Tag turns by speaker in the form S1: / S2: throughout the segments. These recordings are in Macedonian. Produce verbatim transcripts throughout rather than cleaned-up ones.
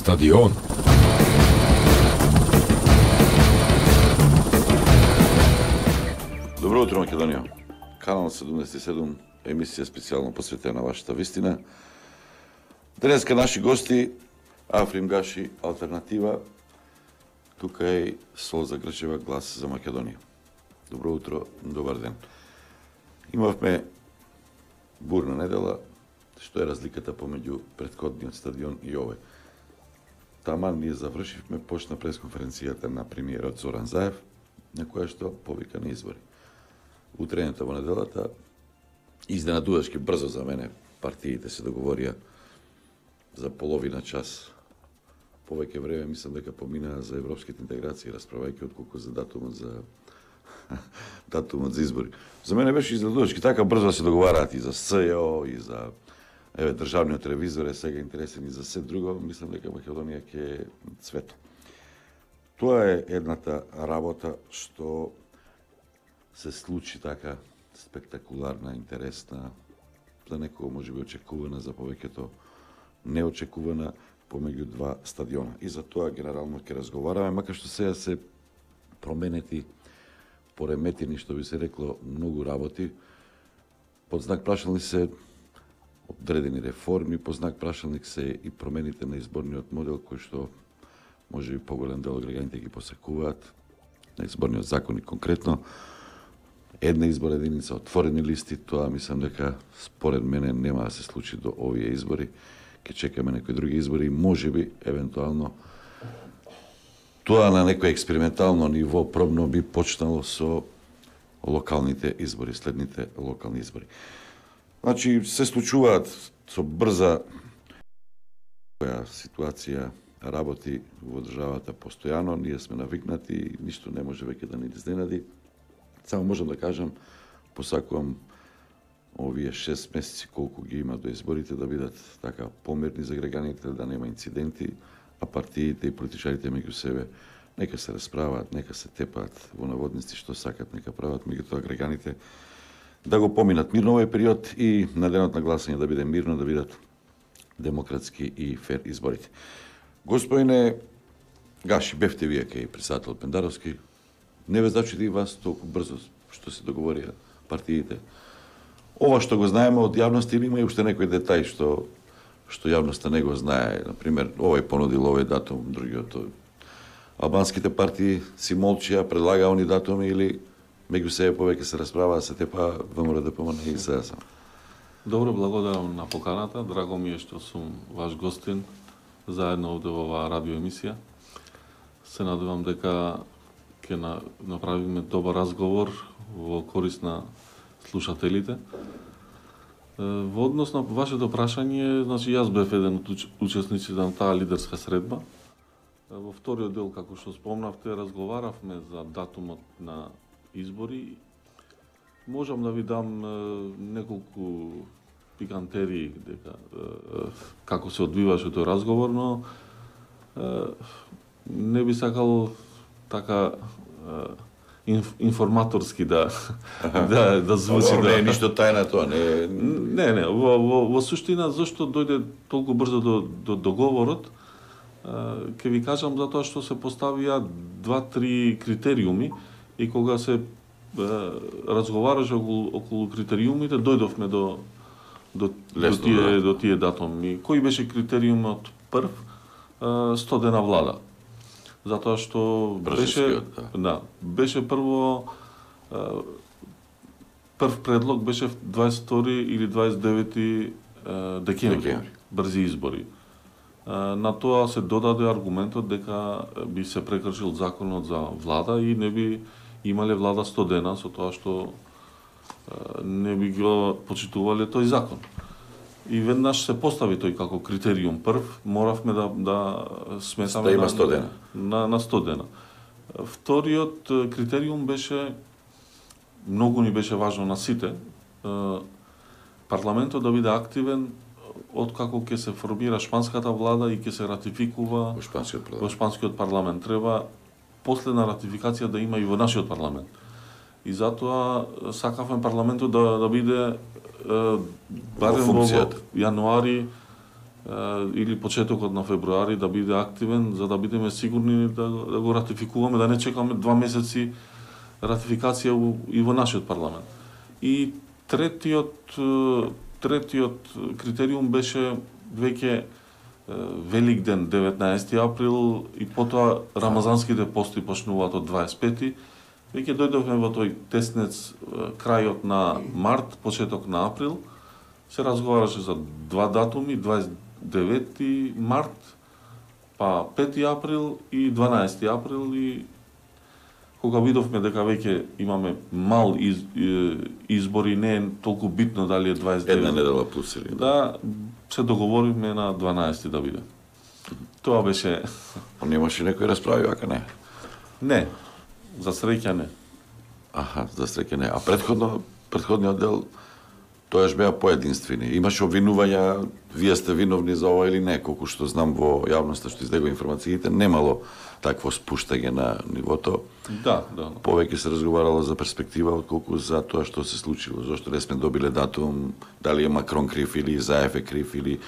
S1: Стадион.
S2: Добро утро, Македонија. Канал седумдесет и седум, емисија специјално посветена на вашата вистина. Денеска наши гости, Африм Гаши, Алтернатива. Тука е Солза Грчева, Глас за Македонија. Добро утро, добар ден. Имавме бурна недела, што е разликата помеѓу претходниот стадион и овој. Таман ние завршивме, почна пресконференцијата на премиерот Зоран Заев, на која што повика на избори. Утрената во неделата, изненадувачки брзо за мене, партиите се договорија за половина час. Повеќе време мислам дека поминаа за европските интеграции, расправајќи отколку за датумот за датумот за избори. За мене беше изненадувачки така брзо да се договараат и за СЈО, и за еве државниот ревизор е сега интересен и за се друго, мислам дека Македонија ќе е цвето. Тоа е едната работа што се случи така спектакуларна, интересна, за некој можеби очекувана, за повеќето неочекувана помеѓу два стадиона. И за тоа генерално ќе разговараме, макар што сега се променети, пореметени, што би се рекло, многу работи. Под знак прашални се одредени реформи, по знак прашалник се и промените на изборниот модел, кој што може би поголем дел од граѓаните ги посекуваат, на изборниот законник конкретно. Една избор единица, отворени листи, тоа мислам дека според мене нема да се случи до овие избори. Ке чекаме некои други избори, може би, евентуално, тоа на некој експериментално ниво пробно би почнало со локалните избори, следните локални избори. Значи, се случуваат со брза која ситуација работи во државата постојано, ние сме навикнати и ништо не може веќе да ни изненади. Само можам да кажам, посакувам овие шест месеци колку ги има до изборите да бидат така помирни за граѓаните, да нема инциденти, а партиите и политичарите меѓу себе нека се расправаат, нека се тепаат во наводници што сакат, нека прават, меѓутоа граѓаните да го поминат мирно овој период и на денот на гласање да биде мирно, да бидат демократски и фер изборите. Господине Гаши, бевте вие кај председател Пендаровски, не ве зачуди и вас толку брзо што се договорија партиите. Ова што го знаеме од јавност или има и уште некој детај што што јавноста не го знае, например, овој понудил овој датум, другиот албанските партии си молчија, предлагаа они датуми или меѓу себе повеќе се расправаа, се тепа ВМРО да помане и СДСМ.
S3: Добро, благодарам на поканата. Драго ми е што сум ваш гостин заедно овде во оваа радиоемисија. Се надевам дека ќе на, направиме добар разговор во корист на слушателите. Во однос на вашето прашање, значи јас бев еден од учесниците на таа лидерска средба. Во вториот дел, како што спомнавте, разговаравме за датумот на избори. Можам да ви дам неколку пикантерии дека како се одвиваше тој разговор, но не би сакал така инф, информаторски да да да звучи.
S2: Да...
S3: да
S2: Не е ништо тајна тоа, не.
S3: Не, не, во во, во суштина зашто дојде толку брзо до до договорот, ќе ви кажам затоа што се поставија два-три критериуми и кога се разговараше околу, околу критериумите, дојдовме до до, до тие до тие датуми. Кој беше критериумот прв? сто дена влада. Затоа што беше
S2: да.
S3: да, беше прво прв предлог беше дваесет и втори или дваесет и девети декември,
S2: декември.
S3: брзи избори. На тоа се додаде аргументот дека би се прекршил законот за влада и не би имале влада сто дена со тоа што не би го почитувале тој закон. И веднаш се постави тој како критериум прв, моравме да да сметаме
S2: да има сто дена.
S3: На на сто дена. Вториот критериум беше многу ни беше важно на сите парламентот да биде активен откако ќе се формира шпанската влада и ќе се ратификува
S2: во шпанскиот парламент.
S3: Во шпанскиот парламент треба последна ратификација да има и во нашиот парламент. И затоа сакавме парламентот да да биде е, барем во, во јануари или почетокот на февруари да биде активен, за да бидеме сигурни да, да го ратификуваме, да не чекаме два месеци ратификација и во нашиот парламент. И третиот третиот критериум беше веќе Великден деветнаесети април и потоа рамазанските пости почнуваат од дваесет и пети. Веќе дојдовме во тој теснец крајот на март, почеток на април. Се разговараше за два датуми, дваесет и девети март, па пети април и дванаесети април, и кога видовме дека веќе имаме мал из, избори, не е толку битно дали е дваесет и девет.
S2: Една недела плюс или
S3: да, се договоривме на дванаесети да биде. Тоа беше...
S2: Немаше некој расправи, вака не?
S3: Не, за среќа не.
S2: Аха, за среќа не. А предходно, предходниот дел, тоаш беа поединствени. Имаше обвинувања, вие сте виновни за ова или не, колку што знам во јавноста што излегува информациите, немало такво спуштање на нивото.
S3: Да, да.
S2: Повеќе се разговарало за перспектива отколку за тоа што се случило. Зошто не сме добиле датум, дали е Макрон крив или Заев е крив или...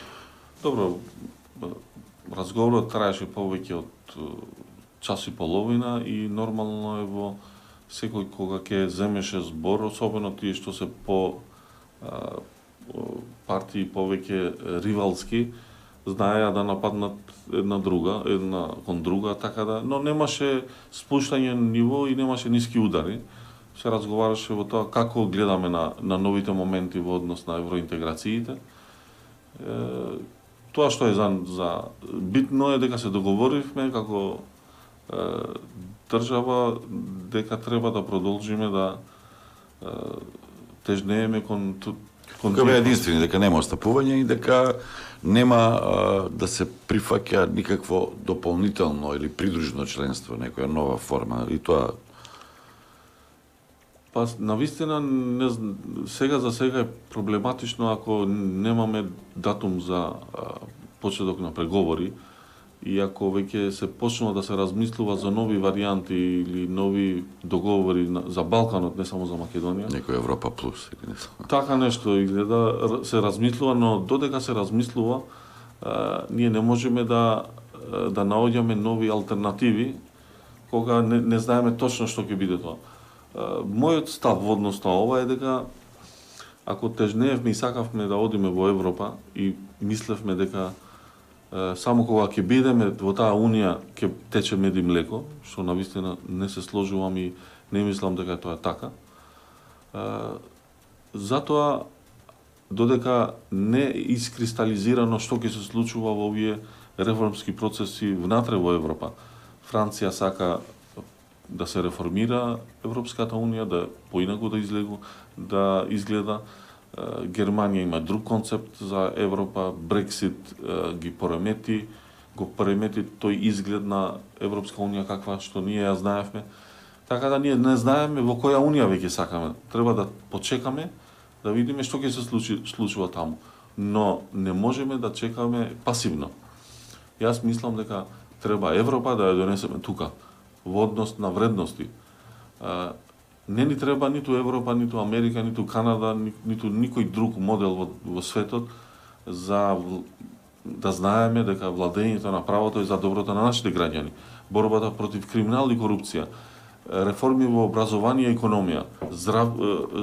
S3: Добро, разговорот траеше повеќе од час и половина и нормално е во секој кога ќе земеше збор, особено тие што се по а, партии повеќе ривалски, знаеа да нападнат една друга, една кон друга, така да, но немаше спуштање на ниво и немаше ниски удари. Се разговараше во тоа како гледаме на, на новите моменти во однос на евроинтеграциите. Е, тоа што е за, за битно е дека се договоривме како е, држава дека треба да продолжиме да е, тежнееме кон кон
S2: Дека беа единствени, дека нема остапување и дека нема а, да се прифаќа никакво дополнително или придружно членство, некоја нова форма. И тоа...
S3: Па, навистина, не, сега за сега е проблематично ако немаме датум за а, почеток на преговори и ако веќе се почнува да се размислува за нови варијанти или нови договори на, за Балканот, не само за Македонија.
S2: Некој Европа плюс или не само.
S3: Така нешто изгледа, се размислува, но додека се размислува, а, ние не можеме да да наоѓаме нови алтернативи кога не, не знаеме точно што ќе биде тоа. А, мојот став во однос на ова е дека ако тежнеевме и сакавме да одиме во Европа и мислевме дека само кога ќе бидеме во таа унија ќе тече мед и млеко, што навистина не се сложувам и не мислам дека тоа е така. Затоа додека не искристализирано што ќе се случува во овие реформски процеси внатре во Европа. Франција сака да се реформира Европската унија, да поинаку да излегу, да изгледа. Германија има друг концепт за Европа, Брексит ги поремети, го поремети тој изглед на Европска унија каква што ние ја знаевме. Така да ние не знаеме во која унија веќе сакаме. Треба да почекаме да видиме што ќе се случи, случува таму. Но не можеме да чекаме пасивно. Јас мислам дека треба Европа да ја донесеме тука во однос на вредности. Не ни треба ниту Европа, ниту Америка, ниту Канада, ниту никој друг модел во, во светот за да знаеме дека владењето на правото е за доброто на нашите граѓани. Борбата против криминал и корупција, реформи во образование и економија, здрав,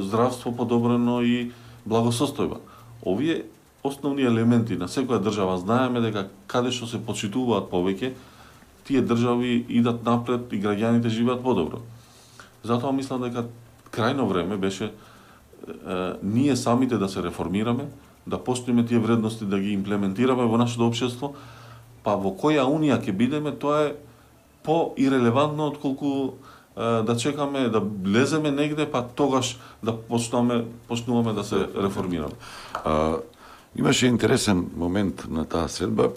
S3: здравство подобрено и благосостојба. Овие основни елементи на секоја држава знаеме дека каде што се почитуваат повеќе, тие држави идат напред и граѓаните живеат подобро. Затоа мислам дека крајно време беше е, ние самите да се реформираме, да постоиме тие вредности, да ги имплементираме во нашето општество, па во која унија ќе бидеме, тоа е по-ирелевантно отколку е, да чекаме да влеземе негде, па тогаш да почнуваме, почнуваме да се реформираме.
S2: А, имаше интересен момент на таа средба.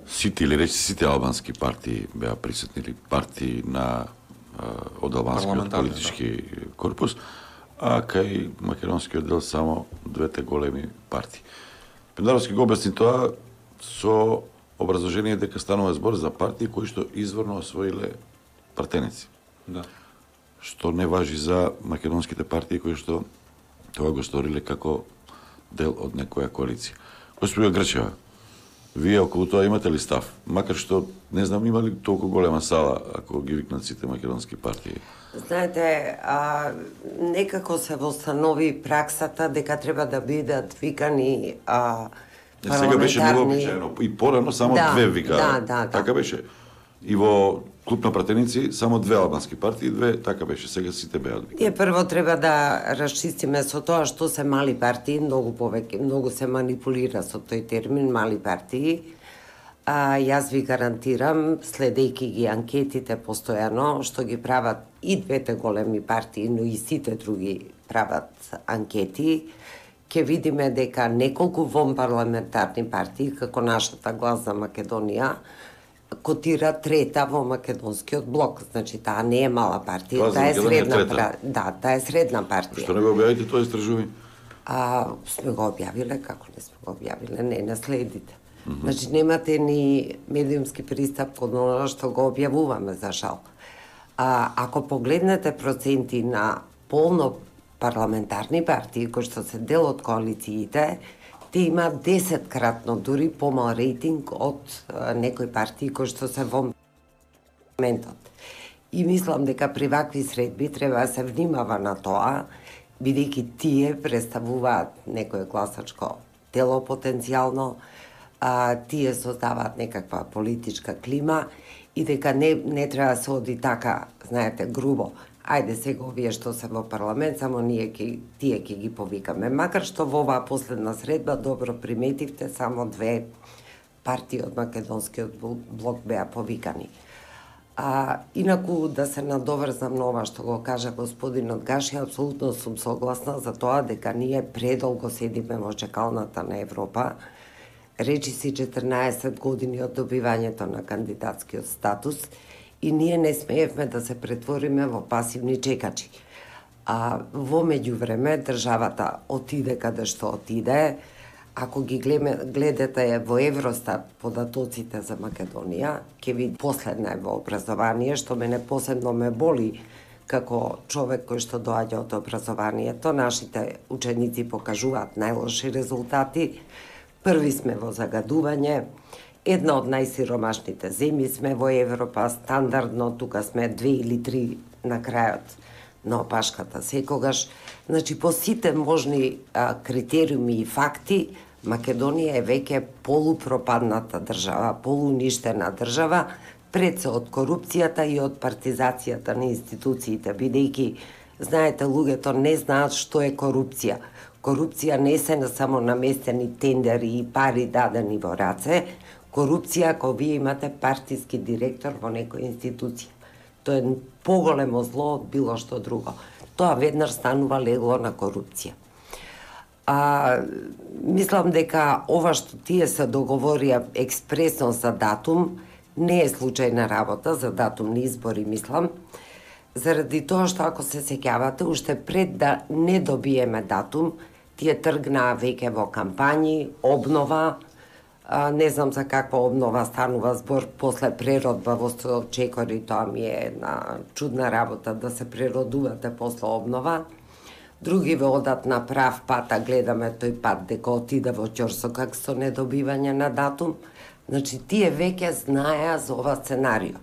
S2: Сите или речи сите албански партии беа присутни, или партии на од албанскиот политички корпус, а кај македонскиот дел само двете големи партии. Пендаровски го објасни тоа со образложение дека станува збор за партии кои што изворно освоиле партеници.
S3: Да.
S2: Што не важи за македонските партии кои што тоа го сториле како дел од некоја коалиција. Госпожа Грчева, вие околу тоа имате ли став? Макар што, не знам, има ли толку голема сала ако ги викнат сите македонски партии?
S1: Знаете, а, некако се востанови праксата дека треба да бидат викани а,
S2: Сега беше
S1: парламентарни...
S2: невообичаено. И порано само
S1: Да,
S2: две викаа.
S1: да, да, да.
S2: Така беше. И во клуб на пратеници само две албански партии, две, така беше. Сега сите беа викани.
S1: Ние прво треба да расчистиме со тоа што се мали партии, многу повеќе, многу се манипулира со тој термин мали партии. А, јас ви гарантирам, следејќи ги анкетите постојано, што ги прават и двете големи партии, но и сите други прават анкети, ќе видиме дека неколку вонпарламентарни партии, како нашата Глас за Македонија, котира трета во македонскиот блок. Значи, таа не е мала партија,
S2: Глас за
S1: таа е
S2: Македонија
S1: средна
S2: трета.
S1: пра... Да, таа е средна партија.
S2: Што не го објавите тоа истражување?
S1: А, сме го објавиле, како не сме го објавиле, не наследите. Mm -hmm. Значи, немате ни медиумски пристап кон оно што го објавуваме, за жал. А, ако погледнете проценти на полно парламентарни партии, кои што се дел од коалициите, те имаат десеткратно дури помал рейтинг од а, некои партии кои што се во парламентот. И мислам дека при вакви средби треба да се внимава на тоа, бидејќи тие представуваат некое гласачко тело потенцијално, а, тие создаваат некаква политичка клима и дека не, не треба да се оди така, знаете, грубо. Ајде сега овие што се во парламент, само ние ки, тие ќе ги повикаме. Макар што во оваа последна средба, добро приметивте, само две партии од македонскиот блок беа повикани. А, инаку, да се надоврзам на ова што го кажа господинот Гаши, апсолутно сум согласна за тоа дека ние предолго седиме во чекалната на Европа. Речи си четрнаесет години од добивањето на кандидатскиот статус и ние не смеевме да се претвориме во пасивни чекачи. А во меѓувреме државата отиде каде што отиде. Ако ги гледате во Евростат податоците за Македонија, ќе види последна е во образование, што мене посебно ме боли како човек кој што доаѓа од образованието. Нашите ученици покажуваат најлоши резултати. Први сме во загадување, една од најсиромашните земји сме во Европа, стандардно тука сме две или три на крајот на опашката секогаш. Значи, по сите можни а, критериуми и факти, Македонија е веќе полупропадната држава, полуништена држава, пред се од корупцијата и од партизацијата на институциите, бидејќи, знаете, луѓето не знаат што е корупција. Корупција не се на само наместени тендери и пари дадени во раце, корупција ако вие имате партиски директор во некоја институција. Тоа е поголемо зло од било што друго. Тоа веднаш станува легло на корупција. А, мислам дека ова што тие се договорија експресно за датум, не е случајна работа за датумни избори, мислам, заради тоа што ако се сеќавате, уште пред да не добиеме датум, тие тргнаа веќе во кампањи, обнова, а, не знам за каква обнова станува збор после преродба во Чекори, тоа ми е една чудна работа да се преродувате после обнова. Други ве одат на прав пат, а гледаме тој пат дека отиде во ќорсокак со недобивање на датум. Значи, тие веќе знаеа за ова сценарио.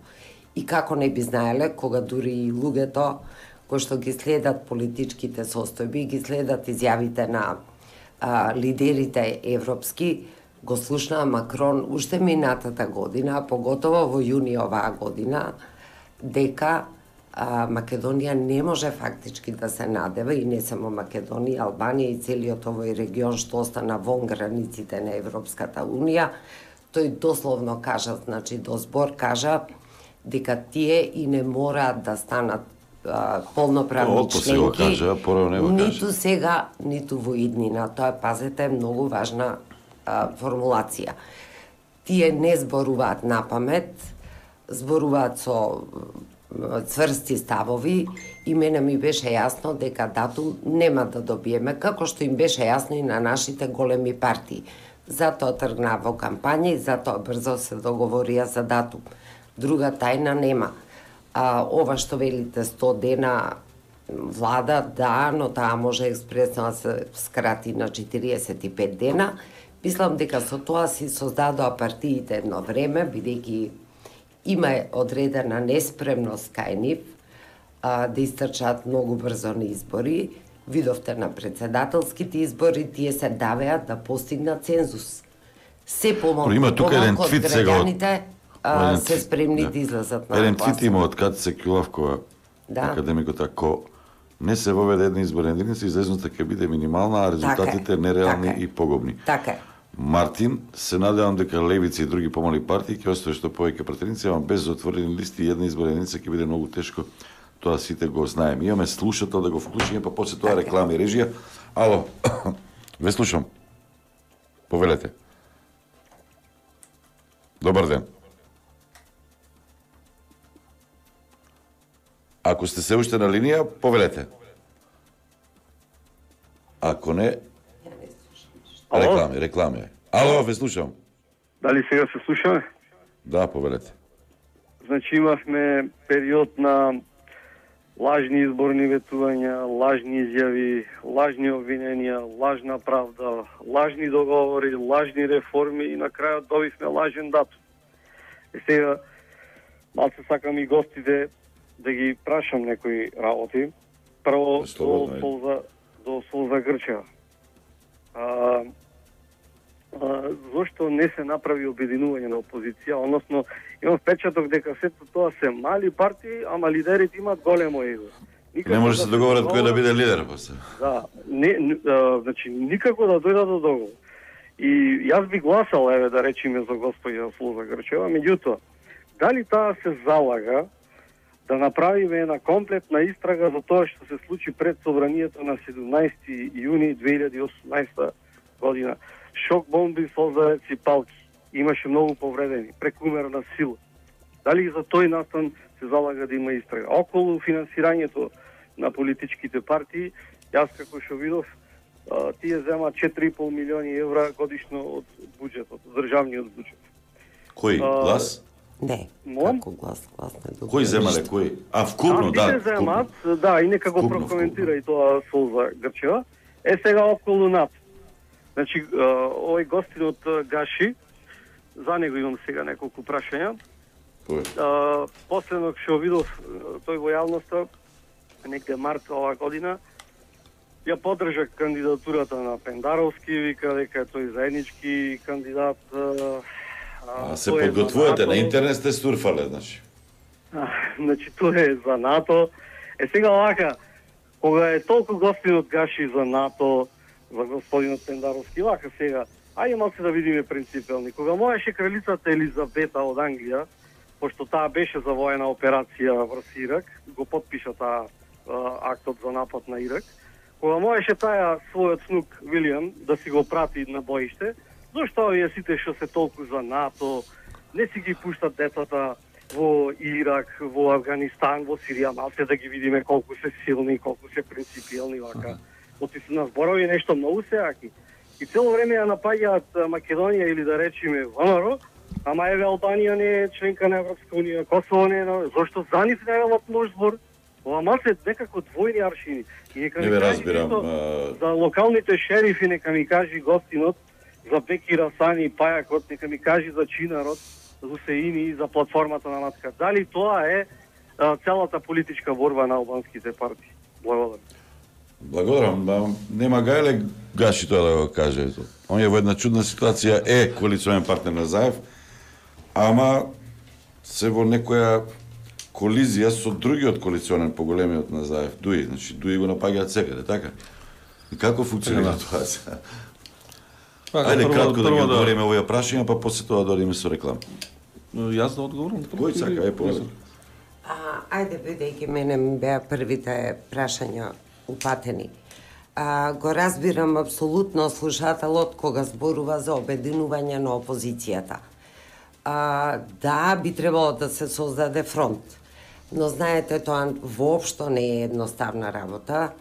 S1: И како не би знаеле, кога дури и луѓето кои што ги следат политичките состојби, ги следат изјавите на а, лидерите европски, го слушнаа Макрон уште минатата година, поготово во јуни оваа година, дека а, Македонија не може фактички да се надева, и не само Македонија, Албанија и целиот овој регион што остана вон границите на Европската Унија. Тој дословно кажа, значи до збор кажа, дека тие и не мораат да станат а, полноправни членки,
S2: кажа, не го
S1: ниту
S2: кажа.
S1: сега, ниту во иднина. Тоа, пазете, многу важна а, формулација. Тие не зборуваат на памет, зборуваат со цврсти ставови и мене ми беше јасно дека датум нема да добиеме, како што им беше јасно и на нашите големи партии. Затоа тргнаа во кампања и затоа брзо се договорија за датум. Друга тајна нема. А, ова што велите сто дена влада, да, но таа може експресно да се скрати на четириесет и пет дена. Мислам дека со тоа си создадоа партиите едно време, бидејќи има одредена неспремност кај нив а, да истрчат многу брзо на избори. Видовте на председателските избори, тие се давеа да постигнат цензус. Се помалку,
S2: има тука еден
S1: помалку од
S2: твит сега од-
S1: граѓаните а,
S2: еден
S1: се
S2: твит,
S1: спремни
S2: да.
S1: да излезат на
S2: Еден
S1: гласување.
S2: твит има од Катица Кјулавкова,
S1: Да.
S2: академикот, ако не се воведе една изборна единица, излезноста ќе биде минимална, а резултатите
S1: Така е,
S2: нереални
S1: така е.
S2: и погубни.
S1: Така е.
S2: Мартин, се надевам дека левица и други помали партии ќе остави што повеќе претеници, ама без отворени листи и една изборна единица ќе биде многу тешко. Тоа сите го знаеме. Имаме слушател да го вклучиме, па после тоа
S1: Така е.
S2: реклами и режија. Ало, ве слушам. Повелете. Добар ден. Ако сте се уште на линија, повелете. Ако не,
S4: Ало?
S2: реклами, реклами. Ало, ве слушам.
S4: Дали сега се слушаме?
S2: Да, повелете.
S4: Значи имавме период на лажни изборни ветувања, лажни изјави, лажни обвиненија, лажна правда, лажни договори, лажни реформи и на крајот добивме лажен датум. И сега малце сакам и гостите да ги прашам некои работи. Прво до
S2: Слободно, ајде.
S4: Солза, до Солза Грчева. А, а, зошто не се направи обединување на опозиција, односно имам впечаток дека сето тоа се мали партии, ама лидерите имаат големо его. Никако
S2: Не може да се договорат кој да
S4: договорат-
S2: биде лидер, после.
S4: Да, не, не а, значи никако да дојдат до договор. И јас би гласал, еве да речеме за господја Солза Грчева, меѓутоа, дали таа се залага да направиме една комплетна истрага за тоа што се случи пред собранието на седумнаесети јуни две илјади и осумнаесета година. Шок бомби, солзареци, палки. Имаше многу повредени, прекумерна сила. Дали и за тој настан се залага да има истрага? Околу финансирањето на политичките партии, јас како што видов, а, тие земаат четири и пол милиони евра годишно од буџетот, од државниот буџет.
S2: Кој?
S4: А,
S2: Глас?
S1: Не,
S4: Молам?
S1: како глас, глас не добро.
S2: Кој земале, кој? А, вкупно,
S4: а,
S2: да.
S4: тие земаат, да, и некако
S2: Вкупно,
S4: прокоментира
S2: вкупно.
S4: и тоа Солза Грчева. Е сега околу НАП. Значи, а, овој гостин од а, Гаши, за него имам сега неколку прашања.
S2: Кој?
S4: А, последно што видов а, тој во јавноста, негде март оваа година, ја поддржа кандидатурата на Пендаровски, вика дека е тој заеднички кандидат. А,
S2: А се
S4: тој е за
S2: подготвувате,
S4: НАТО.
S2: на интернет сте сурфале, значи.
S4: А, значи, тоа е за НАТО. Е сега вака, кога е толку гостин од Гаши за НАТО, за господинот Пендаровски, вака сега, ајде малце да видиме принципелни. Кога можеше кралицата Елизабета од Англија, пошто таа беше за воена операција врз Ирак, го подпиша таа а, актот за напад на Ирак, кога можеше таја својот снук Вилијам да си го прати на боиште, зошто овие сите што се толку за НАТО, не си ги пуштат децата во Ирак, во Афганистан, во Сирија, малце да ги видиме колку се силни, колку се принципиелни вака. Оти се на зборови нешто многу се аки. И цело време ја напаѓаат Македонија или да речеме ВМРО, ама еве Албанија не е членка на Европска унија, Косово не е, зошто за нив не велат лош збор? Ова малце некако двојни аршини. И нека
S2: Не
S4: ми
S2: ве
S4: кажи
S2: разбирам.
S4: нешто
S2: а,
S4: за локалните шерифи, нека ми кажи гостинот, за Беки Расани и Пајакот, нека ми кажи за Чинарот, за Хусеини и за платформата на Матка. Дали тоа е а, целата политичка борба на албанските партии? Благодарам.
S2: Благодарам, ба, нема гајле Гаши тоа да го каже. Он е во една чудна ситуација, е коалиционен партнер на Заев, ама се во некоја колизија со другиот коалиционен поголемиот на Заев, Дуи, значи Дуи го напаѓаат секаде, така? И како функционира
S3: Така,
S2: тоа сега?
S3: Така,
S2: Ајде
S3: прво-
S2: кратко да ги
S3: прво
S2: одговориме овие прашања, па после тоа да одиме со реклама.
S3: Јас да одговорам?
S2: Кој сака, е повеќе.
S1: А, ајде, бидејќи мене ми беа првите прашања упатени. А, го разбирам апсолутно слушателот кога зборува за обединување на опозицијата. А, да, би требало да се создаде фронт. Но знаете, тоа воопшто не е едноставна работа.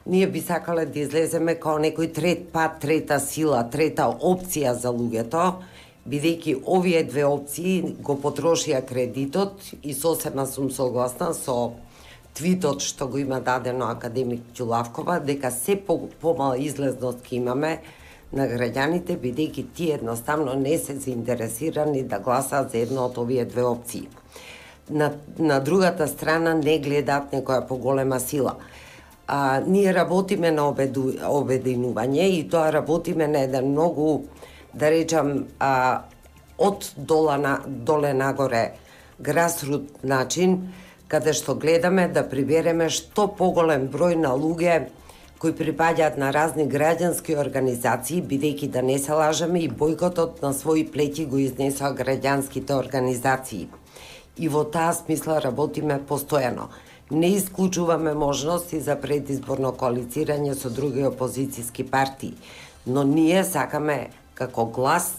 S1: Ние би сакале да излеземе као некој трет пат, трета сила, трета опција за луѓето, бидејќи овие две опции го потрошија кредитот и сосема сум согласна со твитот што го има дадено академик Ќулавкова, дека се по, помала излезност ќе имаме на граѓаните, бидејќи тие едноставно не се заинтересирани да гласаат за една од овие две опции. На, на другата страна не гледаат некоја поголема сила. А, ние работиме на обеду, обединување и тоа работиме на еден многу, да речам, а, од дола на, доле нагоре грасрут начин, каде што гледаме да прибереме што поголем број на луѓе кои припаѓаат на разни граѓански организации, бидејќи да не се лажеме и бојкотот на своји плеќи го изнесоа граѓанските организации. И во таа смисла работиме постојано. Не исклучуваме можности за предизборно коалицирање со други опозицијски партии, но ние сакаме како глас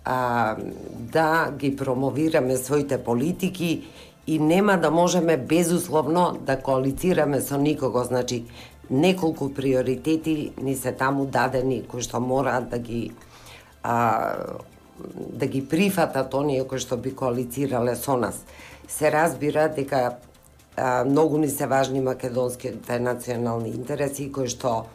S1: а, да ги промовираме своите политики и нема да можеме безусловно да коалицираме со никого. Значи, неколку приоритети ни се таму дадени кои што мораат да ги а, да ги прифатат оние кои што би коалицирале со нас. Се разбира дека а, многу ни се важни македонските национални интереси кои што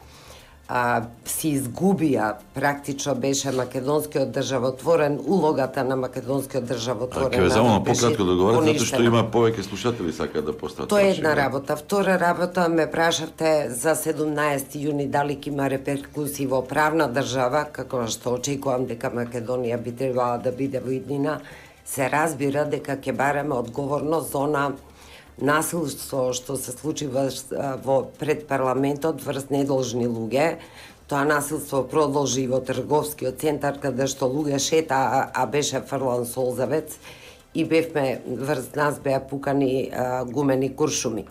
S1: а, си изгубија, практично беше македонскиот државотворен, улогата на македонскиот државотворен
S2: народ. Ќе ве замолам пократко да говорите, затоа што има повеќе слушатели сакаат да постават.
S1: Тоа е една работа. Втора работа, ме прашавте за седумнаесети јуни дали ќе има реперкусии во правна држава, како што очекувам дека Македонија би требала да биде во иднина. Се разбира дека ќе бараме одговорност за она насилство што се случи во, во пред парламентот врз недолжни луѓе. Тоа насилство продолжи во трговскиот центар каде што луѓе шета, а, а беше фрлан солзавец и бевме врз нас беа пукани а, гумени куршуми.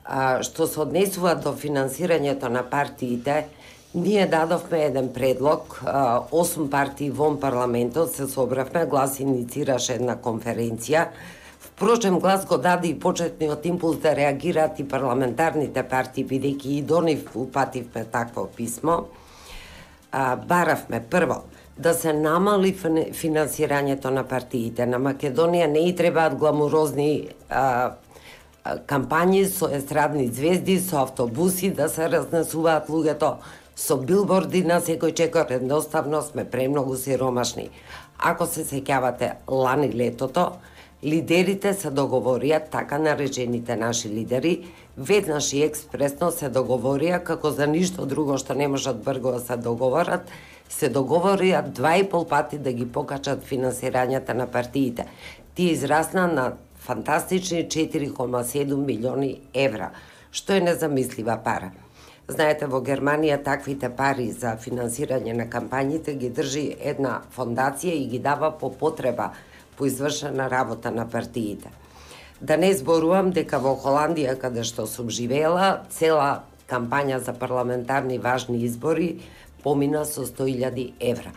S1: А, што се однесува до финансирањето на партиите, ние дадовме еден предлог, а, осум партии вон парламентот се собравме, глас иницираше една конференција. Впрочем, глас го даде и почетниот импулс да реагираат и парламентарните партии, бидејќи и до нив упативме такво писмо. А, баравме прво да се намали финансирањето на партиите. На Македонија не и требаат гламурозни а, а, кампањи со естрадни звезди, со автобуси, да се разнесуваат луѓето со билборди на секој чекор. Едноставно сме премногу сиромашни. Ако се сеќавате лани летото, лидерите се договорија, така наречените наши лидери, веднаш и експресно се договорија, како за ништо друго што не можат брзо да се договорат, се договорија два и пол пати да ги покачат финансирањата на партиите. Тие израсна на фантастични четири кома седум милиони евра, што е незамислива пара. Знаете, во Германија таквите пари за финансирање на кампањите ги држи една фондација и ги дава по потреба, по извршена работа на партиите. Да не зборувам дека во Холандија, каде што сум живеела, цела кампања за парламентарни важни избори помина со сто илјади евра.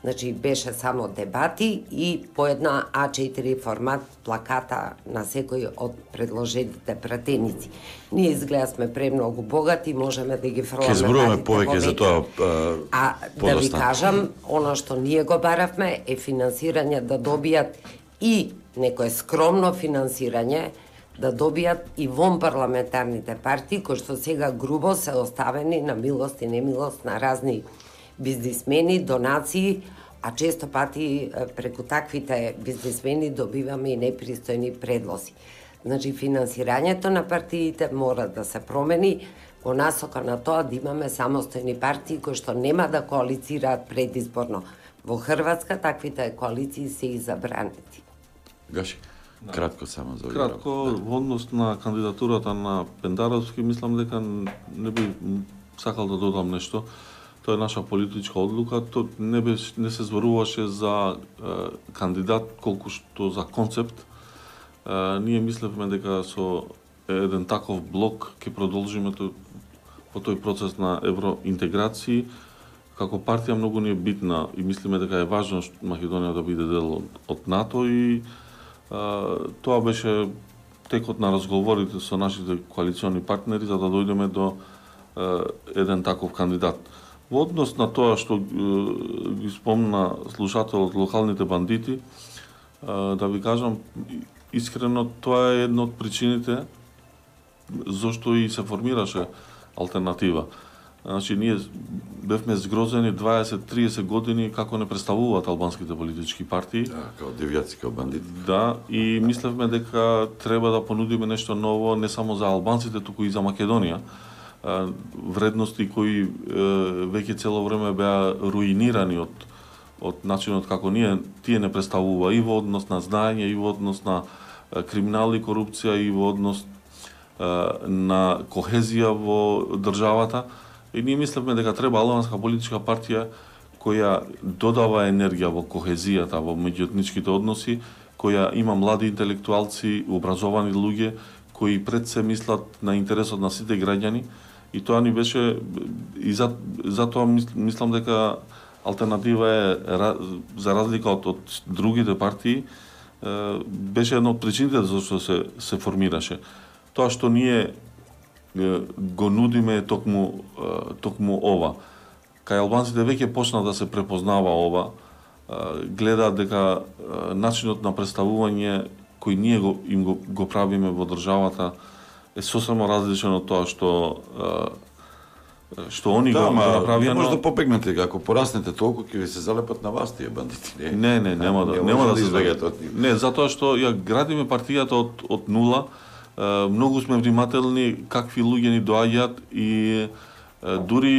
S1: Значи, беше само дебати и по една а четири формат плаката на секој од предложените пратеници. Ние изгледа сме премногу богати, можеме да ги фрламе.
S2: Ке зборуваме повеќе за тоа.
S1: А, а да ви кажам, она што ние го баравме е финансирање да добијат и некое скромно финансирање, да добијат и вон парламентарните партии, кои што сега грубо се оставени на милост и немилост на разни бизнисмени, донации, а често пати преку таквите бизнисмени добиваме и непристојни предлози. Значи, финансирањето на партиите мора да се промени во насока на тоа да имаме самостојни партии кои што нема да коалицираат предизборно. Во Хрватска таквите коалиции се и забранети.
S2: Гаши, кратко само за
S3: Кратко, во однос на кандидатурата на Пендаровски, мислам дека не би сакал да додам нешто. Тоа е наша политичка одлука, тоа не, беше, не се зборуваше за е, кандидат, колку што за концепт. Е, ние мислевме дека со еден таков блок ќе продолжиме тој, по тој процес на евроинтеграција. Како партија многу ни е битна и мислиме дека е важно Македонија да биде дел од, од НАТО и е, тоа беше текот на разговорите со нашите коалициони партнери за да дојдеме до е, еден таков кандидат. Во однос на тоа што е, ги спомна слушателот локалните бандити, е, да ви кажам, искрено тоа е една од причините зошто и се формираше алтернатива. Значи, ние бевме згрозени дваесет до триесет години како не представуваат албанските политички партии.
S2: Да, као девијаци, као бандити.
S3: Да, и мислевме дека треба да понудиме нешто ново не само за албанците, туку и за Македонија. Вредности кои веќе цело време беа руинирани од од начинот како ние тие не представува и во однос на знаење, и во однос на криминал и корупција, и во однос на кохезија во државата. И ние мислевме дека треба албанска политичка партија која додава енергија во кохезијата, во меѓуетничките односи, која има млади интелектуалци, образовани луѓе, кои пред се мислат на интересот на сите граѓани. И тоа ни беше, и за, затоа мислам дека алтернатива е, за разлика од, од другите партии, беше една од причините зашто се, се формираше. Тоа што ние го нудиме е токму, токму ова. Кај албанците веќе почна да се препознава ова, гледаат дека начинот на представување кој ние го, им го, го правиме во државата е сосема различен од тоа што што они
S2: да,
S3: го направија.
S2: Не може да побегнете, ако пораснете толку ќе ви се залепат на вас тие бандити. Не,
S3: не, не нема да,
S2: не
S3: нема да,
S2: да
S3: се
S2: избегате од нив.
S3: Не, затоа што ја градиме партијата од од нула. Многу сме внимателни какви луѓе ни доаѓаат и дури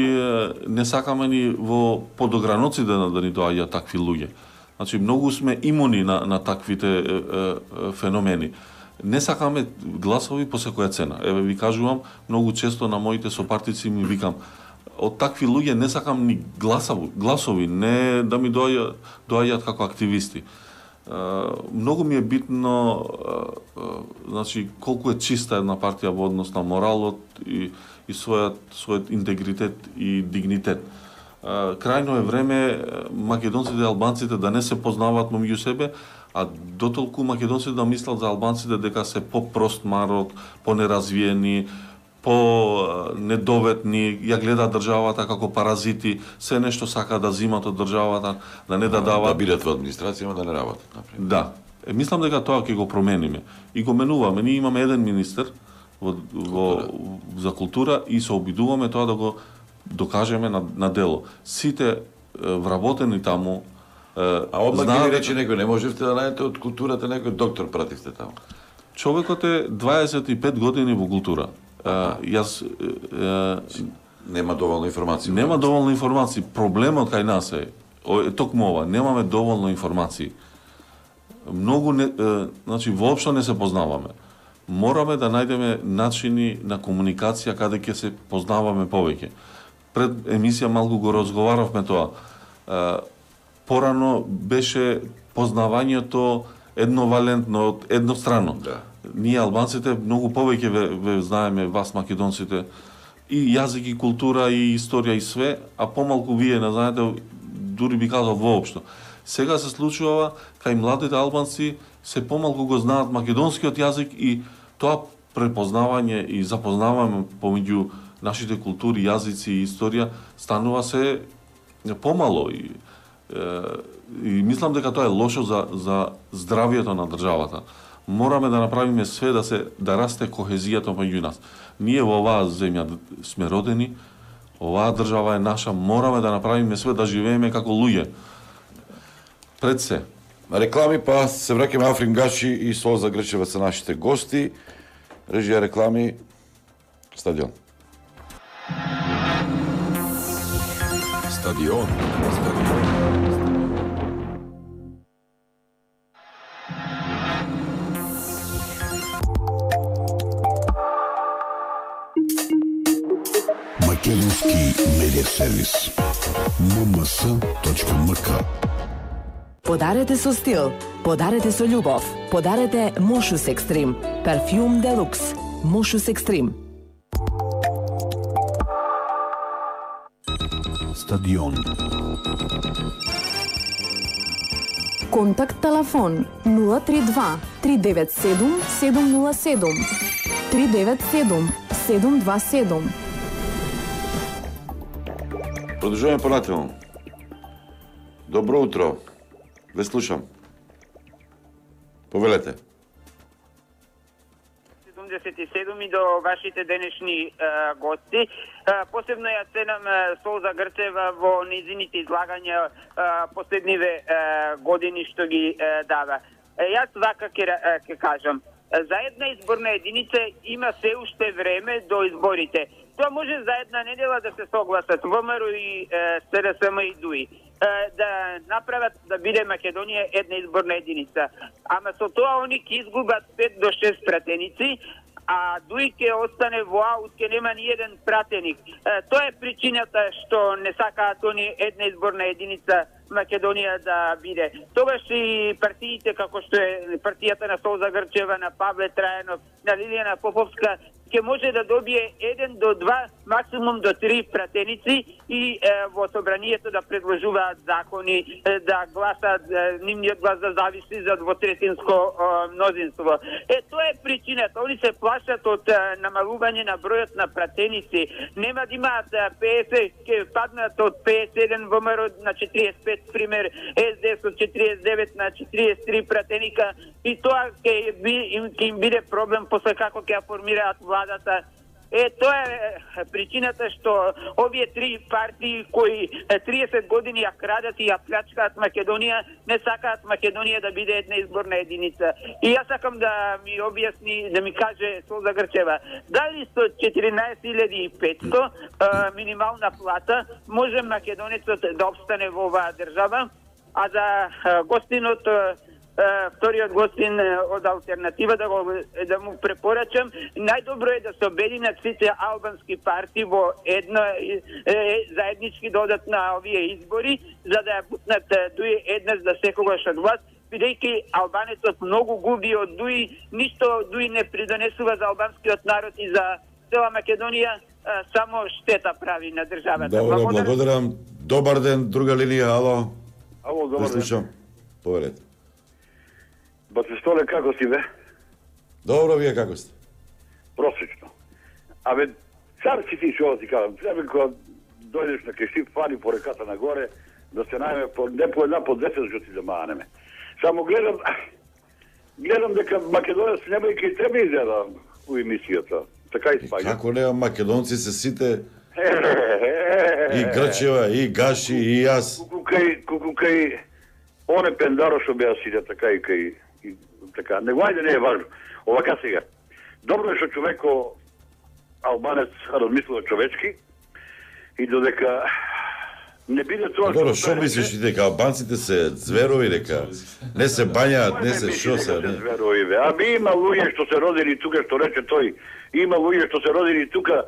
S3: не сакаме ни во подограноците да, да ни доаѓаат такви луѓе. Значи многу сме имуни на на таквите е, е, феномени. Не сакаме гласови по секоја цена. Еве ви кажувам, многу често на моите сопартици ми викам од такви луѓе не сакам ни гласови, гласови, не да ми доаѓаат доаѓаат како активисти. Uh, многу ми е битно uh, uh, значи колку е чиста една партија во однос на моралот и, и својот својот интегритет и дигнитет. Uh, крајно е време македонците и албанците да не се познаваат меѓу себе, а дотолку македонците да мислат за албанците дека се по-прост народ, по-неразвиени, по-недоветни, ја гледаат државата како паразити, се нешто сака да зимат од државата, да не да дават.
S2: Да бидат во администрација, да не работат, например.
S3: Да. Е, мислам дека тоа ќе го промениме. И го менуваме. Ние имаме еден министер во, во, за култура и се обидуваме тоа да го докажеме на, на дело. Сите е, вработени таму е,
S2: а одма
S3: знаат...
S2: ги рече некој, не можевте да најдете од културата некој доктор пративте таму.
S3: Човекот е дваесет и пет години во култура. Uh, јас uh,
S2: нема доволно информации.
S3: Нема доволно информации. Проблемот кај нас е, е токму ова, немаме доволно информации. Многу не, uh, значи воопшто не се познаваме. Мораме да најдеме начини на комуникација каде ќе се познаваме повеќе. Пред емисија малку го разговаравме тоа. Uh, порано беше познавањето едновалентно, едностранно.
S2: Да.
S3: Ние албанците многу повеќе ве, ве знаеме вас македонците и јазик и култура и историја и све, а помалку вие не знаете, дури би казал воопшто. Сега се случува кај младите албанци се помалку го знаат македонскиот јазик и тоа препознавање и запознавање помеѓу нашите култури, јазици и историја станува се помало и, и мислам дека тоа е лошо за за здравието на државата. Мораме да направиме све да се да расте кохезијата меѓу нас. Ние во оваа земја сме родени, оваа држава е наша, мораме да направиме све да живееме како луѓе. Пред се.
S2: Реклами, па се враќаме. Африн Гаши и Солза Грчева се нашите гости. Режија реклами, стадион.
S5: Стадион. Македонски медиа сервис. ем ем ес точка ем ка.
S6: Подарете со стил, подарете со љубов, подарете Мошус Екстрим, парфјум делукс, Мошус Екстрим.
S5: Стадион.
S7: Контакт телефон нула три два три девет седум седум нула седум три девет седум седум два седум.
S2: Продолжуваме понатаму. Добро утро. Ве слушам. Повелете.
S8: седумдесет и седум и до вашите денешни е, гости. Е, посебно ја ценам е, Солза Грчева во низините излагања е, последниве е, години што ги е, дава. Е, јас вака ќе ќе кажам. За една изборна единица има се уште време до изборите. Тоа може за една недела да се согласат ВМРО и С Д С М и ДУИ. Да направат да биде Македонија една изборна единица. Ама со тоа они ќе изгубат пет до шест пратеници, а ДУИ ќе остане во аут, ќе нема ни еден пратеник. Тоа е причината што не сакаат они една изборна единица Македонија да биде. Тогаш и партиите, како што е партијата на Солза Грчева, на Павле Трајанов, на Лилијана Поповска, ќе може да добие еден до два, максимум до три пратеници и е, во собранието да предложуваат закони, е, да гласат, е, нивниот глас да зависи за двотретинско е, мнозинство. Е, тоа е причината. Они се плашат од е, намалување на бројот на пратеници. Нема да имаат петдесет, ќе паднат од петдесет и еден ВМРО на четириесет и пет, пример, С Д С од четириесет и девет на четириесет и три пратеника и тоа ќе им, им биде проблем после како ќе формираат владата. Е, тоа е причината што овие три партии кои триесет години ја крадат и ја плячкаат Македонија, не сакаат Македонија да биде една изборна единица. И јас сакам да ми објасни, да ми каже Солза Грчева, дали со четиринаесет илјади и петсто минимална плата може македонецот да обстане во оваа држава, а за гостинот вториот гостин од алтернатива да го да му препорачам, најдобро е да се обединат сите албански партии во едно е, заеднички додат на овие избори, за да ја бутнат ДУИ еднаш за секогаш од власт, бидејќи албанецот многу губи од ДУИ, ништо ДУИ не придонесува за албанскиот народ и за цела Македонија, само штета прави на државата.
S2: Добро, благодарам. Добар ден, друга линија, ало.
S9: Ало, добар ден.
S2: Слушам. Поверете.
S9: Бацестоле, како си бе?
S2: Добро, вие како сте?
S9: Просечно. Абе, цар си ти што ти кажам, треба кога дојдеш на Кешип, фани по реката нагоре, да се најме по, не по една, по десет жоти да манеме. Само гледам, гледам дека македонец нема и кај тебе изгледа у емисијата. Така и спаѓа.
S2: Како нема, македонци се сите и Грчева, и Гаши, и јас.
S9: Куку кај, куку кај оне Пендаро што беа сите, така и кај и така, него ајде не е важно. Овака сега. Добро е што човеко албанец размислува човечки и додека не биде тоа.
S2: Добро, што мислиш ти дека албанците се зверови, дека не се бањаат, не се шо се, не?
S9: Зверови, бе. Аби има луѓе што се родени тука, што рече тој, има луѓе што се родени тука,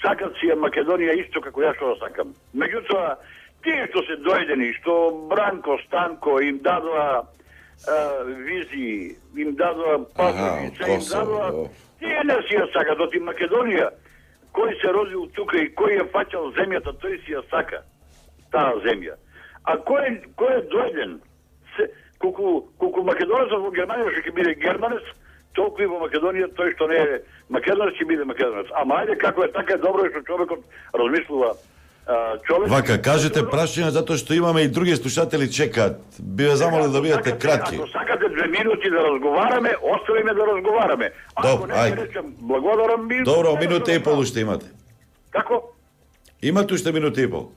S9: сакат си ја Македонија исто како ја што сакам. Меѓутоа, тие што се дојдени, што Бранко, Станко им дадоа а, визии, им дадоа паспорти, им дадоа, тие не си ја сакат, оти Македонија, кој се родил тука и кој ја фаќал земјата, тој си ја сака, таа земја. А кој, кој е дојден, се, колку, колку македонецот во Германија што ќе биде германец, толку и во Македонија тој што не е македонец ќе биде македонец. Ама ајде како е така, добро е што човекот размислува. Човек...
S2: Вака, кажете прашање затоа што имаме и други слушатели чекаат. Би ве замолил да бидете кратки.
S9: Ако сакате две минути да разговараме, оставиме да разговараме. Ако не ќе речем благодарам ми.
S2: Добро, минута и пол уште имате.
S9: Како?
S2: Имате уште минута и пол.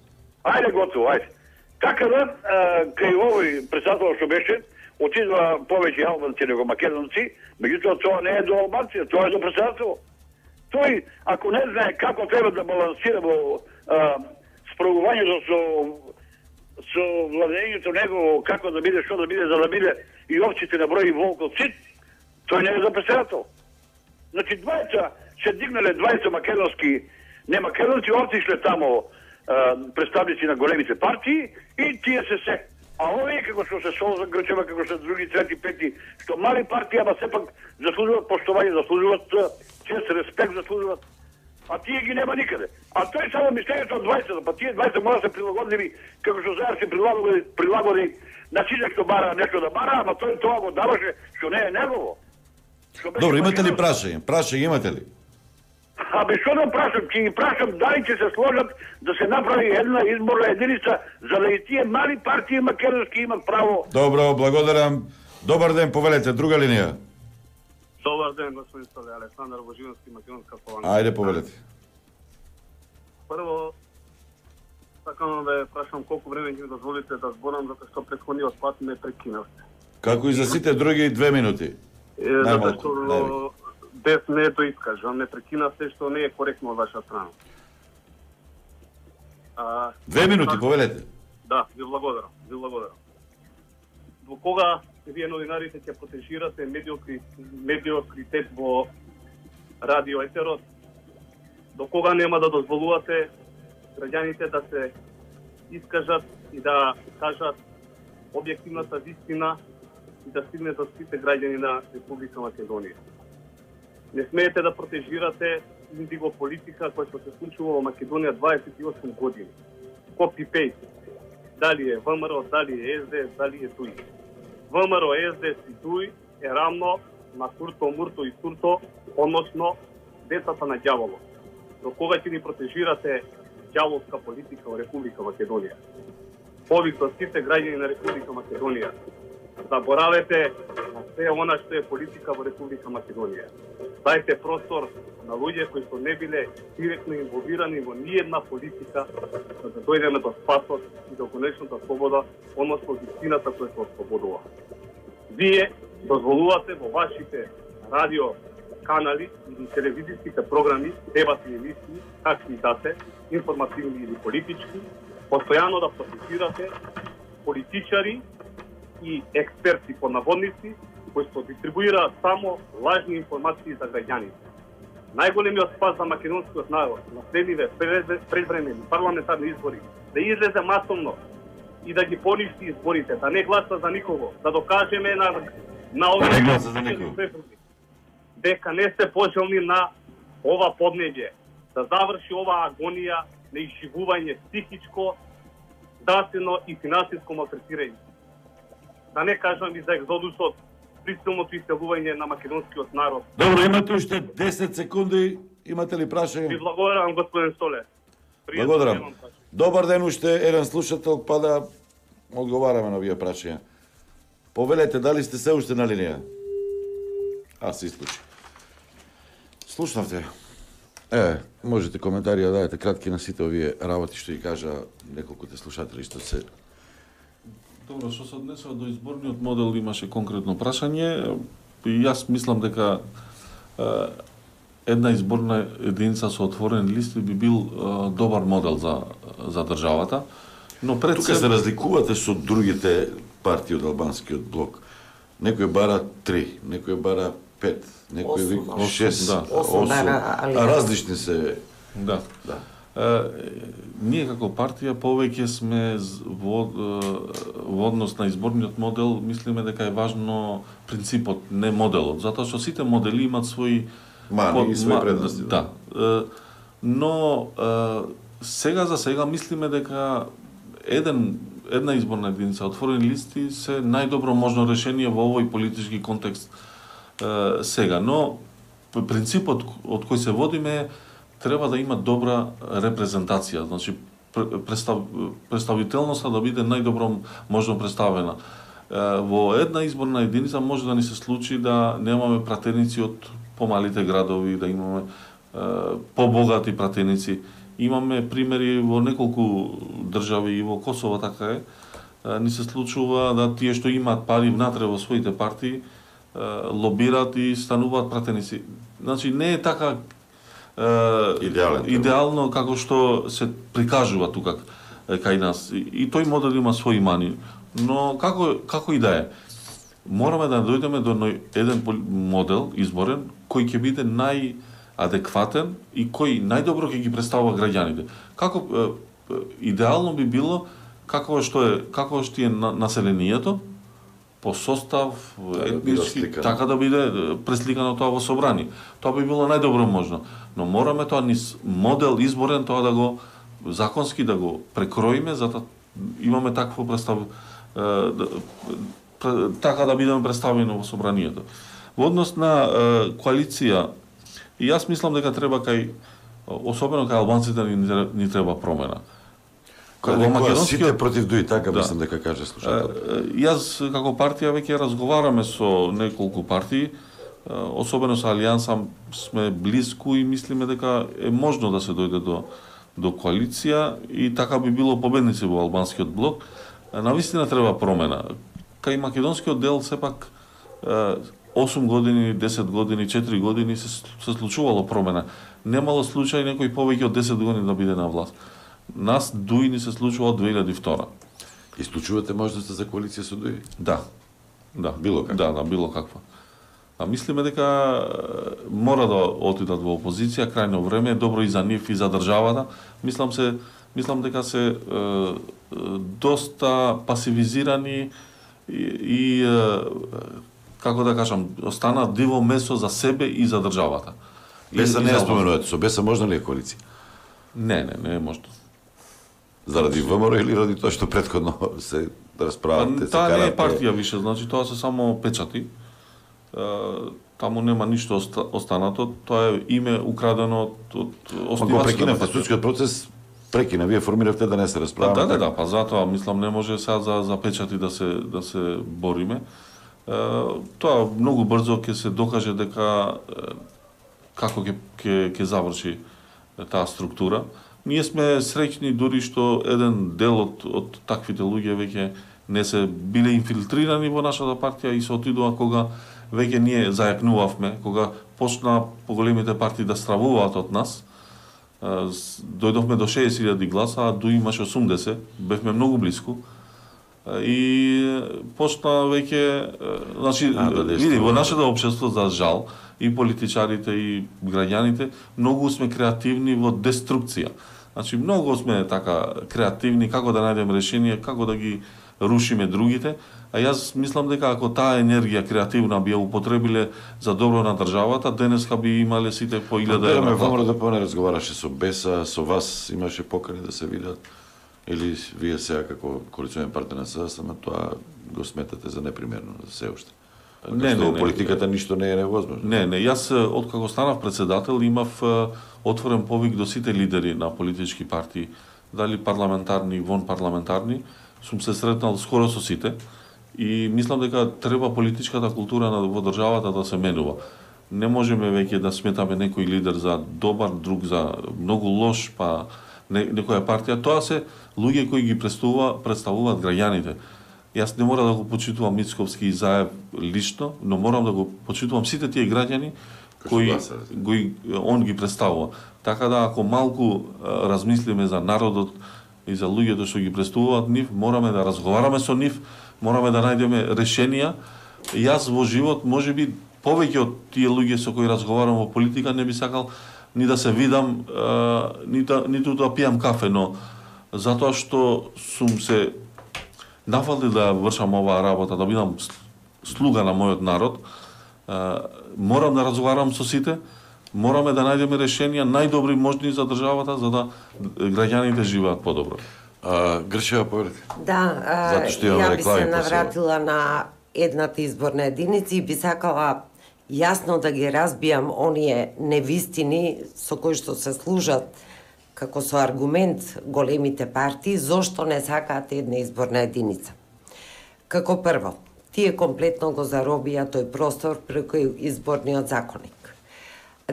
S9: Ајде готово, ајде. Така да, кај овој председател што беше, отидува повеќе албанци него македонци, меѓутоа тоа не е до албанци, тоа е до председател. Тој, ако не знае како треба да балансира во справувањето со со владењето него, како да биде, што да биде, за да биде и овците на број и волкот сит, тој не е за председател. Значи, двајца се дигнале двајца македонски, не македонци, отишле тамо представници на големите партии и тие се се. А овие како што се Солза Грчева, како што други, трети, пети, што мали партии, ама сепак заслужуваат поштовање, заслужуваат чест, респект, заслужуваат. А тие ги нема никаде. А тој само мислењето од двајца, па тие двајца мора да се прилагодливи, како што заедно се прилагоди, прилагоди на сите што бара нешто да бара, ама тој тоа го даваше што не е негово.
S2: Добро, имате ли прашање? Прашање имате ли?
S9: Абе, што да прашам? Ќе ги прашам дали ќе се сложат да се направи една изборна единица, за да и тие мали партии македонски имат право.
S2: Добро, благодарам. Добар ден, повелете, друга линија.
S10: Добар Добар ден, господин Столе, Александар Божиновски, Македонска Поланка.
S2: Ајде, повелете.
S10: Прво, сакам да ве прашам колку време ќе ми дозволите да зборам, затоа што претходниот пат ме прекинавте.
S2: Како и за сите други две минути.
S10: Е, затоа што без не то искажам, ме прекинавте што не е коректно од ваша страна. А,
S2: Две минути, повелете.
S10: Да, ви благодарам, ви благодарам. До кога вие новинарите ќе протежирате медиокри, медиокритет во радио етерот? До кога нема да дозволувате граѓаните да се искажат и да кажат објективната вистина и да стигне до сите граѓани на Република Македонија? Не смеете да протежирате индигополитика која што се случува во Македонија дваесет и осум години. Копи-пейст. Дали е ВМРО, дали е ес де ес, дали е ДУИ. ВМРО, ес де ес и ДУИ е рамно на Курто, Мурто и Турто, односно децата на ѓаволот. До кога ќе ни протежирате ѓаволска политика во Република Македонија? Повик до сите граѓани на Република Македонија. Заборавете на се она што е политика во Република Македонија. Дајте простор на луѓе кои што не биле директно инволвирани во ниедна политика, за да дојдеме до спасот и до конечната слобода, односно вистината која се ослободува. Вие дозволувате во вашите радио канали или телевизиските програми, дебати и емисии, какви и да се, информативни или политички, постојано да протестирате политичари и експерти по наводници, кои што дистрибуираат само лажни информации за граѓаните. Најголемиот спас за македонскиот народ на следниве предвремени парламентарни избори да излезе масовно и да ги поништи изборите, да не гласа за никого, да докажеме на на овие дека не сте пожелни на ова поднебје, да заврши оваа агонија на изживување психичко, здравствено и финансиско малтретирање. Да не кажам и за екзодусот, присилното иселување на македонскиот народ.
S2: Добро, имате уште десет секунди. Имате ли прашање?
S10: Ви благодарам, господин Столе. Пријатно.
S2: Благодарам. Добар ден, уште еден слушател, па да одговараме на овие прашања. Повелете, дали сте се уште на линија? А, се исклучи. Слушнавте. Е, можете коментари да дадете кратки на сите овие работи што ги кажа неколкуте слушатели што се.
S3: Добро, што се однесува до изборниот модел, имаше конкретно прашање. И јас мислам дека е, една изборна единица со отворени листи би бил е, добар модел за за државата. Но пред
S2: тука се разликувате со другите партии од албанскиот блок. Некој бара три, некој бара пет, некој вика шест,
S3: да.
S2: осум, а различни се.
S3: Да. Да. Е, ние како партија повеќе сме во, во однос на изборниот модел, мислиме дека е важно принципот, не моделот, затоа што сите модели имаат своји
S2: мани под, и своји предности.
S3: Да. да. Е, но е, сега за сега мислиме дека еден една изборна единица отворени листи се најдобро можно решение во овој политички контекст е, сега, но принципот од кој се водиме треба да има добра репрезентација, значи представ, представителноста да биде најдобро можно представена. Во една изборна единица може да ни се случи да немаме пратеници од помалите градови, да имаме побогати пратеници. Имаме примери во неколку држави и во Косово така е. Ни се случува да тие што имаат пари внатре во своите партии лобираат и стануваат пратеници. Значи не е така
S2: Идеален,
S3: идеално како што се прикажува тука кај нас. И тој модел има своји мани. Но како како и да е, мораме да дојдеме до еден модел изборен кој ќе биде најадекватен и кој најдобро ќе ги представува граѓаните. Како идеално би било како што е како што е населението по состав, етнички, да така да биде пресликано тоа во собрание. Тоа би било најдобро можно. Но мораме тоа низ модел изборен тоа да го законски да го прекроиме, за да имаме такво представ да, така да бидеме представени во собранието. Во однос на коалиција, и јас мислам дека треба кај особено кај албанците ни, ни треба промена.
S2: Во македонскиот сите против ДУИ, така да. Мислам дека каже слушател.
S3: Јас како партија веќе разговараме со неколку партии особено со Алијанса сме близко и мислиме дека е можно да се дојде до до коалиција и така би било победници во албанскиот блок. Навистина треба промена. Кај македонскиот дел сепак осум години, десет години, четири години се, се случувало промена. Немало случај некој повеќе од десет години да биде на власт. Нас ДУИ ни се случува од две илјади и втора.
S2: Исклучувате можноста за коалиција со ДУИ?
S3: Да. Да.
S2: Било каква?
S3: Да, да, било каква. А мислиме дека мора да отидат во опозиција, крајно време е добро и за нив и за државата. Мислам се, мислам дека се е, доста пасивизирани и, и е, како да кажам, останаа диво место за себе и за државата.
S2: Беса не ја споменувате, со Беса можна ли е коалиција?
S3: Не, не, не е можно.
S2: Заради ВМРО или ради тоа што претходно се расправат, се
S3: Таа не е
S2: карате?
S3: партија више, значи тоа се само печати. Таму нема ништо останато, тоа е име украдено од, од
S2: оснивачите. Ако прекинавте судскиот процес, прекина, вие формиравте да не се расправаме.
S3: Да, да, да, па затоа мислам не може сега за за печати да се да се бориме. Тоа многу брзо ќе се докаже дека како ќе ќе ќе заврши таа структура. Ние сме среќни дури што еден дел од од таквите луѓе веќе не се биле инфилтрирани во нашата партија и се отидува кога веќе ние зајакнувавме, кога почна поголемите партии да стравуваат од нас. Дојдовме до шеесет илјади гласа, а ДУИ имаше осумдесет, бевме многу близко. И почна веќе, значи, а, да, види, во нашето општество, за жал, и политичарите, и граѓаните, многу сме креативни во деструкција. Значи, многу сме така креативни, како да најдеме решение, како да ги рушиме другите, а јас мислам дека ако таа енергија креативна би ја употребиле за добро на државата, денеска би имале сите по илјада евра.
S2: Во мора да поне разговараше со Беса, со вас имаше покани да се видат, или вие сега како коалиционен партнер на СДСМ, тоа го сметате за непримерно за се уште?
S3: Не, не,
S2: не, политиката ништо не е невозможно.
S3: Не, не, јас откако станав председател имав отворен повик до сите лидери на политички партии, дали парламентарни, вон парламентарни, сум се сретнал скоро со сите и мислам дека треба политичката култура во државата да се менува. Не можеме веќе да сметаме некој лидер за добар, друг за многу лош, па не, некоја партија. Тоа се луѓе кои ги представува, представуваат граѓаните. Јас не мора да го почитувам Мицковски и Заев лично, но морам да го почитувам сите тие граѓани кои, кои он ги представува. Така да ако малку а, размислиме за народот и за луѓето што ги представуваат нив, мораме да разговараме со нив, мораме да најдеме решенија. Јас во живот, можеби повеќе од тие луѓе со кои разговарам во политика, не би сакал ни да се видам, а, ни да, ниту да пијам кафе, но затоа што сум се нафалил да вршам оваа работа, да бидам слуга на мојот народ, а, морам да разговарам со сите, мораме да најдеме решенија најдобри можни за државата, за да граѓаните живеат подобро.
S2: А, Гршева, поведете.
S1: Да, а, ја би се навратила на едната изборна единица и би сакала јасно да ги разбијам оние невистини со кои што се служат како со аргумент големите партии, зошто не сакаат една изборна единица. Како прво, тие комплетно го заробија тој простор преку изборниот законник.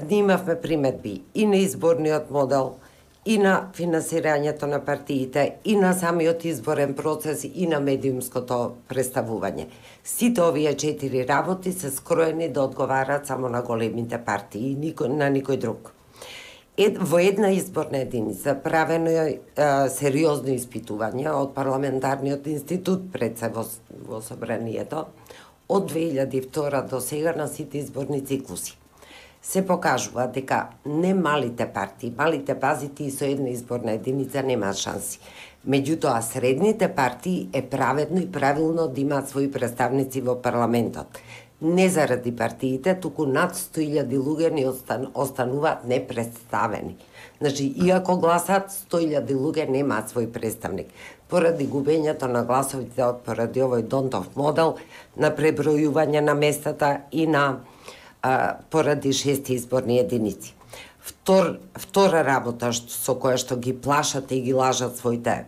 S1: Ние имавме приметби и на изборниот модел, и на финансирањето на партиите, и на самиот изборен процес, и на медиумското представување. Сите овие четири работи се скроени да одговарат само на големите партии и никој, на никој друг. Ед, во една изборна единица правено е сериозно испитување од парламентарниот институт пред се во, во собранието од две илјади и втора до сега на сите изборни циклуси. Се покажува дека не малите партии, малите базити и со една изборна единица немаат шанси. Меѓутоа, средните партии е праведно и правилно да имаат своји представници во парламентот. Не заради партиите, туку над сто илјади луѓе не остан, остануваат непредставени. Значи, иако гласат, сто илјади луѓе немаат свој представник. Поради губењето на гласовите од поради овој Донтов модел, на пребројување на местата и на а, поради шести изборни единици. Втор, втора работа што, со која што ги плашат и ги лажат своите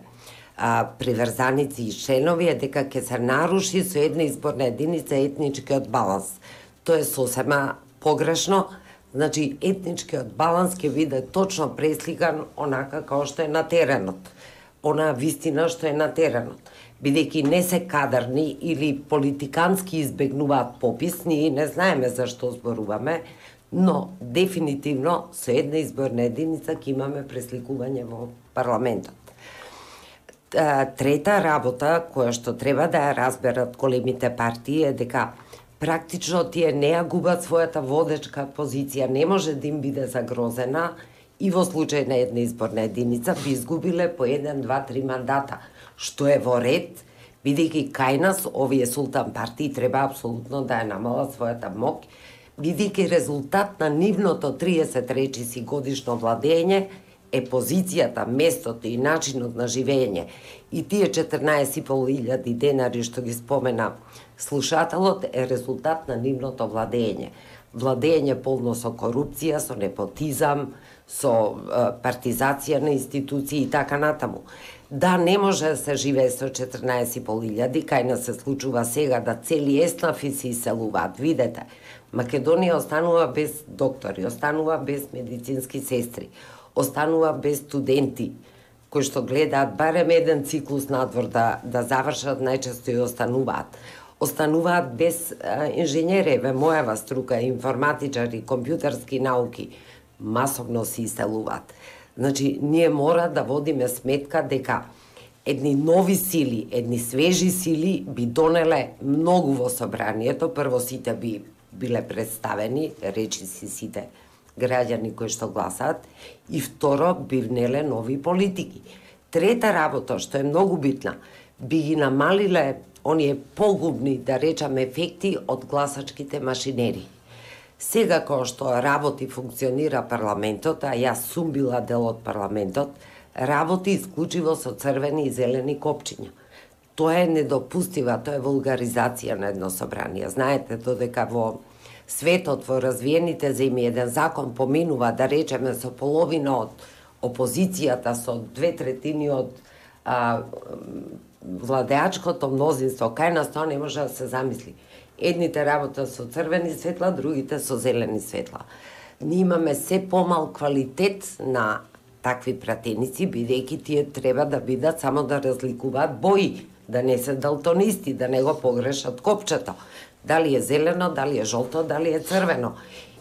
S1: а, приврзаници и членови е дека ќе се наруши со една изборна единица етничкиот баланс. Тоа е сосема погрешно. Значи, етничкиот баланс ќе биде точно пресликан онака како што е на теренот. Онаа вистина што е на теренот. Бидејќи не се кадарни или политикански избегнуваат попис, ние не знаеме за што зборуваме, но дефинитивно со една изборна единица ќе имаме пресликување во парламентот. Трета работа која што треба да ја разберат големите партии е дека практично тие не ја губат својата водечка позиција, не може да им биде загрозена и во случај на една изборна единица би изгубиле по еден, два, три мандата, што е во ред, бидејќи кај нас овие султан партии треба апсолутно да ја намалат својата моќ, бидејќи резултат на нивното триесет речиси годишно владење е позицијата, местото и начинот на живење. И тие четрнаесет и пол илјади денари што ги спомена слушателот е резултат на нивното владење. Владење полно со корупција, со непотизам, со партизација на институции и така натаму. Да, не може да се живее со четрнаесет и пол илјади, кај нас се случува сега да цели еснафи се иселуваат. Видете, Македонија останува без доктори, останува без медицински сестри, останува без студенти кои што гледаат барем еден циклус надвор да, да завршат, најчесто и остануваат. Остануваат без а, инженери, ве мојава струка, информатичари, компјутерски науки, масовно се иселуваат. Значи, ние мора да водиме сметка дека едни нови сили, едни свежи сили би донеле многу во собранието. Прво сите би биле представени, речи си сите граѓани кои што гласаат, и второ би внеле нови политики. Трета работа, што е многу битна, би ги намалиле оние погубни, да речам, ефекти од гласачките машинери. Сега кога што работи, функционира парламентот, а јас сум била дел од парламентот, работи исклучиво со црвени и зелени копчиња. Тоа е недопустива, тоа е вулгаризација на едно собрание. Знаете, додека во светот, во развиените земји, еден закон поминува, да речеме, со половина од опозицијата, со две третини од а, владеачкото мнозинство, кај нас тоа не може да се замисли. Едните работа со црвени светла, другите со зелени светла. Ние имаме се помал квалитет на такви пратеници, бидејќи тие треба да бидат само да разликуваат бои, да не се далтонисти, да не го погрешат копчето. Дали е зелено, дали е жолто, дали е црвено.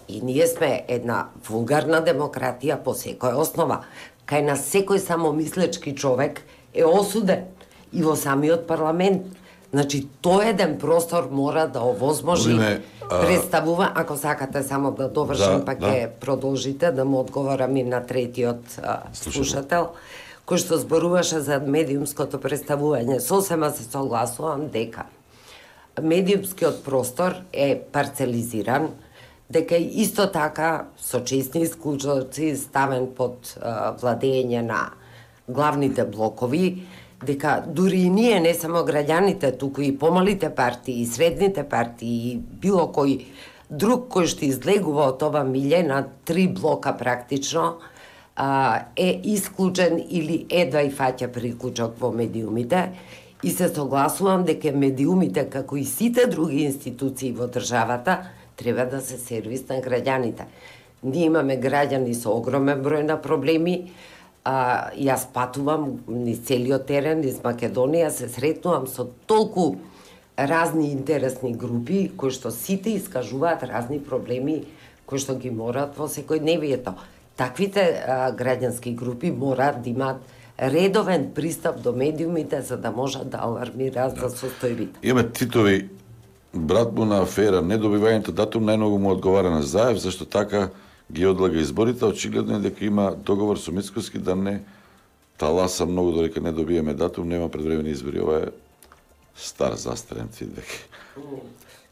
S1: И ние сме една вулгарна демократија по секоја основа. Кај нас секој самомислечки човек е осуден и во самиот парламент. Значи, тој еден простор мора да овозможи а... представува, ако сакате само да довршам, да, па ќе да. Продолжите да му одговорам и на третиот а, слушател, кој што зборуваше за медиумското представување. Сосема се согласувам дека медиумскиот простор е парцелизиран, дека исто така со честни исклучоци ставен под а, владење на главните блокови, дека дури и ние, не само граѓаните, туку и помалите партии, и средните партии, и било кој друг кој што излегува од ова милје на три блока практично, а, е исклучен или едва и фаќа приклучок во медиумите. И се согласувам дека медиумите, како и сите други институции во државата, треба да се сервис на граѓаните. Ние имаме граѓани со огромен број на проблеми. А, јас патувам низ целиот терен, низ Македонија, се сретнувам со толку разни интересни групи, кои што сите искажуваат разни проблеми, кои што ги морат во секојдневието. Таквите а, граѓански групи мораат да имаат редовен пристап до медиумите, за да можат да алармираат да. За состојбите.
S2: Имаме Титови, брат му на афера, недобивањето датум најмногу му одговара на Заев, зашто така ги одлага изборите. Очигледно е дека има договор со Мицкоски да не таласа многу, додека не добиеме датум, нема предвремени избори. Ова е стар застарен твит.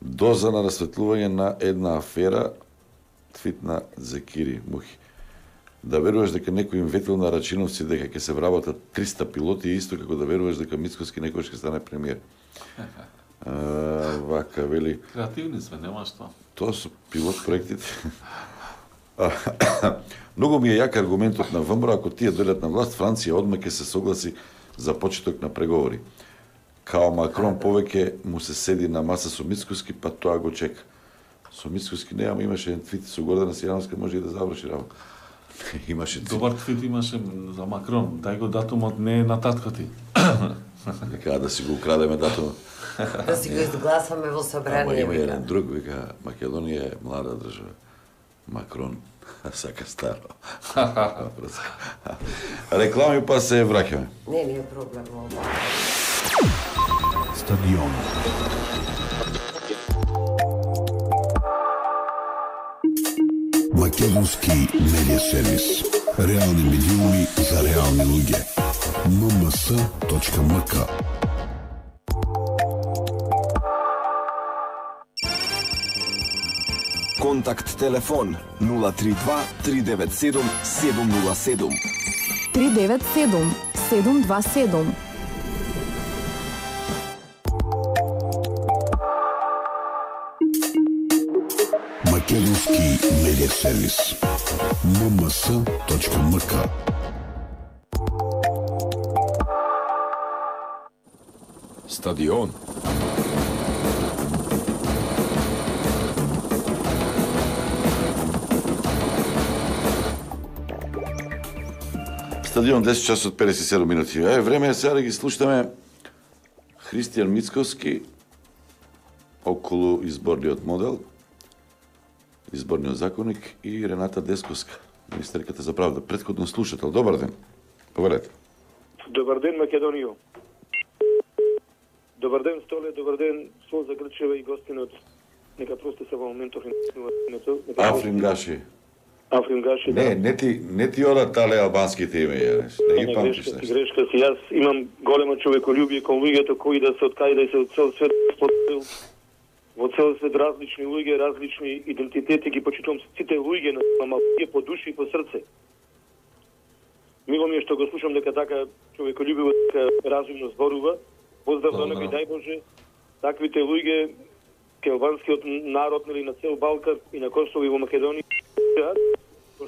S2: Доза на расветлување на една афера, твит на Зекири Мухи. Да веруваш дека некој им ветил на Рачиновци дека ќе се вработат триста пилоти, исто како да веруваш дека Мицкоски некој ќе стане премиер. А, вака вели.
S3: Креативни сме, нема што.
S2: Тоа се пилот проектите. Многу ми е јак аргументот на ВМРО, ако тие дојдат на власт, Франција одма ќе се согласи за почеток на преговори. Као Макрон повеќе му се седи на маса со Мицкоски, па тоа го чека. Со Мицкоски не, ама имаше еден твит со Гордана Сијановска, може и да заврши работа. Имаше твит.
S3: Добар твит имаше за Макрон. Дај го датумот, не е на татко ти.
S2: Вика да си го украдеме датумот.
S1: Да си го изгласаме во собрание.
S2: Ама има еден друг, вика, Македонија е млада држава. Макрон сака старо. Реклами па се враќаме.
S1: Не, не е проблем ова.
S5: Стадион. Македонски медиа сервис. Реални медиуми за реални луѓе. ем ем ес точка ем ка.
S11: Контакт телефон нула три два три девет седум седум нула седум.
S7: три девет седум седум два седум.
S5: Македонски медиа сервис. ем ем ес точка ем ка.
S11: Стадион.
S2: Стадион десет часот педесет и седум минути. Е, време е сега да ги слушаме Христијан Мицковски околу изборниот модел, изборниот законник и Рената Десковска, министерката за правда. Претходно слушател. Добар ден. Повелете.
S12: Добар ден, Македонијо. Добар ден, Столе, добар ден, Солза Грчева и гостинот. Нека прости се во моментов името.
S2: Африм Гаши.
S12: Африм Гаши,
S2: Не,
S12: да.
S2: не ти, не ти ода тале албанските име, јанеш. Не ги памтиш
S12: Грешка си,
S2: нешто.
S12: грешка си. Јас имам големо човеколюбие кон луѓето кои да се откај да се од цел свет споделил. Во цел свет различни луѓе, различни идентитети ги почитувам сите луѓе на малке по душа и по срце. Мило ми е што го слушам дека така човеколюбиво, така разумно зборува. Поздрав до него и дај Боже таквите луѓе, келванскиот народ или на цел Балкан и на Косово и во Македонија,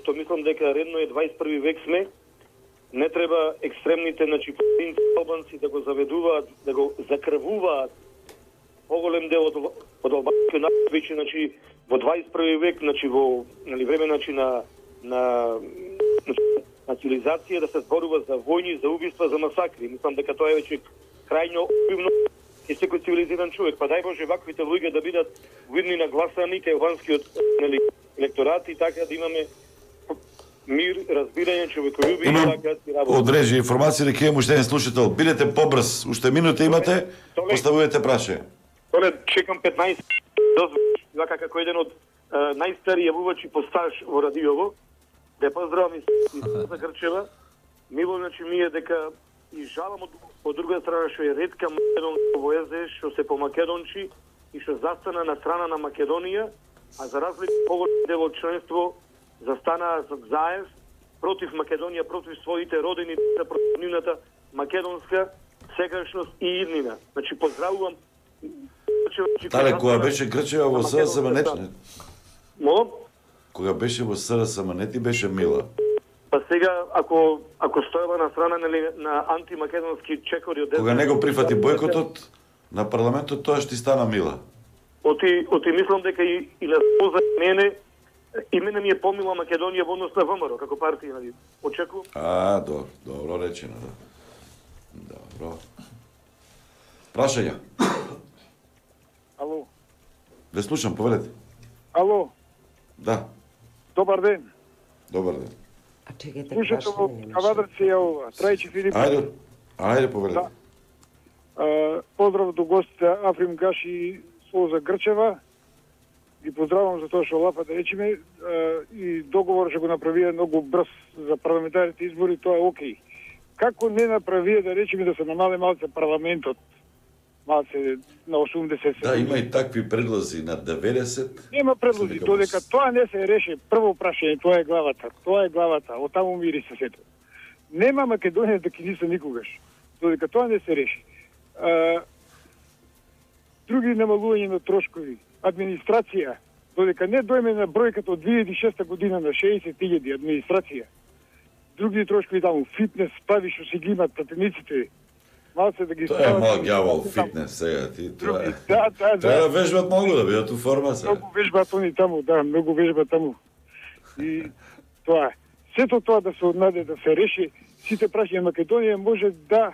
S12: што мислам дека редно е дваесет и први век сме, не треба екстремните, значи, поединци албанци да го заведуваат, да го закрвуваат поголем дел од, од албанскиот народ, веќе, значи, во дваесет и први век, значи, во, нали, време, значи, на, на, на цивилизација да се зборува за војни, за убиства, за масакри. Мислам дека тоа е веќе крајно обивно и секој цивилизиран човек. Па дај Боже ваквите луѓе да бидат видни на гласани кај албанскиот, нали, електорат и така да имаме мир, разбирање, човеколюбие и така си работа.
S2: Одрежи информација дека имам уште еден слушател. Бидете побрз, уште минута имате, поставувате праше.
S12: Толе, чекам петнаесет дозволиш, вака како еден од uh, најстари јавувачи по стаж во радиово, да поздравам и за Грчева. Мило, значи, ми е дека и жалам од, од друга страна што е ретка македонска во ЕЗ, што се по македончи и што застана на страна на Македонија, а за разлика поголем дел од членство застанаа заев против Македонија, против своите родини, против нивната македонска сегашност и иднина. Значи поздравувам.
S2: Тале, кога беше Грчева во СДСМ не...
S12: Молам?
S2: Кога беше во СДСМ не ти беше мила.
S12: Па сега, ако, ако стоева на страна нали, на антимакедонски чекори од...
S2: Кога не го прифати бойкотот на парламентот, тоа што ти стана мила.
S12: Оти, оти мислам дека и, и на поза мене, и мене ми е помила Македонија во однос на ВМРО, како партија, нали? Очекувам.
S2: А, добро, добро речено, да. Добро. Прашања.
S13: Ало.
S2: Ве слушам, повелете.
S13: Ало.
S2: Да.
S13: Добар ден.
S2: Добар ден.
S1: А чекайте,
S13: Слушате во Кавадарци е ова, Трајчи Филип.
S2: Ајде, ајде повелете.
S13: Да. А, поздрав до гостите Африм Гаши и Солза Грчева. Ги поздравам за тоа што лапа да речеме и договор што го направија многу брз за парламентарните избори, тоа е окей. Како не направија да речеме да се намале малце парламентот, малце на осумдесет?
S2: Да, има и такви предлози на деветдесет.
S13: Нема предлози, додека тоа не се реше, прво прашање, тоа е главата, тоа е главата, од таму мири се сето. Нема Македонија да ки ниса никогаш, додека тоа не се реши. А, други намалување на трошкови, администрација, додека не дојме на бројката од две илјади и шеста година на шеесет илјади администрација, други трошкови таму, фитнес, спави што си ги имат пратениците, малце да ги
S2: Тоа е мал ѓавол фитнес сега ти тоа. е-
S13: Да, да, да.
S2: Треба да вежбат многу да бидат у форма сега.
S13: Многу вежбат они таму, да, многу вежбат таму. И тоа е. Сето тоа да се однаде да се реши, сите прашања Македонија може да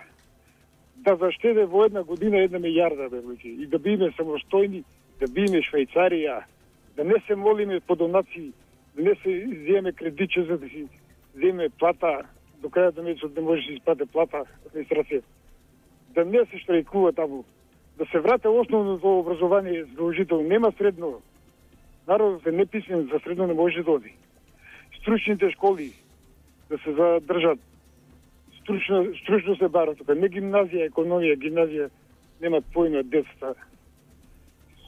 S13: да заштеде во една година една милијарда, бе, луѓе, и да биме самостојни, да биме Швајцарија, да не се молиме по донации, да не се земе кредиче за да си земе плата, до крајот на месецот не може да се исплате плата администрација, да не се штрајкува таму, да се врате основното образование задолжително, нема средно, народот е неписмен, за средно не може да оди. Стручните школи да се задржат, стручно, стручно се бара тука, не гимназија, економија, гимназија, немат појма децата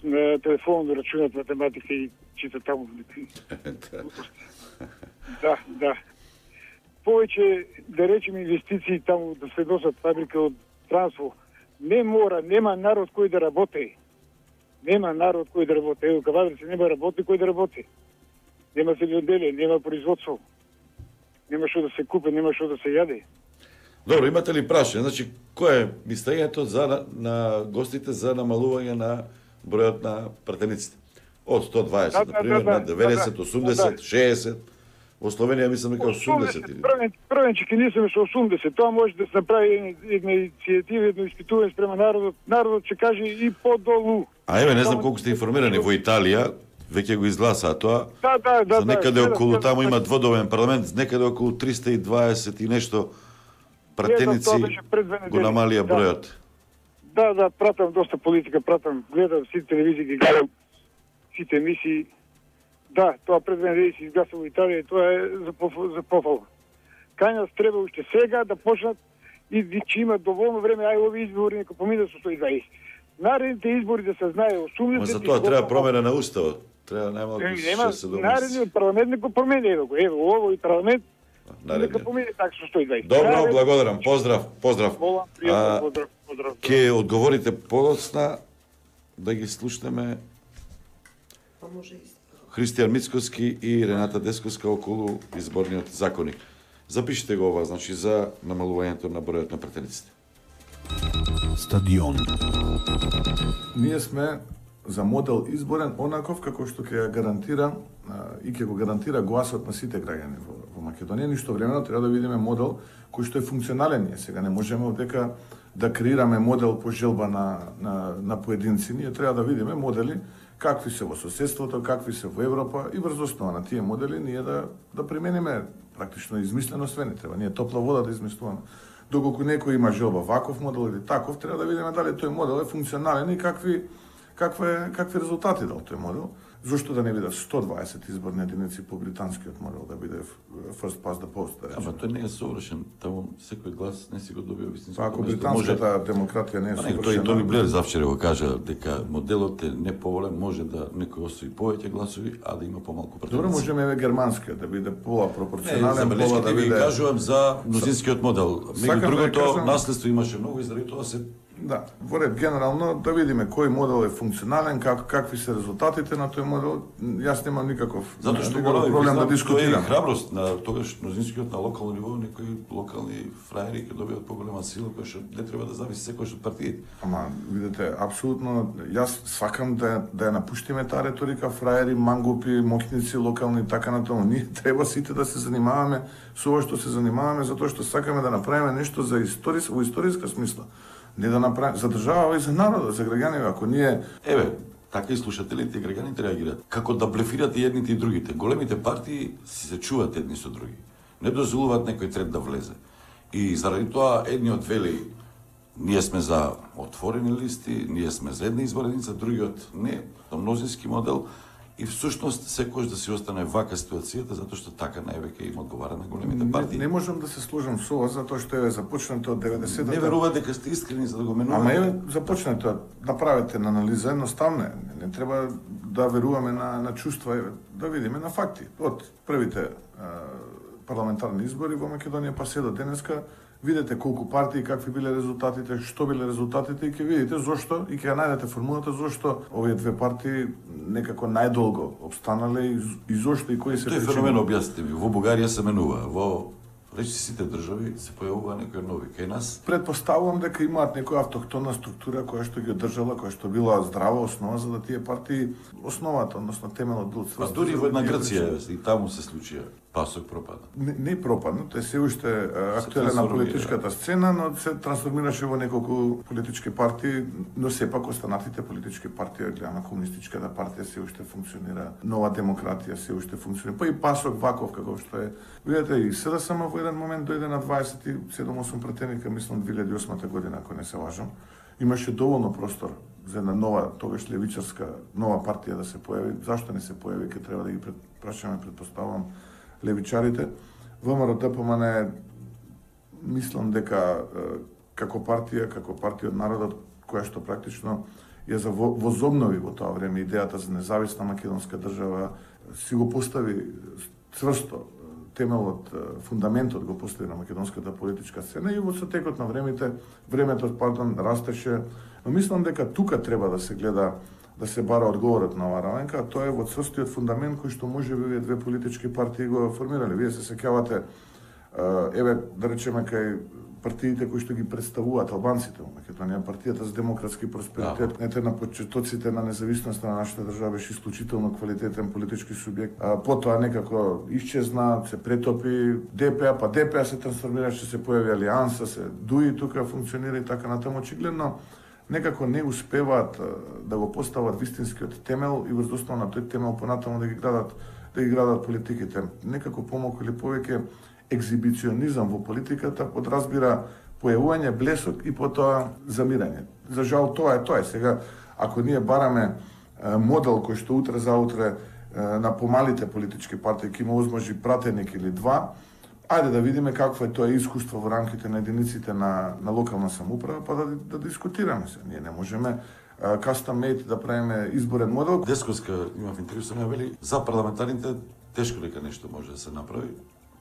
S13: на телефон да рачунат математика и читат таму. Да, да. Повеќе, да речем, инвестиции таму, да се носат фабрика од Трансфо. Не мора, нема народ кој да работи. Нема народ кој да работи. Ево, Кавадарци нема работи кој да работи. Нема земјоделие, нема производство. Нема што да се купи, нема што да се јаде.
S2: Добро, имате ли прашање? Значи, кој е мислењето за на, на гостите за намалување на бројот на пратениците? Од сто дваесет,
S13: Да, да,
S2: например,
S13: да,
S2: на
S13: да,
S2: деветдесет,
S13: да,
S2: осумдесет,
S13: да.
S2: шеесет. Во Словенија мислам дека осумдесет. или-
S13: Првен, првенче ке нисаме со осумдесет. Тоа може да се направи една, една иницијатива, едно испитување спрема народот. Народот ќе каже и подолу.
S2: А еве, не знам колку сте информирани, во Италија веќе го изгласаа тоа.
S13: Да, да, да.
S2: За некаде
S13: да,
S2: околу
S13: да,
S2: таму
S13: да,
S2: има дводобен парламент, некаде околу триста и дваесет и нешто пратеници
S13: тоа беше пред две
S2: го
S13: недели.
S2: намалија
S13: Да.
S2: бројот.
S13: Да, да, пратам доста политика, пратам, гледам сите телевизии, ги гледам сите емисии. Да, тоа пред две недели се изгласа во Италија и тоа е за, поф- за пофал. Кај нас треба уште сега да почнат и че има доволно време, ај овие избори нека поминат со сто и дваесет. Наредните избори да се знае осумдесет.
S2: Ма за тоа треба промена на уставот. Треба најмалку
S13: Е, Нема,
S2: шест седум
S13: наредниот парламент не го промени, ево го, ево, ово и парламент нека
S2: наредниот.
S13: помине така со сто и дваесет.
S2: Добро,
S13: Наред-
S2: благодарам. Поздрав, поздрав.
S13: Волам,
S2: А,
S13: пријатно, поздрав, поздрав.
S2: Ке одговорите подоцна да ги слушнеме
S1: Па може и
S2: Христијан Мицкоски и Рената Десковска околу изборниот законник. Запишете го ова, значи, за намалувањето на бројот на пратениците.
S5: Стадион.
S14: Ние сме за модел изборен онаков како што ќе ја гарантира а, и ќе го гарантира гласот на сите граѓани во, во Македонија. Ништо времено треба да видиме модел кој што е функционален. Ние сега не можеме дека да креираме модел по желба на, на, на поединци. Ние треба да видиме модели какви се во соседството, какви се во Европа и врз основа на тие модели ние да, да примениме практично измислено све. Не треба ние топла вода да измислуваме. Доколку некој има желба ваков модел или таков, треба да видиме дали тој модел е функционален и какви каква какви резултати дал тој модел. Зошто да не биде сто дваесет изборни единици по британскиот модел, да биде first past the post, да речеме.
S2: Ама тој не е совршен, таму секој глас не си го добива вистинско.
S14: Па ако британската демократија не е
S2: Тој
S14: совршена...
S2: Тони Блер завчера го кажа дека моделот е неповолен, може да некој освои повеќе гласови, а да има помалку пратеници.
S14: Добро, можеме еве германскиот да биде пола
S2: Не,
S14: пропорционален,
S2: за
S14: пола
S2: белешките
S14: да
S2: ви
S14: биде...
S2: кажувам за мнозинскиот модел.
S14: Сакам
S2: Меѓу
S14: да
S2: другото,
S14: кажам-
S2: наследство имаше многу и заради тоа се
S14: Да, во ред генерално да видиме кој модел е функционален, как, какви се резултатите на тој модел. Јас немам никаков,
S2: Затоа што
S14: никаков
S2: го
S14: проблем да
S2: Тоа е
S14: дискутирам.
S2: храброст на тогаш мнозинскиот на локално ниво, некои локални фраери ќе добијат поголема сила која што не треба да зависи секој од партиите.
S14: Ама, видите, апсолутно, јас сакам да, да ја напуштиме таа реторика, фраери, мангупи, мокници, локални, така на тоа. Ние треба сите да се занимаваме со ова што се занимаваме, затоа што сакаме да направиме нешто за историс, во историска смисла. Не да направиме за држава и за народот, за граѓаните, ако ние...
S2: Еве, така и слушателите и граѓаните реагираат. Како да блефират и едните и другите. Големите партии си се чуваат едни со други. Не дозволуваат некој трет да влезе. И заради тоа едниот вели ние сме за отворени листи, ние сме за една избореница, другиот не, на мнозински модел. И всушност секој да си остане вака ситуацијата, затоа што така највеќе им одговара на големите партии.
S14: Не, не можам да се сложам со ова, затоа што е започнато од деветдесетата.
S2: Не верува дека сте искрени за да го менувате.
S14: Ама еве започнато, направете на анализа едноставно, не, не треба да веруваме на, на чувства, еве, да видиме на факти. Од првите а, парламентарни избори во Македонија па се до денеска, видете колку партии, какви биле резултатите, што биле резултатите и ќе видите зошто и ќе ја најдете формулата зошто овие две партии некако најдолго обстанале и, и зошто и кои се
S2: Тој феномен објасните ми. Во Бугарија се менува, во речи сите држави се појавува некои нови. Кај нас
S14: Предпоставувам дека имаат некоја автохтона структура која што ги одржала, која што била здрава основа за да тие партии основата, односно темелот бил
S2: Па дури во една Грција и таму се случија. Пасок пропадна.
S14: Не, не пропадна, тој се уште актуелен на политичката сцена, но се трансформираше во неколку политички партии, но сепак останатите политички партии, гледаме комунистичката партија се уште функционира, Нова демократија се уште функционира, па и Пасок ваков како што е. Видете, и СДСМ во еден момент дојде на дваесет и седум осум пратеника, мислам две илјади и осма година, ако не се лажам. Имаше доволно простор за една нова, тогаш левичарска, нова партија да се појави. Зашто не се појави, ке треба да ги прашаме, предпоставам, левичарите. ВМРО-ДПМН мислам дека како партија, како партија од народот, која што практично ја возобнови во тоа време идејата за независна македонска држава, си го постави цврсто темелот, фундаментот го постави на македонската политичка сцена и во сотекот на времето, времето, пардон, растеше. Но мислам дека тука треба да се гледа, да се бара одговорот на оваа раменка, а тоа е во цврстиот фундамент кој што може би две политички партии го формирале. Вие се сеќавате, еве, да речеме, кај партиите кои што ги представуваат албанците во Македонија, партијата за демократски просперитет, ете на почетоците на независноста на нашата држава беше исклучително квалитетен политички субјект. А, потоа некако исчезна, се претопи ДПА, па ДПА се трансформираше, се појави Алијанса, се ДУИ тука функционира и така натаму. Очигледно некако не успеваат да го постават вистинскиот темел и врз основа на тој темел понатаму да ги градат, да ги градат политиките. Некако помалку или повеќе екзибиционизам во политиката подразбира појавување блесок и потоа замирање. За жал тоа е тоа. Сега, ако ние бараме модел кој што утре заутре на помалите политички партии ќе има возможи пратеник или два, ајде да видиме какво е тоа искуство во рамките на единиците на, на локална самоуправа, па да, да дискутираме се. Ние не можеме custom made да правиме изборен модел.
S2: Десковска имав интервју со неа, вели за парламентарните тешко дека нешто може да се направи,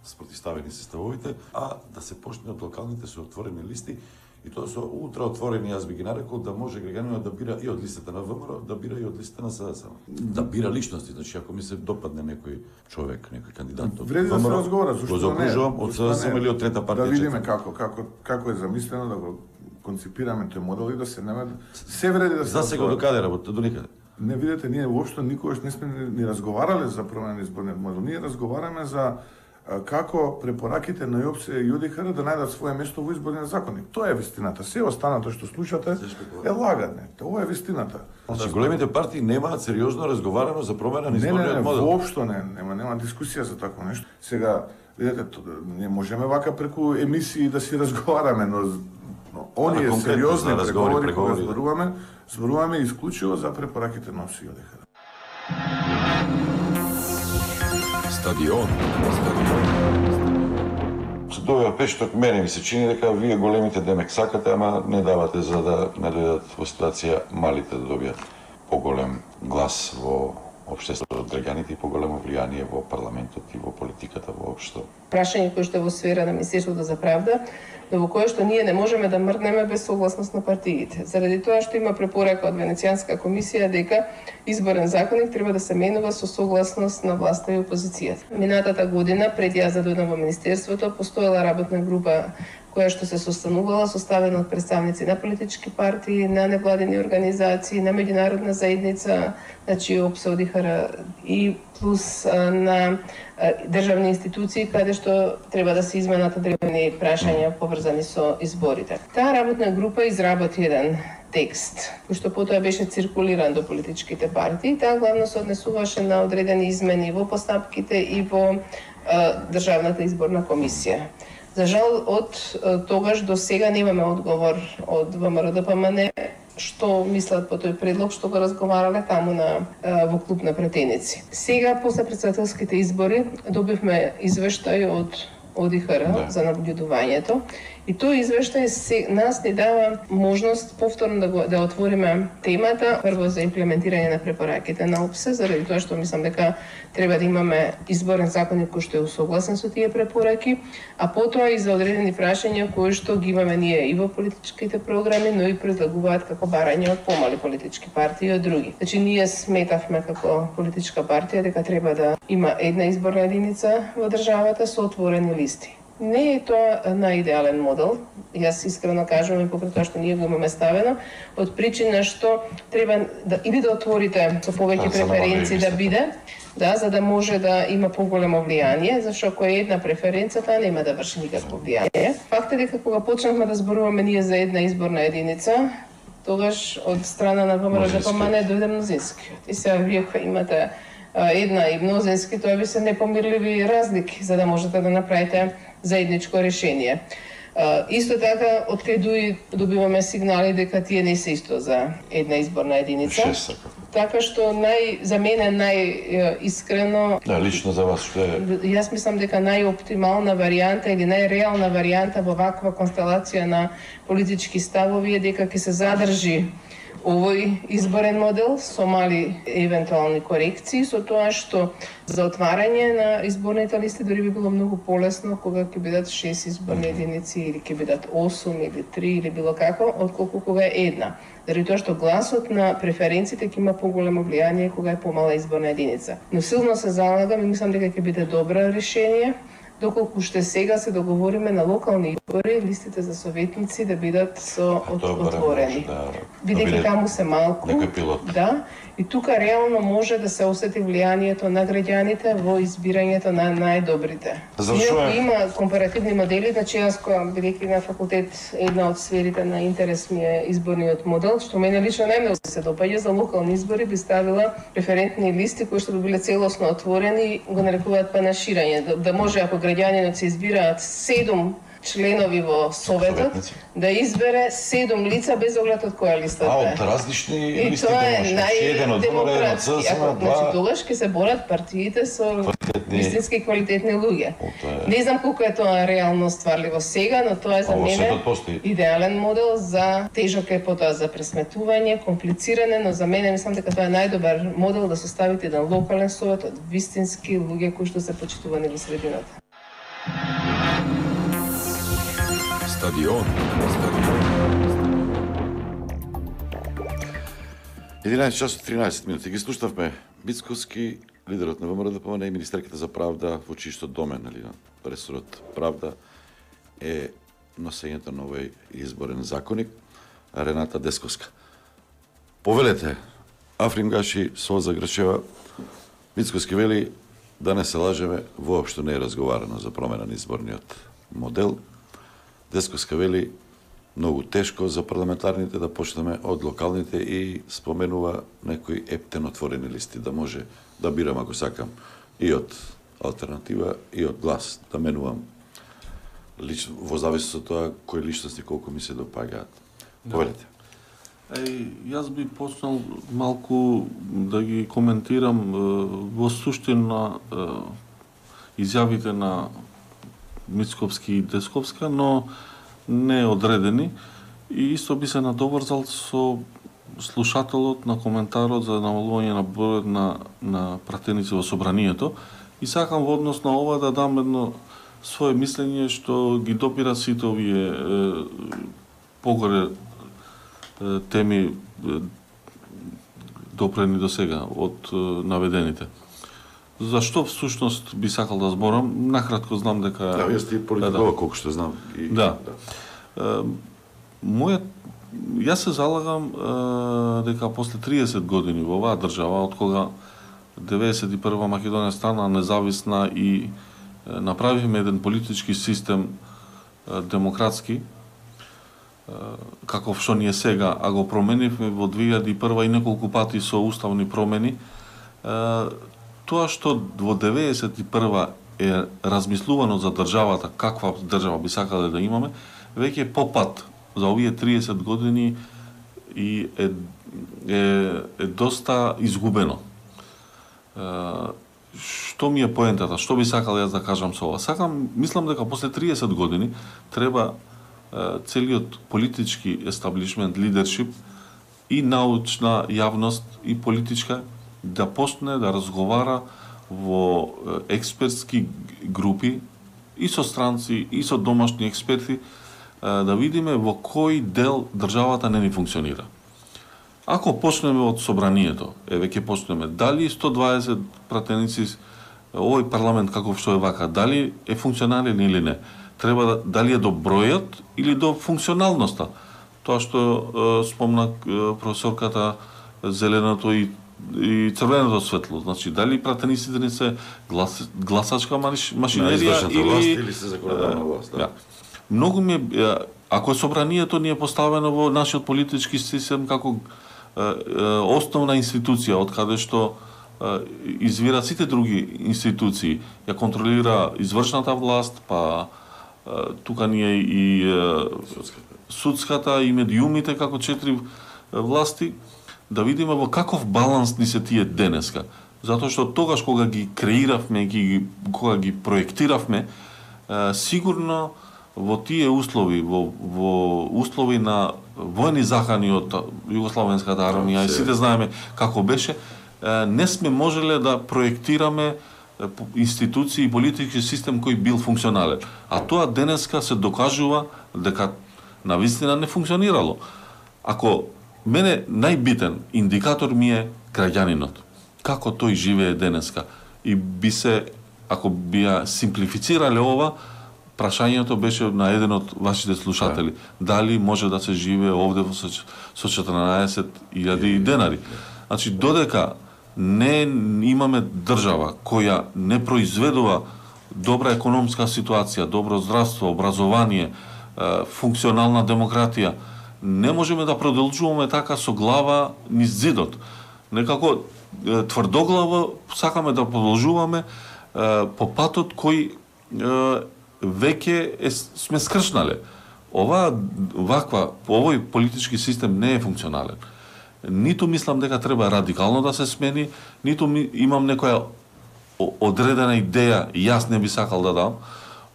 S2: спротивставени се ставовите, а да се почне од локалните со отворени листи и тоа со ултра отворени, јас би ги нарекол, да може граѓанинот да бира и од листата на ВМРО, да бира и од листата на СДСМ. Да бира личности, значи ако ми се допадне некој човек, некој кандидат од
S14: вреди да се разговара, зашто
S2: го закружувам од СДСМ или од трета партија.
S14: Да видиме како како како е замислено да го конципираме тој модел и да се нема се вреди да се.
S2: За сега до каде работи, до никаде.
S14: Не видите, ние воопшто никогаш не сме ни разговарале за промена на изборниот модел. Ние разговараме за како препораките на ЈОПС и ЈУДИХР да најдат свое место во изборниот законник. Тоа е вистината. Се останато што слушате е лагање. Тоа е вистината.
S2: Значи големите партии немаат сериозно разговарано за промена на изборниот
S14: не, не, не,
S2: модел.
S14: Воопшто не, нема нема дискусија за такво нешто. Сега, видите, не можеме вака преку емисии да си разговараме, но, но оние сериозни преговори кога зборуваме, зборуваме исклучиво за препораките на ЈОПС и ЈУДИХР.
S11: Стадион.
S2: Со тоа пешток мене ми се чини дека вие големите демек сакате, ама не давате за да не дојдат во ситуација малите да добијат поголем глас во општеството од граѓаните и поголемо влијание во парламентот и во политиката воопшто.
S15: Прашање кој што е во сфера на Министерството за правда, но во кое што ние не можеме да мрднеме без согласност на партиите. Заради тоа што има препорака од Венецијанска комисија дека изборен законник треба да се менува со согласност на власта и опозицијата. Минатата година, пред јас да дојдам во Министерството, постоела работна група која што се состанувала, составена од представници на политички партии, на невладени организации, на меѓународна заедница, значи ЈОПС, ЈУДИХР и плюс на државни институции каде што треба да се изменат одредени прашања поврзани со изборите. Таа работна група изработи еден текст, кој што потоа беше циркулиран до политичките партии. Таа главно се однесуваше на одредени измени во постапките и во Државната изборна комисија. За жал, од тогаш до сега немаме одговор од ВМРО-ДПМН што мислат по тој предлог што го разговарале таму на во клуб на пратеници. Сега, после претседателските избори, добивме извештај од ОДИХР да. за наблюдувањето и тој извештај се, нас ни дава можност повторно да, го, да отвориме темата, прво за имплементирање на препораките на ОПС, заради тоа што мислам дека треба да имаме изборен законник кој што е усогласен со тие препораки, а потоа и за одредени прашања кои што ги имаме ние и во политичките програми, но и предлагуваат како барање од помали политички партии и од други. Значи ние сметавме како политичка партија дека треба да има една изборна единица во државата со отворени листи. Не е тоа најидеален модел. Јас искрено кажувам и покрај тоа што ние го имаме ставено, од причина што треба да или да отворите со повеќе преференции да биде, да, за да може да има поголемо влијание, зашто ако е една преференција, таа нема да врши никакво влијание. Факт е дека кога почнавме да зборуваме ние за една изборна единица, тогаш од страна на ВМРО-ДПМН дојде мнозинскиот. И сега вие кои имате една и мнозински, тоа би се непомирливи разлики за да можете да направите заедничко решение. Uh, исто така, од кај добиваме сигнали дека тие не се исто за една изборна единица.
S2: Шест.
S15: Така што нај, за мене најискрено...
S2: Да, лично за вас што е...
S15: Јас мислам дека најоптимална варијанта или најреална варијанта во ваква констелација на политички ставови е дека ќе се задржи овој изборен модел со мали евентуални корекции, со тоа што за отварање на изборните листи дори би било многу полесно кога ќе бидат шест изборни единици или ќе бидат осум или три или било како, отколку кога е една. Заради тоа што гласот на преференциите ќе има поголемо влијание кога е помала изборна единица. Но силно се залагам и мислам дека ќе биде добро решение, доколку ще сега се договориме на локални избори, листите за советници да бидат со от, отворени. Да, бидејќи таму се малку. Да, и тука реално може да се осети влијанието на граѓаните во избирањето на најдобрите. Иако има компаративни модели, значи јас која бидејќи на факултет една од сферите на интерес ми е изборниот модел, што мене лично најмногу се допаѓа, за локални избори би ставила референтни листи кои што би биле целосно отворени и го нарекуваат панаширање, да, да може ако граѓанинот се избираат седум членови во советот, да избере седум лица без оглед од која листа
S2: А,
S15: е.
S2: од различни листи
S15: тоа е
S2: најдемократски.
S15: Ако, значи, тогаш ќе се борат партиите со вистински квалитетни луѓе. Не знам колку е тоа реално стварливо сега, но тоа е за мене идеален модел за тежок е потоа за пресметување, комплициране, но за мене мислам дека тоа е најдобар модел да составите еден локален совет од вистински луѓе кои што се почитувани во средината.
S5: Стадион.
S2: единаесет часот тринаесет минути. Ги слушнавме Мицкоски, лидерот на ВМРО-ДПМН и министерката за правда во чиј домен, нали, на ресорот правда е носењето на овој изборен законник, Рената Десковска. Повелете, Африм Гаши, Солза Грчева, Мицкоски вели да не се лажеме, воопшто не е разговарано за промена на изборниот модел. Десковска вели многу тешко за парламентарните да почнеме од локалните и споменува некои ептен отворени листи, да може да бирам ако сакам и од алтернатива и од глас, да менувам лично, во зависност од тоа кои личности колку ми се допагаат. Повелете.
S3: Еј, јас би почнал малку да ги коментирам во суштина изјавите на Мицковски и Десковска, но не одредени. И исто би се надоврзал со слушателот на коментарот за намалување на бројот на, на пратеници во собранието. И сакам во однос на ова да дам едно свое мислење што ги допира сите овие е, погоре е, теми е, допрени до сега од е, наведените. Зашто всушност би сакал да зборам? Накратко знам дека...
S2: Да, јас ти политикова колку што знам. И...
S3: Да. да. Мојот... Јас се залагам е, дека после триесет години во оваа држава, од кога деветдесет и прва Македонија стана независна и е, направивме еден политички систем е, демократски, е, каков што ние сега, а го променивме во две илјади и прва и неколку пати со уставни промени, е, тоа што во деветдесет и прва е размислувано за државата, каква држава би сакале да имаме, веќе попат за овие триесет години и е, е, е доста изгубено. Е, што ми е поентата? Што би сакал јас да кажам со ова? Сакам, мислам дека после триесет години треба е, целиот политички естаблишмент, лидершип и научна јавност и политичка да почне да разговара во експертски групи и со странци и со домашни експерти да видиме во кој дел државата не ни функционира. Ако почнеме од собранието, еве ќе почнеме дали сто дваесет пратеници овој парламент каков што е вака, дали е функционален или не. треба да, дали е до бројот или до функционалноста. Тоа што е, спомна е, професорката, зеленото и и црвеното светло. Значи, дали пратениците не се глас, гласачка машинерија или...
S2: власт или се законодавна власт. Да.
S3: Многу ми е, ако собранието ни е поставено во нашиот политички систем како е, е, основна институција, од каде што е, извира сите други институции, ја контролира извршната власт, па е, тука ни е и е, судската, и медиумите како четири власти, да видиме во каков баланс ни се тие денеска. Затоа што тогаш кога ги креиравме, ги, кога ги проектиравме, е, сигурно во тие услови, во, во услови на војни захани од Југословенската армија, и сите знаеме како беше, е, не сме можеле да проектираме институции и политички систем кој бил функционален. А тоа денеска се докажува дека навистина не функционирало. Ако мене најбитен индикатор ми е граѓанинот. Како тој живее денеска. И би се, ако би ја симплифицирале ова, прашањето беше на еден од вашите слушатели. Дали може да се живее овде со четрнаесет илјади денари. Значи, додека не имаме држава која не произведува добра економска ситуација, добро здравство, образование, функционална демократија, не можеме да продолжуваме така со глава низ зидот. Некако тврдоглаво сакаме да продолжуваме по патот кој веќе е, сме скршнале. Ова ваква, овој политички систем не е функционален. Ниту мислам дека треба радикално да се смени, ниту ми, имам некоја одредена идеја, јас не би сакал да дам,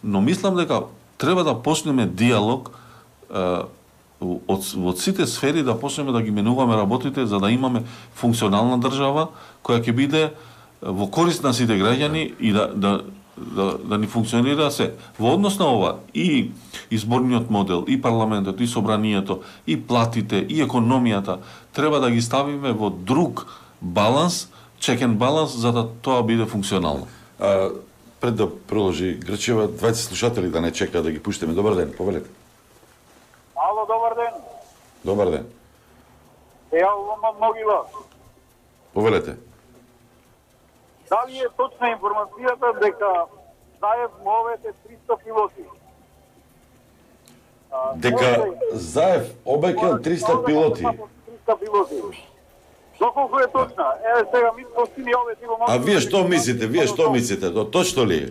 S3: но мислам дека треба да почнеме диалог од, од сите сфери, да почнеме да ги менуваме работите за да имаме функционална држава која ќе биде во корист на сите граѓани и да, да, да, да ни функционира се. Во однос на ова и изборниот модел, и парламентот, и собранието, и платите, и економијата треба да ги ставиме во друг баланс, чекен баланс, за да тоа биде функционално.
S2: А, пред да продолжи Грчева, двајца слушатели да не чека да ги пуштиме. Добар ден, повелете.
S16: Ало, добар ден.
S2: Добар ден.
S16: Се јавувам од Могила.
S2: Повелете.
S16: Дали е точна информацијата дека Заев му овете триста пилоти?
S2: Дека Заев обекел триста пилоти.
S16: триста пилоти. Доколку е точна? Еве сега ми постини овете го
S2: А вие што мислите? Вие што мислите? То точно ли е?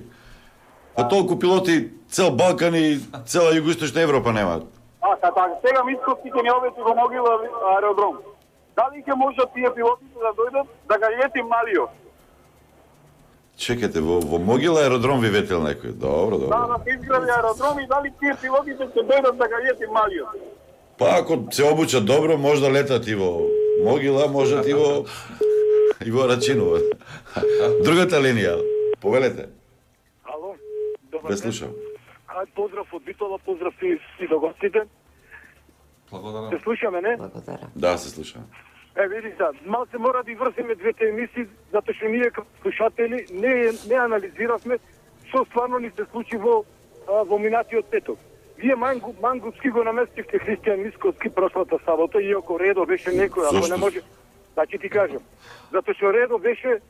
S2: А толку пилоти цел Балкан и цела Југоисточна Европа немаат.
S16: А, така, сега мискостите ни овете го Могила аеродром. Дали ќе можат тие пилотите да дојдат да ga лети Малио?
S2: Чекате, во, во Могила аеродром ви ветел некој. Добро, добро.
S16: Да, да се изгради аеродром и дали тие пилотите ќе дојдат да ga лети Малио?
S2: Па ако се обучат добро, може да летат и во Могила, можат и во и во Рачинова. Другата линија, повелете.
S13: Ало, добар
S2: Ве
S13: ден.
S2: слушам.
S13: Ај, поздрав од Битола, поздрав и, и до гостите.
S3: Благодарам.
S13: Се слушаме, не?
S1: Благодарам.
S2: Да, се слушам.
S13: Е, видите, малце мора да и врземе двете емисии, затоа што ние како слушатели не, не анализиравме што стварно ни се случи во, а, во минатиот петок. Вие Мангу, Мангуски го наместивте Христијан Мисковски прошлата сабота, иако редо беше некој, ако не може... Значи ти кажам, затоа што редо беше,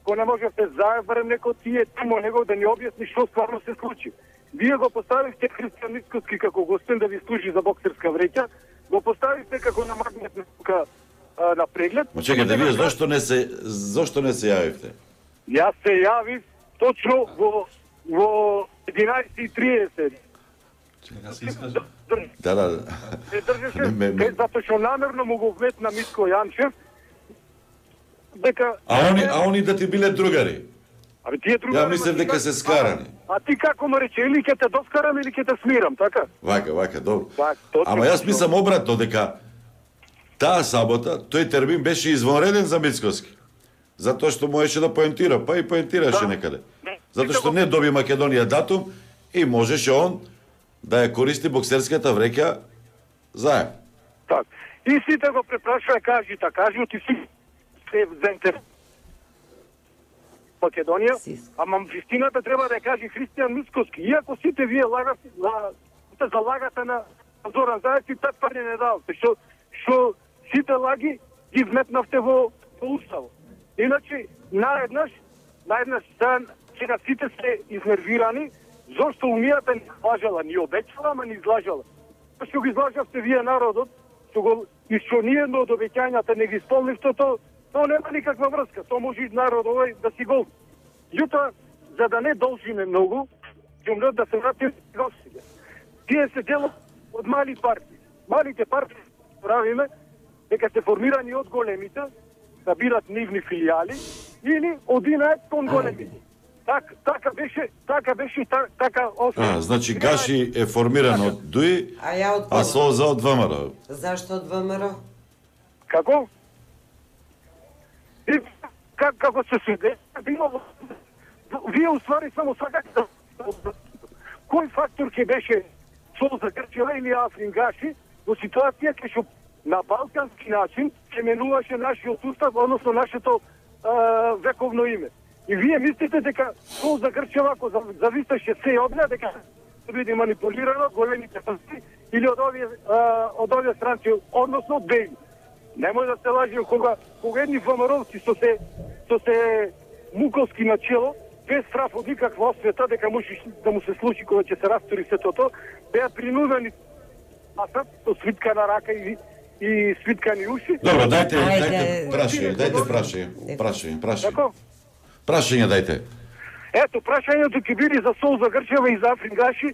S13: ко не можете Заев, барем некој тие тимо него да ни објасни што стварно се случи. Вие го поставивте Христијан Мисковски како гостин да ви служи за боксерска вреќа, го поставивте како на магнетна тука на преглед.
S2: Ма чекайте, вие зошто не се зошто не се јавивте?
S13: Јас се јавив точно во во единаесет и триесет.
S3: Чека се искаже.
S2: Да, да.
S13: Се држеше,
S2: Ме- ме-
S13: е, затоа што намерно му го вметна Митко Јанчев, дека...
S2: А они, а они да ти биле другари?
S13: Абе, тие другари...
S2: Ја мислев дека се скарани.
S13: А ти како му рече, или ќе те доскарам, или ќе те смирам, така?
S2: Вака, вака, добро.
S13: Так, точно.
S2: Ама јас мислам обратно, дека таа сабота тој термин беше извонреден за Мицкоски. Затоа што можеше да поентира, па и поентираше
S13: Да.
S2: некаде. Затоа што не доби Македонија датум и можеше он да ја користи боксерската вреќа заедно.
S13: Так. И сите го препрашува, кажи, та кажи, ти си се заинтересувани.
S16: Македонија, ама вистината треба да ја каже Христијан Мицкоски. Иако сите вие лагате, залагате на Зоран Заев и тат пари не давате, што што сите лаги ги вметнавте во, во уставот. Иначе, наеднаш, наеднаш сега сите се изнервирани, зашто умијата не излажала, ни обечала, ама не излажала. Што ги излажавте вие народот, што го, и што ние едно од обеќањата не ги исполнивте, то, то нема никаква врска, то може и народ овој да си гол. Јута, за да не должиме многу, ќе умрат да се вратим гостите. Тие се делат од мали партии. Малите партии правиме дека се формирани од големите, да бидат нивни филијали, или одинаат кон големите. Так, така беше, така беше, так, така освен.
S2: А, значи Гаши е формиран од ДУИ,
S1: а, ја од
S2: а Солза од ВМРО.
S1: Зашто од ВМРО?
S16: Како? И, как, како се сведе, било, вие уствари само сакате да... Кој фактор ќе беше Солза Грчева или Африн Гаши во ситуација кај што на балкански начин се менуваше нашиот устав, односно нашето а, вековно име. И вие мислите дека Солза Грчева, ако зависеше се од неа, дека ќе биде манипулирано од големите партии или од овие, а, од овие странци, односно од Бејли. Немој да се лажим кога, кога едни ВМРО-вци со се, со се муковски начело, без страф од никаква освета, дека може да му се случи кога ќе се растори сето тоа, беа принудени пасат со свиткана рака и и свиткани уши.
S2: Добро, дајте, дајте прашање, дајте прашање, прашање, прашање. Прашање дајте.
S16: Ето, прашањето ќе биде за Солза Грчева и за Африн Гаши.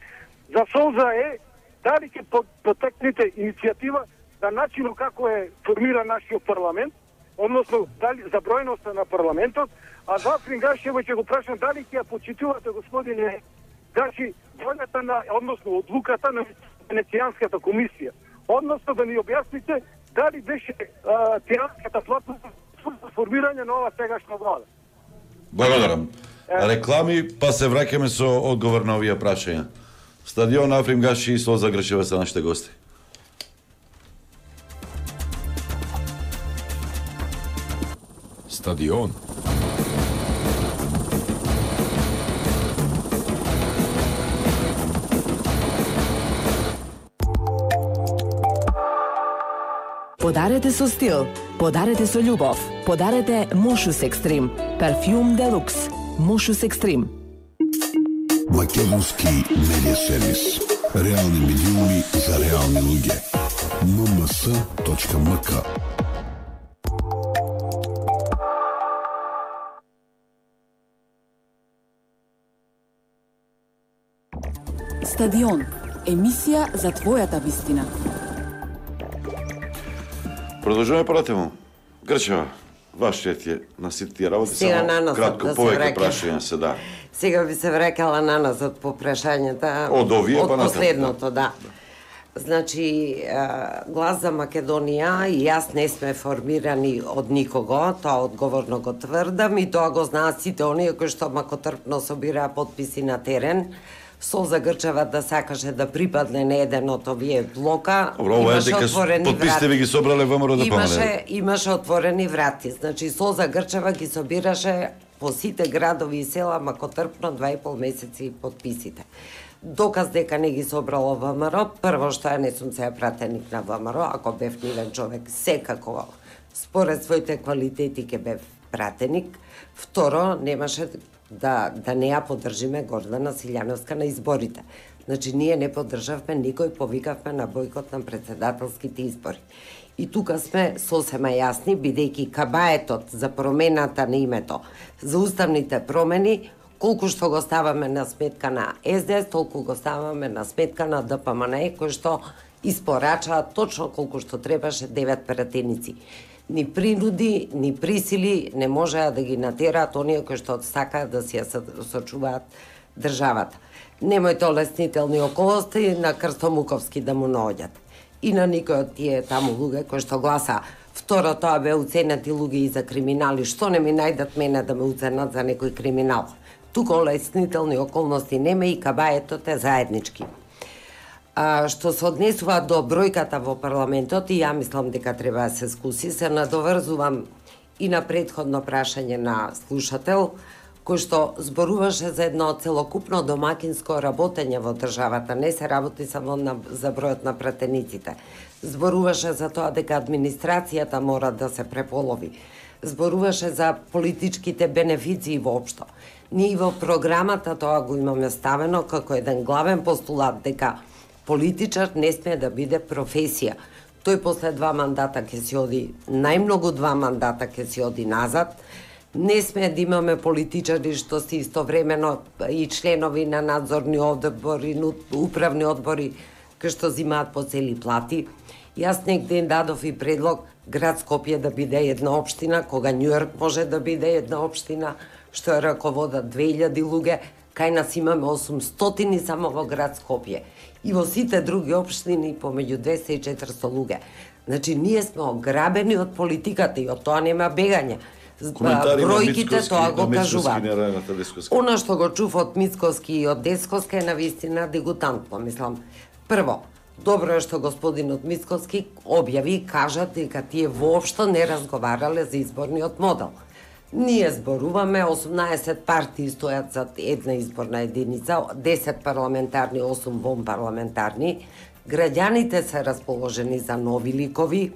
S16: За Солза е дали ќе потекнете иницијатива за начинот како е формиран нашиот парламент, односно дали за бројноста на парламентот, а за Африн Гашева ќе го прашам дали ќе ја почитувате, господине Гаши, волјата на, односно одлуката на Венецијанската комисија. Односно да ни објасните дали беше тиранската платформа за формирање на ова сегашна влада.
S2: Благодарам. Реклами, па се враќаме со одговор на овие прашања. Стадион Африн Гаши и Солза Грчева се нашите гости.
S5: Стадион.
S6: Подарете со стил, подарете со љубов, подарете Мошус Екстрим, парфјум Делукс, Мошус Екстрим.
S5: Македонски медиа сервис. Реални медиуми за реални луѓе. ем ем с точка ем к.
S7: Стадион. Емисија за твојата вистина.
S2: Продолжуваме понатаму. Грчева, вашиот е на сите тие работи,
S1: Сега
S2: само кратко
S1: да
S2: повеќе
S1: враќам.
S2: прашања се да.
S1: Сега би се враќала наназад по прашањата
S2: Од овие
S1: од
S2: па натаму,
S1: последното, да. Значи, Глас за Македонија и јас не сме формирани од никого, тоа одговорно го тврдам и тоа го знаат сите оние кои што макотрпно собираа потписи на терен. Солза Грчева да сакаше да припадне на еден од овие блока.
S2: Добро, ова е
S1: имаше
S2: дека
S1: отворени
S2: потписите
S1: врати.
S2: ви ги собрале ВМРО да помале.
S1: Имаше, имаше отворени врати. Значи, Солза Грчева ги собираше по сите градови и села макотрпно два и пол месеци потписите. Доказ дека не ги собрало ВМРО, прво што ја не сум се пратеник на ВМРО, ако бев нивен човек, секако според своите квалитети ке бев пратеник. Второ, немаше да, да не ја поддржиме Гордана Силјановска на изборите. Значи, ние не поддржавме никој, повикавме на бојкот на председателските избори. И тука сме сосема јасни, бидејќи кабаетот за промената на името, за уставните промени, колку што го ставаме на сметка на Ес Де Ес, толку го ставаме на сметка на Д П М Н, кој што испорачаа точно колку што требаше девет пратеници. Ни принуди, ни присили не можеа да ги натераат оние кои што сакаат да си ја сочуваат државата. Немојте олеснителни околности на Крстомуковски да му наоѓат. И на никој од тие таму луѓе кои што гласа. Второ, тоа бе уценати луѓе и за криминали. Што не ми најдат мене да ме уценат за некој криминал? Тука олеснителни околности нема и кабаетот е заеднички. А, што се однесува до бројката во парламентот, и ја мислам дека треба да се скуси, се надоврзувам и на претходно прашање на слушател, кој што зборуваше за едно целокупно домакинско работење во државата, не се работи само на, за бројот на пратениците. Зборуваше за тоа дека администрацијата мора да се преполови. Зборуваше за политичките бенефиции воопшто. Ние во програмата тоа го имаме ставено како еден главен постулат дека политичар не смее да биде професија. Тој после два мандата ќе си оди, најмногу два мандата ќе си оди назад. Не смее да имаме политичари што си истовремено и членови на надзорни одбори, управни одбори, кои што зимаат по цели плати. Јас негде дадов и предлог град Скопје да биде една општина, кога Њујорк може да биде една општина, што ја раководат две илјади луѓе, кај нас имаме осумстотини само во град Скопје. И во сите други општини помеѓу двесте и четиристо луѓе. Значи, ние сме ограбени од политиката и од тоа нема бегање. Бројките тоа го кажуваат. Она што го чув од Мицкоски и од Десковска е навистина дегутантно, мислам. Прво, добро е што господинот Мицкоски објави и кажа дека тие воопшто не разговарале за изборниот модел. Ние зборуваме, осумнаесет партии стојат за една изборна единица, десет парламентарни, осум вонпарламентарни. Граѓаните се расположени за нови ликови,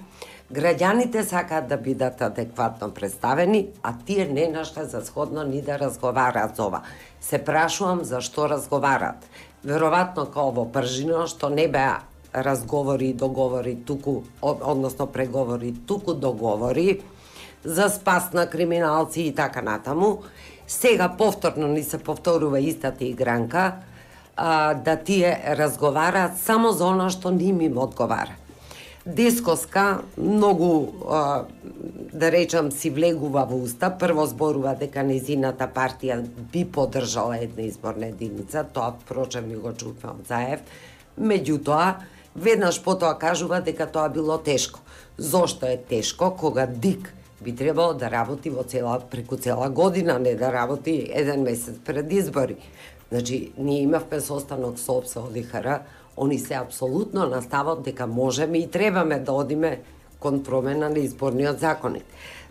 S1: граѓаните сакаат да бидат адекватно представени, а тие не нашле за сходно ни да разговараат за ова. Се прашувам за што разговараат. Веројатно као во пржино, што не беа разговори и договори туку, односно преговори туку договори, за спас на криминалци и така натаму. Сега повторно ни се повторува истата игранка, а, да тие разговараат само за оно што ним им одговара. Десковска многу, а, да речам, си влегува во уста. Прво зборува дека незината партија би поддржала една изборна единица, тоа впрочем и го чувме од Заев. Меѓутоа, веднаш потоа кажува дека тоа било тешко. Зошто е тешко кога ДИК би требало да работи во цела, преку цела година, не да работи еден месец пред избори. Значи, ние имавме состанок со ОПС од ИХР, они се апсолутно настават дека можеме и требаме да одиме кон промена на изборниот законник.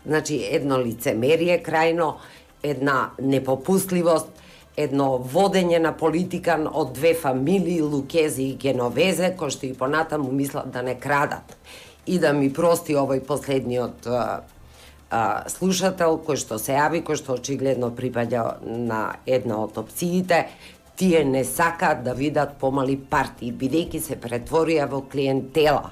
S1: Значи, едно лицемерие крајно, една непопустливост, едно водење на политика од две фамилии, Лукези и Геновезе, кои што и понатаму мислат да не крадат. И да ми прости овој последниот а, а, слушател, кој што се јави, кој што очигледно припаѓа на една од опциите, тие не сакаат да видат помали партии, бидејќи се претворија во клиентела.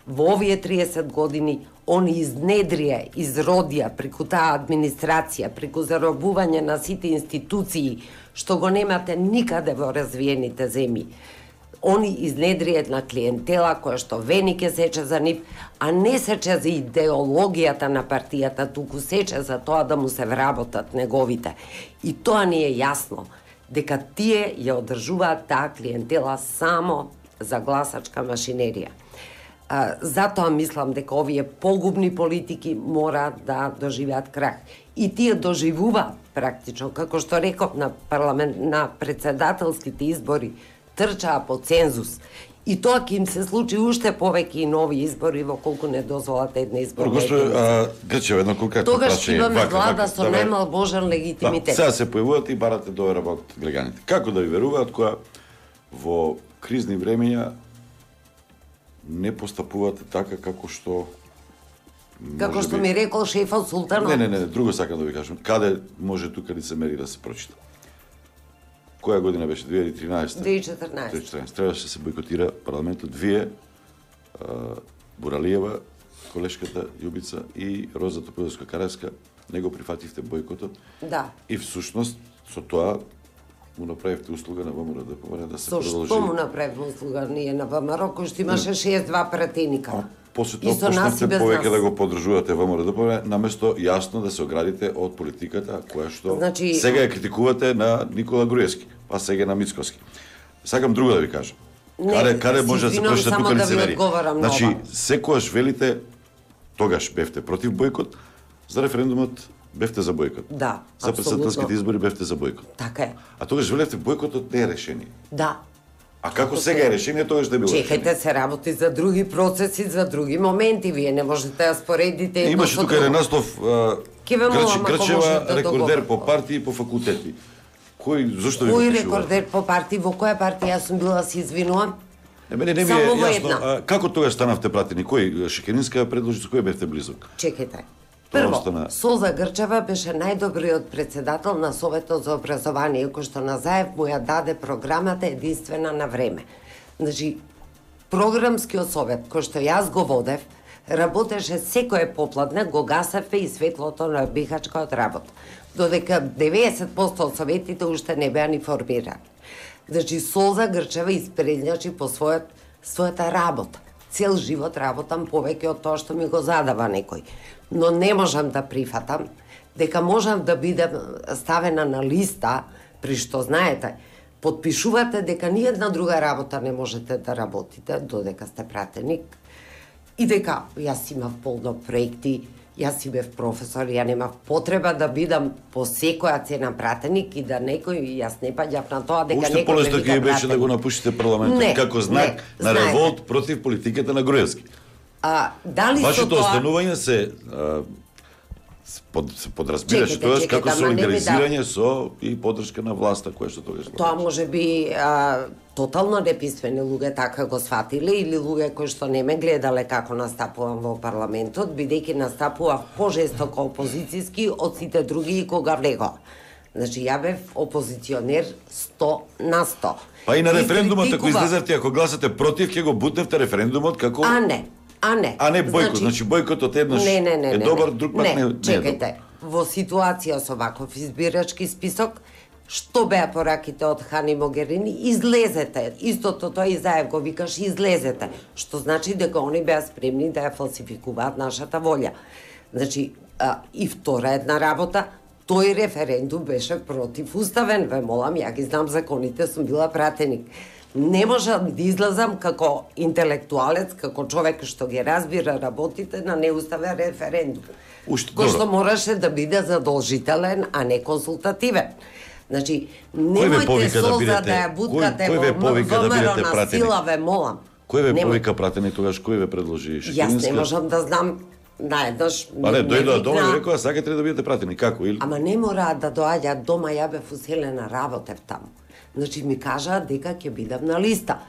S1: Во овие триесет години, они изнедрија, изродија преку таа администрација, преку заробување на сите институции, што го немате никаде во развиените земји. Они изнедрија една клиентела која што вени ке сече за нив, а не сече за идеологијата на партијата, туку сече за тоа да му се вработат неговите. И тоа ни е јасно, дека тие ја одржуваат таа клиентела само за гласачка машинерија. А, затоа мислам дека овие погубни политики мора да доживеат крах. И тие доживуваат практично, како што реков на парламент, на председателските избори, трчаа по цензус. И тоа ќе им се случи уште повеќе и нови избори во колку не дозволат една изборна единица.
S2: Грчева, едно конкретно
S1: Тогаш
S2: прашање.
S1: имаме влада со најмал можен легитимитет.
S2: Да, сега се појавувате и барате доверба од граѓаните. Како да ви веруваат кога во кризни времења не постапувате така како што
S1: Како што
S2: би...
S1: ми рекол шефот Султанов.
S2: Не, не, не, друго сакам да ви кажам. Каде може тука лицемери да се прочита? Која година беше? две илјади и тринаесета?
S1: две илјади и четрнаесета.
S2: две илјади и четрнаесета. Требаше да се бойкотира парламентот. Вие, Буралиева, колешката Јубица и Роза Топиловска-Каревска не го прифативте бойкотот.
S1: Да.
S2: И всушност со тоа му направивте услуга на ВМРО да поморе да се
S1: Со
S2: продолжи.
S1: што му направивме услуга ние на ВМРО, кој што имаше шест два пратеника?
S2: После тоа почнете повеќе да го поддржувате ВМРО да поморе, наместо јасно да се оградите од политиката која што
S1: Значи...
S2: сега ја критикувате на Никола Груевски, па сега на Мицкоски. Сакам друго да ви кажам.
S1: Не,
S2: каде каде може да се прочита тука
S1: да
S2: лицемери? Значи,
S1: нова.
S2: секогаш велите, тогаш бевте против бойкот, за референдумот бевте за бойкот.
S1: Да,
S2: за председателските
S1: апсолутно.
S2: избори бевте за бойкот.
S1: Така е.
S2: А тогаш велевте бойкотот не е решение.
S1: Да.
S2: А како сега е решение, тогаш да било решение?
S1: Чекајте, се работи за други процеси, за други моменти. Вие не можете да споредите...
S2: Имаше тука еден наслов,
S1: Ке ве молам, ако
S2: Грчева
S1: може да
S2: рекордер
S1: договорам.
S2: по партии и по факултети. Кој зошто ви
S1: Кој
S2: го пишува?
S1: рекордер по партии, во која партија јас сум била, се извинувам?
S2: Е, мене не ми е
S1: Само во
S2: јасно,
S1: една.
S2: а, како тогаш станавте пратени? Кој Шекеринска ја предложи, со кој бевте близок?
S1: Чекајте.
S2: Тоа
S1: Прво,
S2: остана-
S1: Солза Грчева беше најдобриот председател на Советот за образование, кој што на Заев му ја даде програмата единствена на време. Значи, програмскиот совет, кој што јас го водев, работеше секој попладне, го гасеве и светлото на бихачка од работа. Додека деветдесет проценти од советите уште не беа ни формирани. Значи, Солза Грчева испредњачи по својот, својата работа. Цел живот работам повеќе од тоа што ми го задава некој. Но не можам да прифатам дека можам да бидам ставена на листа, при што, знаете, подпишувате дека ни една друга работа не можете да работите, додека сте пратеник, и дека јас имав полно проекти, јас си бев професор, ја немав потреба да бидам по секоја цена пратеник и да некој, јас не паѓав на тоа дека
S2: Уште
S1: некој ме
S2: полесно
S1: вика
S2: ќе беше да
S1: пратеник.
S2: го напуштите парламентот
S1: Не,
S2: како знак
S1: не,
S2: на
S1: знаете.
S2: револт против политиката на Груевски.
S1: А, дали со
S2: Вашето
S1: тоа...
S2: останување се а, с- под, се подразбираше
S1: Чекайте,
S2: тоа
S1: чекайте,
S2: како
S1: ама не ми
S2: солидаризирање со и поддршка на власта која што тогаш
S1: Тоа може би а, тотално неписмени луѓе така го сватиле или луѓе кои што не ме гледале како настапувам во парламентот, бидејќи настапував пожестоко опозицијски од сите други и кога влегов. Значи, ја бев опозиционер сто на сто.
S2: Па и на
S1: И
S2: референдумот, ако
S1: критикував-
S2: излезете, ако гласате против, ќе го бутневте референдумот како...
S1: А не, а не.
S2: А не бойкот, значи бойкотот еднаш
S1: не, не, не,
S2: е
S1: не,
S2: добар,
S1: не.
S2: друг пат
S1: не,
S2: не, не е
S1: чекајте,
S2: добар.
S1: во ситуација со ваков избирачки список, што беа пораките од Хани Могерини, излезете. Истото тоа и Заев го викаш, излезете. Што значи дека они беа спремни да ја фалсификуваат нашата волја. Значи, а, и втора една работа, тој референдум беше противуставен, ве молам, ја ги знам законите, сум била пратеник. Не можам да излазам како интелектуалец, како човек што ги разбира работите на неуставен референдум.
S2: Уште,
S1: кој што
S2: добро.
S1: мораше да биде задолжителен, а не консултативен. Значи,
S2: Кој ве
S1: немојте
S2: повика да
S1: Солза
S2: бидете-
S1: да ја буткате
S2: кој- кој ве
S1: во
S2: повика да
S1: ВМРО
S2: бидете
S1: на
S2: пратеник?
S1: сила, ве молам.
S2: Кој ве
S1: Немој-
S2: повика пратени тогаш, кој ве предложи
S1: Јас
S2: Шекеринска?
S1: не можам да знам наеднаш.
S2: Па не,
S1: ме
S2: дојдоа дома и
S1: викна-
S2: рекоа, сакате ли да бидете пратени, како? Или...
S1: Ама не мора да доаѓа дома, ја бев уселена, работев таму. Значи ми кажаа дека ќе бидам на листа.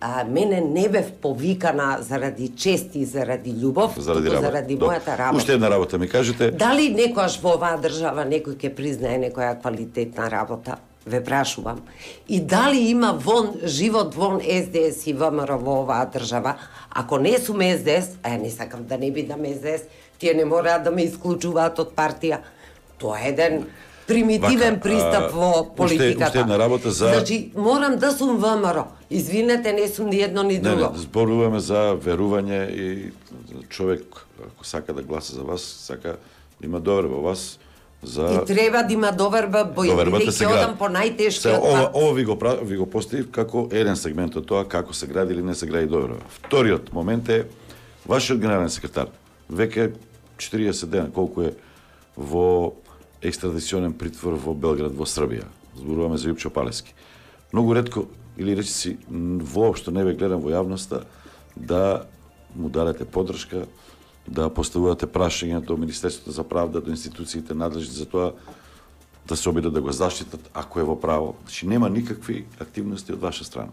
S1: А, мене не бев повикана заради чест и заради љубов,
S2: Заради
S1: туку
S2: работа.
S1: заради
S2: Добро.
S1: мојата работа.
S2: Уште една работа ми кажете.
S1: Дали некојаш во оваа држава некој ќе признае некоја квалитетна работа? Ве прашувам. И дали има вон живот вон С Д С и В М Р во оваа држава? Ако не сум С Д С, а ја не сакам да не бидам С Д С, тие не мораат да ме исклучуваат од партија. Тоа е еден примитивен
S2: Вака,
S1: пристап
S2: а,
S1: во
S2: уште-
S1: политиката.
S2: уште една работа за-
S1: Значи, морам да сум В М Р. Извинете, не сум ни едно ни
S2: Не,
S1: друго.
S2: не, зборуваме за верување и човек, ако сака да гласа за вас, сака да има доверба во вас, за...
S1: И треба да има доверба,
S2: Довербата се
S1: бидејќи
S2: гради.
S1: одам по
S2: Се,
S1: најтешкиот
S2: ова,
S1: пат.
S2: ова ви го, пра- ви го поставив како еден сегмент од тоа како се гради или не се гради доверба. Вториот момент е вашиот генерален секретар веќе четириесет дена колку е во екстрадиционен притвор во Белград во Србија. Зборуваме за Јупчо Палески. Многу ретко или речиси м, воопшто не ве гледам во јавноста да му дадете поддршка, да поставувате прашања до Министерството за правда, до институциите надлежни за тоа да се обидат да го заштитат ако е во право. Значи нема никакви активности од ваша страна.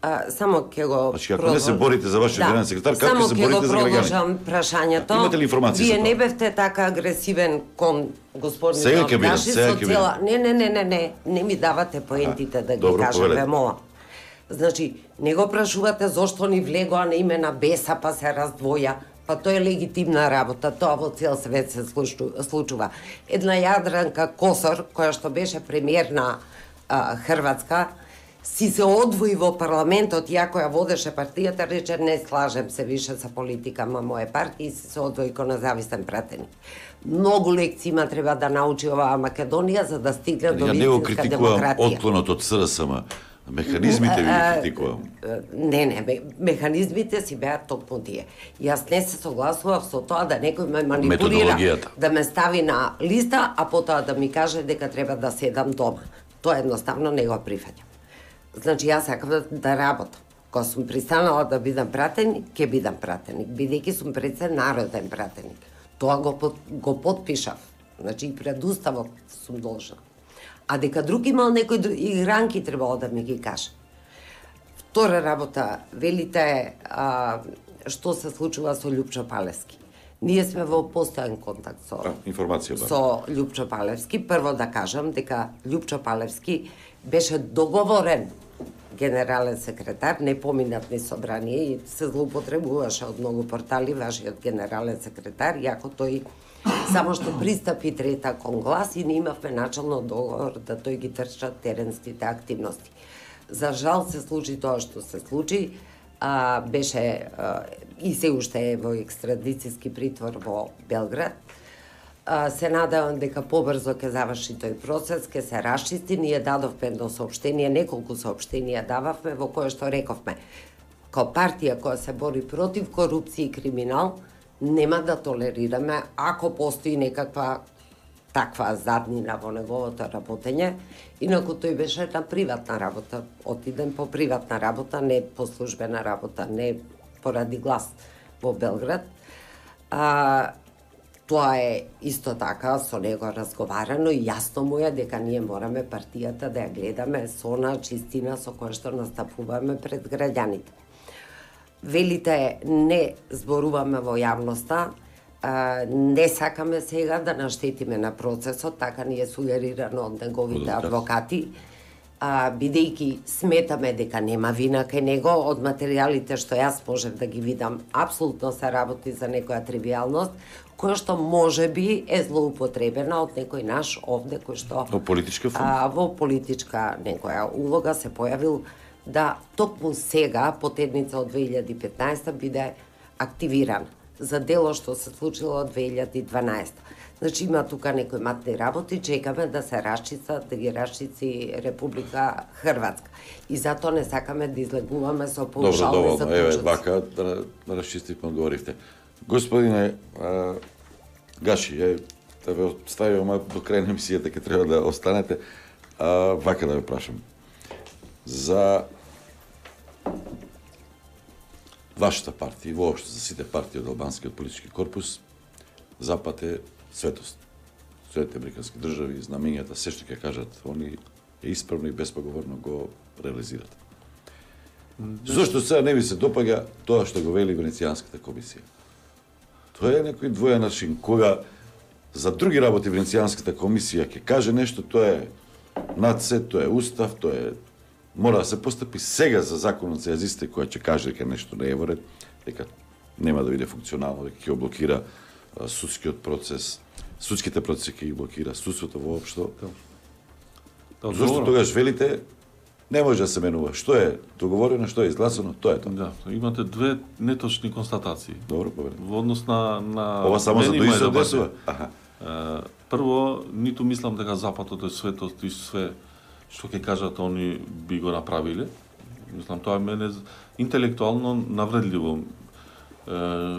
S1: А, само ќе го
S2: Значи, ако не се борите за вашиот генерален секретар, како
S1: само
S2: ќе се
S1: ќе
S2: борите
S1: го
S2: за граѓаните?
S1: продолжам прашањето.
S2: Имате ли информации за
S1: Вие
S2: тоа?
S1: не бевте така агресивен кон господин
S2: Сега ќе бидам,
S1: Гаши
S2: сега
S1: со
S2: ќе
S1: цела... Не, не, не, не, не, не ми давате поентите да ги
S2: добро,
S1: кажам,
S2: повелете.
S1: ве молам. Значи, не го прашувате зошто ни влегоа на име на Беса па се раздвоја. Па тоа е легитимна работа, тоа во цел свет се случу- случува. Една Јадранка Косор, која што беше премиер на а, Хрватска, си се одвои во парламентот, ја која водеше партијата, рече не слажем се више со политикама моје партии и си се одвои ко независен пратеник. Многу лекции има треба да научи оваа Македонија за да стигне до
S2: Ја не го
S1: вистинска
S2: критикувам
S1: демократија.
S2: отклонот од С Р С М. Механизмите ви ги критикувам.
S1: Не, не, ме- механизмите си беа токму тие. Јас не се согласував со тоа да некој ме манипулира,
S2: Методологијата.
S1: да ме стави на листа, а потоа да ми каже дека треба да седам дома. Тоа едноставно не го прифаќам. Значи, јас сакам да, да работам. Кога сум пристанала да бидам пратеник, ќе бидам пратеник, бидејќи сум пред се народен пратеник. Тоа го, под- го подпишав Значи и пред уставот сум должна. А дека друг имал некои игранки требало да ми ги каже. Втора работа, велите а, што се случува со Љупчо Палевски. Ние сме во постојан контакт со
S2: а, информација бар.
S1: со Љупчо Палевски. Прво да кажам дека Љупчо Палевски беше договорен генерален секретар, не поминат ни собрание и се злоупотребуваше од многу портали вашиот генерален секретар, иако тој само што пристапи трета кон глас и не имавме начално договор да тој ги трча теренските активности. За жал се случи тоа што се случи, а, беше а, и се уште е во екстрадицијски притвор во Белград. А, се надевам дека побрзо ќе заврши тој процес, ќе се расчисти. Ние дадовме едно соопштение, неколку соопштенија дававме во кое што рековме, као партија која се бори против корупција и криминал, нема да толерираме ако постои некаква таква заднина во неговото работење. Инаку тој беше на приватна работа, отиден по приватна работа, не по службена работа, не поради глас во Белград. А, тоа е исто така, со него разговарано и јасно му е дека ние мораме партијата да ја гледаме со она чистина со која што настапуваме пред граѓаните. Велите не зборуваме во јавноста, а, не сакаме сега да наштетиме на процесот, така ни е сугерирано од неговите адвокати, а, бидејќи сметаме дека нема вина кај него, од материјалите што јас можев да ги видам, апсолутно се работи за некоја тривијалност, која што може би е злоупотребена од некој наш овде, кој што
S2: во политичка
S1: а, во политичка некоја улога се појавил да токму сега, потедница од две илјади и петнаесета, биде активиран за дело што се случило од две илјади и дванаесета. Значи има тука некои матни работи, чекаме да се расчистат, да ги расчисти Република Хрватска. И затоа не сакаме да излегуваме со поушални заклучоци.
S2: Еве, вака, да, да расчистите, одговоривте. Господине а, Гаши, е, да ве оставивам до крај на емисијата, ке треба да останете. А, вака да ве прашам. За вашата партија и воопшто за сите партии од албанскиот политички корпус, Запад е светост. Светите американски држави, знамењата, се што ќе кажат, они е исправно и беспоговорно го реализират. Зошто сега не ви се допаѓа тоа што го вели Венецијанската комисија? Тоа е некој двоен начин, кога за други работи Венецијанската комисија ќе каже нешто, тоа е над се, тоа е устав, тоа е мора да се постапи сега за законот за јазиците која ќе каже дека нешто не е во ред, дека нема да биде функционално, дека ќе блокира судскиот процес, судските процеси ќе ги блокира, судството воопшто. Да, зошто тогаш велите не може да се менува? Што е договорено, што е изгласано, тоа е тоа.
S3: Да, имате две неточни констатации.
S2: Добро, поведете.
S3: Во однос на на
S2: Ова само за да се одесува.
S3: Прво, ниту мислам дека Западот е светост и све што ќе кажат они би го направиле. Мислам, тоа е мене интелектуално навредливо. Е,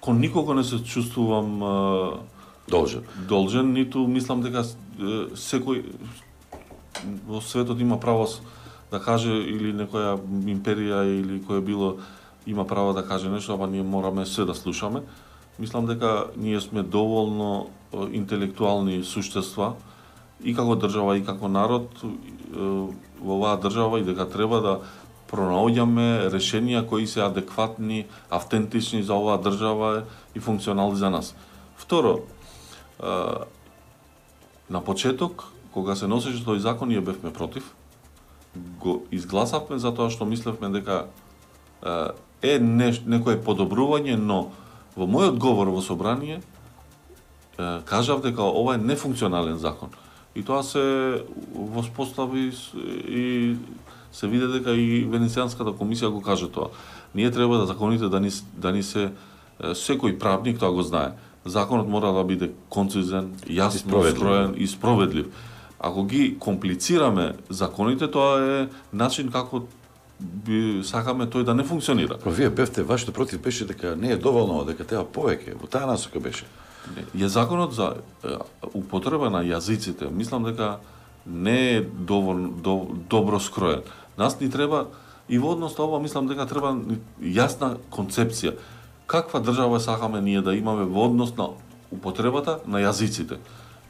S3: кон никого не се чувствувам е,
S2: должен.
S3: Должен, ниту мислам дека е, секој во светот има право да каже, или некоја империја или која било има право да каже нешто, ама ние мораме се да слушаме. Мислам дека ние сме доволно е, интелектуални суштества и како држава и како народ во оваа држава и дека треба да пронаоѓаме решенија кои се адекватни, автентични за оваа држава и функционални за нас. Второ, на почеток, кога се носеше тој закон, ние бевме против. Го изгласавме затоа што мислевме дека е некое подобрување, но во мојот говор во собрание кажав дека ова е нефункционален закон. И тоа се воспостави и се виде дека и Венецијанската комисија го каже тоа. Ние треба да законите да ни, да ни се секој правник тоа го знае. Законот мора да биде концизен, јасно скроен и справедлив. Ако ги комплицираме законите, тоа е начин како би сакаме тој да не функционира.
S2: Па вие бевте, вашето против беше дека не е доволно, дека треба повеќе, во таа насока беше.
S3: Е законот за е, употреба на јазиците, мислам дека не е доволно до, добро скроен. Нас ни треба и во однос на ова мислам дека треба јасна концепција. Каква држава сакаме ние да имаме во однос на употребата на јазиците.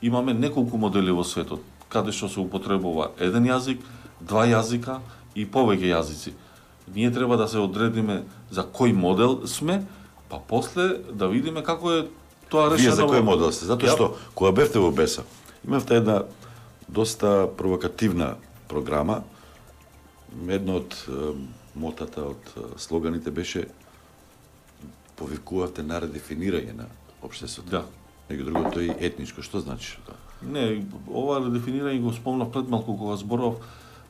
S3: Имаме неколку модели во светот, каде што се употребува еден јазик, два јазика и повеќе јазици. Ние треба да се одредиме за кој модел сме, па после да видиме како е тоа решено.
S2: Вие за кој модел сте? Затоа што кога бевте во Беса, имавте една доста провокативна програма. Едно од мотата, од слоганите беше повикувате на редефинирање на општеството.
S3: Да.
S2: Него друго тој етничко, што значи тоа?
S3: Не, ова редефинирање го спомнав пред малку кога зборов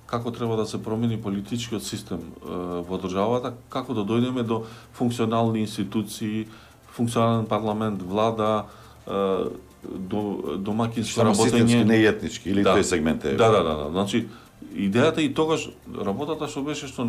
S3: како треба да се промени политичкиот систем е, во државата, како да дојдеме до функционални институции, функционален парламент, влада, е, до домаќинско работење.
S2: Системски, не етнички, или
S3: да.
S2: тој сегмент е.
S3: Да, да, да, да. Значи, идејата и тогаш работата што беше што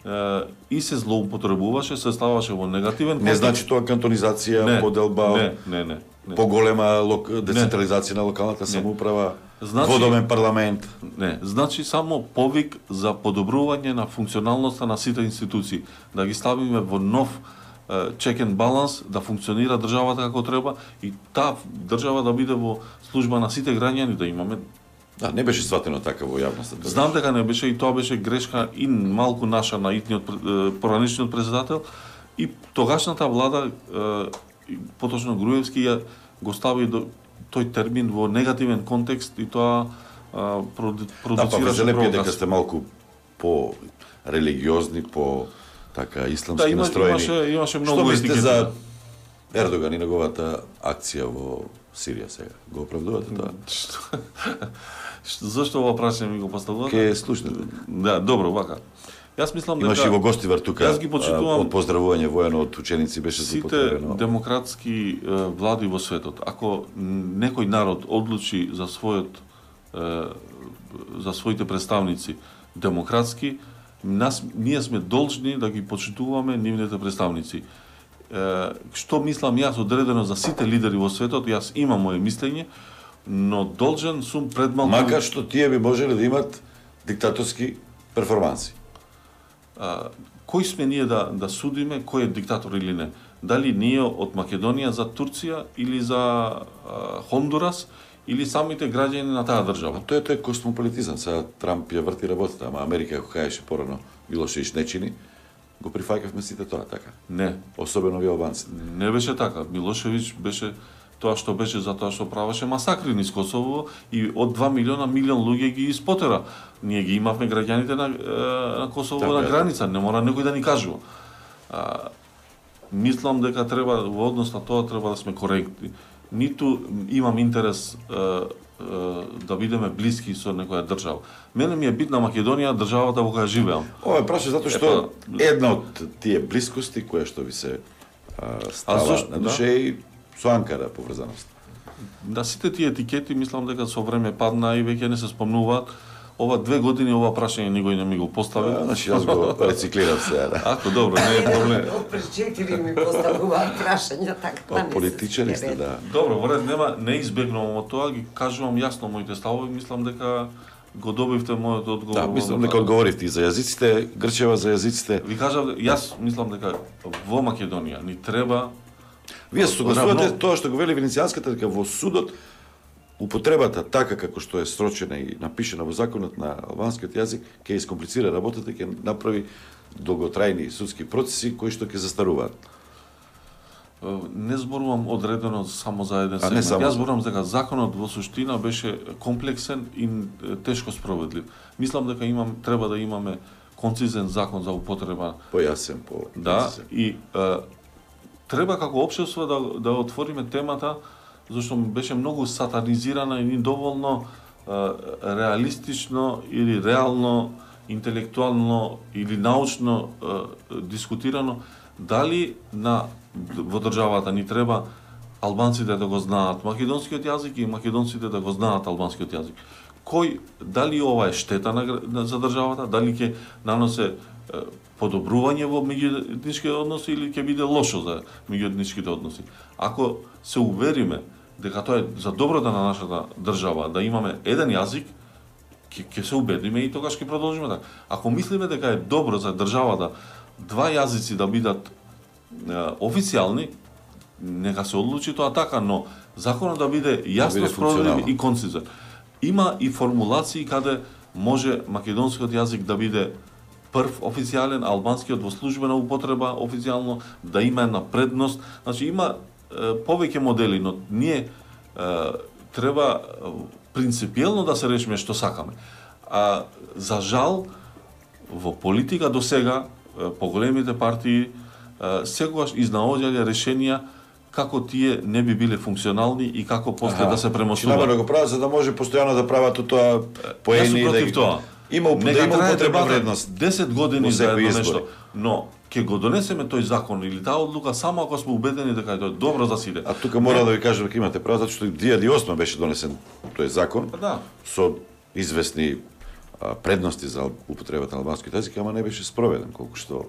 S3: е, и се злоупотребуваше, се ставаше во негативен контекст.
S2: Не значи тоа кантонизација,
S3: не,
S2: поделба,
S3: не, не, не, не.
S2: поголема лок... децентрализација на локалната самоуправа, значи, водомен парламент.
S3: Не, значи само повик за подобрување на функционалноста на сите институции, да ги ставиме во нов check and balance, да функционира државата како треба и таа држава да биде во служба на сите граѓани, да имаме.
S2: Да, не беше сватено така во јавноста.
S3: Знам дека не беше и тоа беше грешка и малку наша на итниот поранешниот председател и тогашната влада, поточно Груевски, ја го стави до тој термин во негативен контекст и тоа продуцираше
S2: да, па
S3: провокација.
S2: дека сте малку по религиозни, по така исламски
S3: да, има,
S2: настроени.
S3: Имаше, имаше многу
S2: што мислите
S3: етикети
S2: за Ердоган и неговата акција во Сирија сега? Го оправдувате тоа?
S3: Зошто ова прашање ми го поставувате?
S2: Ке слушнете.
S3: Да, добро, вака. Јас мислам дека
S2: имаше и во гостивар тука.
S3: Јас ги почитувам
S2: од поздравување воено од ученици беше
S3: злоупотребено. Сите демократски е, влади во светот, ако некој народ одлучи за својот е, за своите представници демократски, нас ние сме должни да ги почитуваме нивните представници. Е, што мислам јас одредено за сите лидери во светот, јас имам моје мислење, но должен сум пред малку...
S2: Макар што тие би можеле да имат диктаторски перформанси.
S3: А, кој сме ние да, да судиме кој е диктатор или не? Дали ние од Македонија за Турција или за а, Хондурас или самите граѓани на таа држава?
S2: Тоа е тој космополитизам. Сега Трамп ја врти работата, ама Америка, ако кажеше порано Милошевиќ не чини, го прифаќавме сите тоа, така?
S3: Не.
S2: Особено ви албанците.
S3: Не беше така. Милошевиќ беше тоа што беше за тоа што правеше масакри низ Косово и од два милиона милион луѓе ги испотера. Ние ги имавме граѓаните на, на Косово така, на граница, не мора некој да ни кажува. А, мислам дека треба во однос на тоа треба да сме коректни. Ниту имам интерес а, а, да бидеме блиски со некоја држава. Мене ми е битна Македонија, државата во која живеам.
S2: Ова е праша затоа што Епа, една од тие блискости која што ви се а, става зашто, на душе да? И со Анкара поврзаност.
S3: Да, сите тие етикети мислам дека со време падна и веќе не се спомнуваат. Ова две години ова прашање никој не ми го постави.
S2: Да, значи јас го рециклирав сега. Да.
S3: Ако добро, не е проблем.
S1: Пред четири ми поставуваат прашања, така па не.
S2: Политичари сте, да.
S3: Добро, во ред, нема, не избегнувам од тоа, ги кажувам јасно моите ставови, мислам дека го добивте мојот одговор.
S2: Да, мислам дека одговоривте и за јазиците, Грчева за јазиците.
S3: Ви кажав, јас мислам дека во Македонија ни треба.
S2: Вие се согласувате тоа што го вели Венецијанската, дека во судот употребата така како што е срочена и напишена во законот на албанскиот јазик ќе искомплицира работата, ќе направи долготрајни судски процеси кои што ќе застаруваат.
S3: Не зборувам одредено само за еден сегмент. Јас зборувам дека законот во суштина беше комплексен и тешко спроведлив. Мислам дека имам треба да имаме концизен закон за употреба.
S2: Појасен, по
S3: да, и е, треба како општество да да отвориме темата, зашто беше многу сатанизирана и недоволно е, реалистично или реално, интелектуално или научно е, дискутирано дали на во државата ни треба албанците да го знаат македонскиот јазик и македонците да го знаат албанскиот јазик. Кој, дали ова е штета на, за државата, дали ќе наносе е, подобрување во меѓуетничките односи или ќе биде лошо за меѓуетничките односи. Ако се увериме дека тоа е за доброто на нашата држава, да имаме еден јазик, ќе ќе се убедиме и тогаш ќе продолжиме така. Ако мислиме дека е добро за државата два јазици да бидат е, официјални, нека се одлучи тоа така, но законот да биде јасно
S2: биде
S3: спроведен и концизен. Има и формулации каде може македонскиот јазик да биде прв официјален, албанскиот во службена употреба официјално, да има една предност. Значи има е, повеќе модели, но ние е, треба принципиелно да се решиме што сакаме. А за жал во политика до сега поголемите партии секогаш изнаоѓале решенија како тие не би биле функционални и како после
S2: Аха.
S3: да се премостуваат.
S2: Намерно го прават за да може постојано да прават тоа поени.
S3: Јас сум против
S2: да...
S3: тоа.
S2: Има, да има употребна вредност.
S3: десет години за едно
S2: избори.
S3: нешто. Но ќе го донесеме тој закон или таа одлука само ако сме убедени дека е тоа добро за сите.
S2: А тука мора да ви кажам дека имате право, затоа што две илјади и осма беше донесен тој закон.
S3: Да.
S2: Со известни а, предности за употребата на албанскиот јазик, ама не беше спроведен, колку што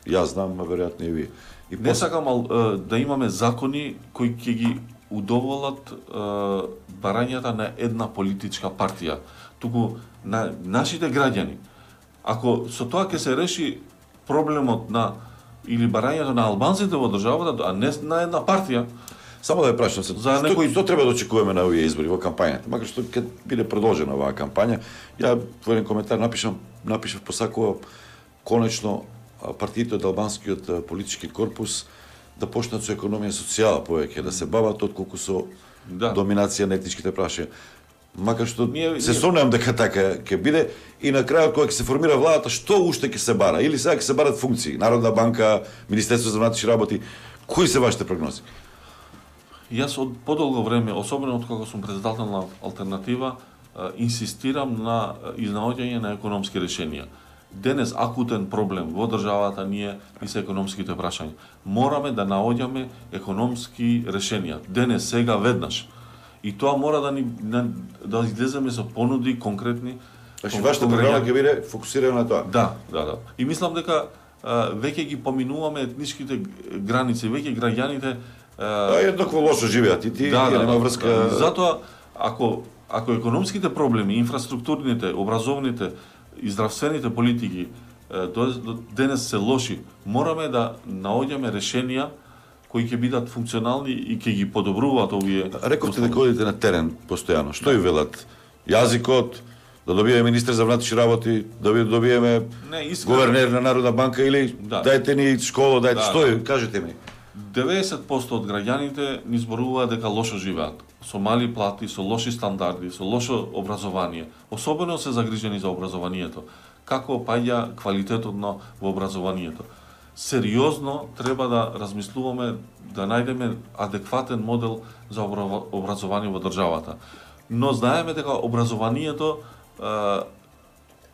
S2: јас знам, а веројатно и вие. И
S3: Не сакам ал, е, да имаме закони кои ќе ги удоволат е, барањата на една политичка партија. Туку на нашите граѓани, ако со тоа ќе се реши проблемот на или барањето на албанците во државата, а не на една партија.
S2: Само да ја прашам се,
S3: за
S2: што,
S3: некој...
S2: што треба да очекуваме на овие избори во кампањата? Макар што ќе биде продолжена оваа кампања, ја во еден коментар напишам, напишав посакувам конечно партиите од албанскиот политички корпус да почнат со економија социјала повеќе, да се бават отколку со
S3: да.
S2: доминација на етничките прашања. Макар што
S3: ние,
S2: се
S3: ние...
S2: сомневам дека така ќе биде и на крајот кога ќе се формира владата, што уште ќе се бара? Или сега ќе се барат функции? Народна банка, Министерство за внатрешни работи, кои се вашите прогнози?
S3: Јас од подолго време, особено од кога сум председател на Алтернатива, инсистирам на изнаоѓање на економски решенија. Денес акутен проблем во државата ние и се економските прашања. Мораме да наоѓаме економски решенија. Денес, сега, веднаш. И тоа мора да ни да излеземе со понуди конкретни.
S2: Значи вашата програма ќе биде фокусирана на тоа.
S3: Да, да, да. И мислам дека а, веќе ги поминуваме етничките граници, веќе граѓаните
S2: а еднакво лошо живеат и ти
S3: да, да,
S2: нема
S3: да,
S2: врска.
S3: Да. Затоа ако ако економските проблеми, инфраструктурните, образовните и здравствените политики до, до денес се лоши, мораме да наоѓаме решенија кои ќе бидат функционални и ќе ги подобруваат овие.
S2: Рековте дека одите на терен постојано. Што ви велат? Јазикот, да добиеме министер за внатрешни работи, да добиеме
S3: не, искрено...
S2: гувернер на Народна банка или да. Дајте ни школа, дајте да, што е, кажете ми.
S3: деветдесет проценти од граѓаните ни зборуваат дека лошо живеат, со мали плати, со лоши стандарди, со лошо образование. Особено се загрижени за образованието. Како паѓа квалитетот на во образованието. Сериозно треба да размислуваме да најдеме адекватен модел за образование во државата. Но знаеме дека образованието е,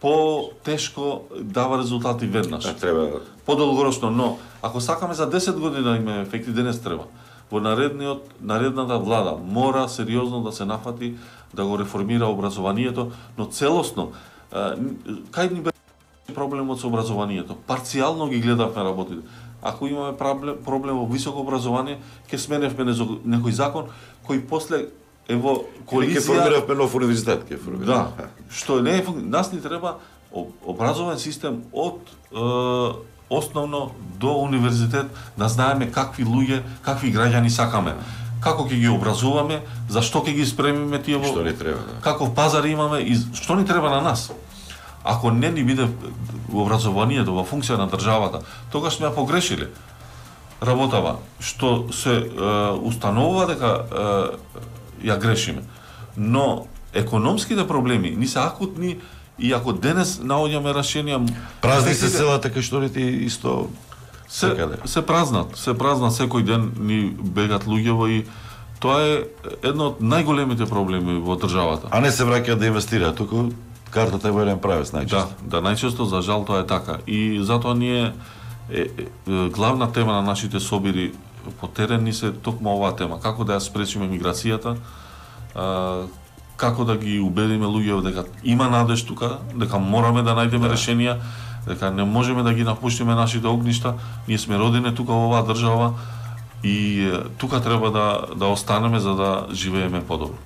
S3: по-тешко дава резултати веднаш.
S2: Да, треба
S3: подолгорочно, но ако сакаме за десет години да имаме ефекти, денес треба. Во наредниот наредната влада мора сериозно да се нафати да го реформира образованието, но целосно кај ни беше проблемот со образованието? Парцијално ги гледавме работите. Ако имаме проблем, проблем во високо образование, ќе сменевме некој закон кој после е во коалиција...
S2: Ќе формиравме нов универзитет, ќе формиравме.
S3: Да, што не е... Нас ни треба образовен систем од е, основно до универзитет, да знаеме какви луѓе, какви граѓани сакаме. Како ќе ги образуваме, зашто ќе ги спремиме тие во...
S2: Што ни треба, да.
S3: Каков пазар имаме и што ни треба на нас. Ако не ни биде во образованието, во функција на државата, тогаш сме ја погрешиле работава, што се е, установува дека е, ја грешиме. Но економските проблеми ни се акутни и ако денес наоѓаме решенија...
S2: Празни се селата кај што ти исто...
S3: Се, се празнат, се празнат секој ден ни бегат луѓево и тоа е едно од најголемите проблеми во државата.
S2: А не се враќаат да инвестираат, туку картата е во еден правец најчесто.
S3: Да, да, најчесто за жал тоа е така. И затоа ние е, е, главна тема на нашите собири по терен ни се токму оваа тема, како да ја спречиме миграцијата, а, како да ги убедиме луѓето дека има надеж тука, дека мораме да најдеме да. решенија, дека не можеме да ги напуштиме нашите огништа, ние сме родени тука во оваа држава и е, тука треба да да останеме за да живееме подобро.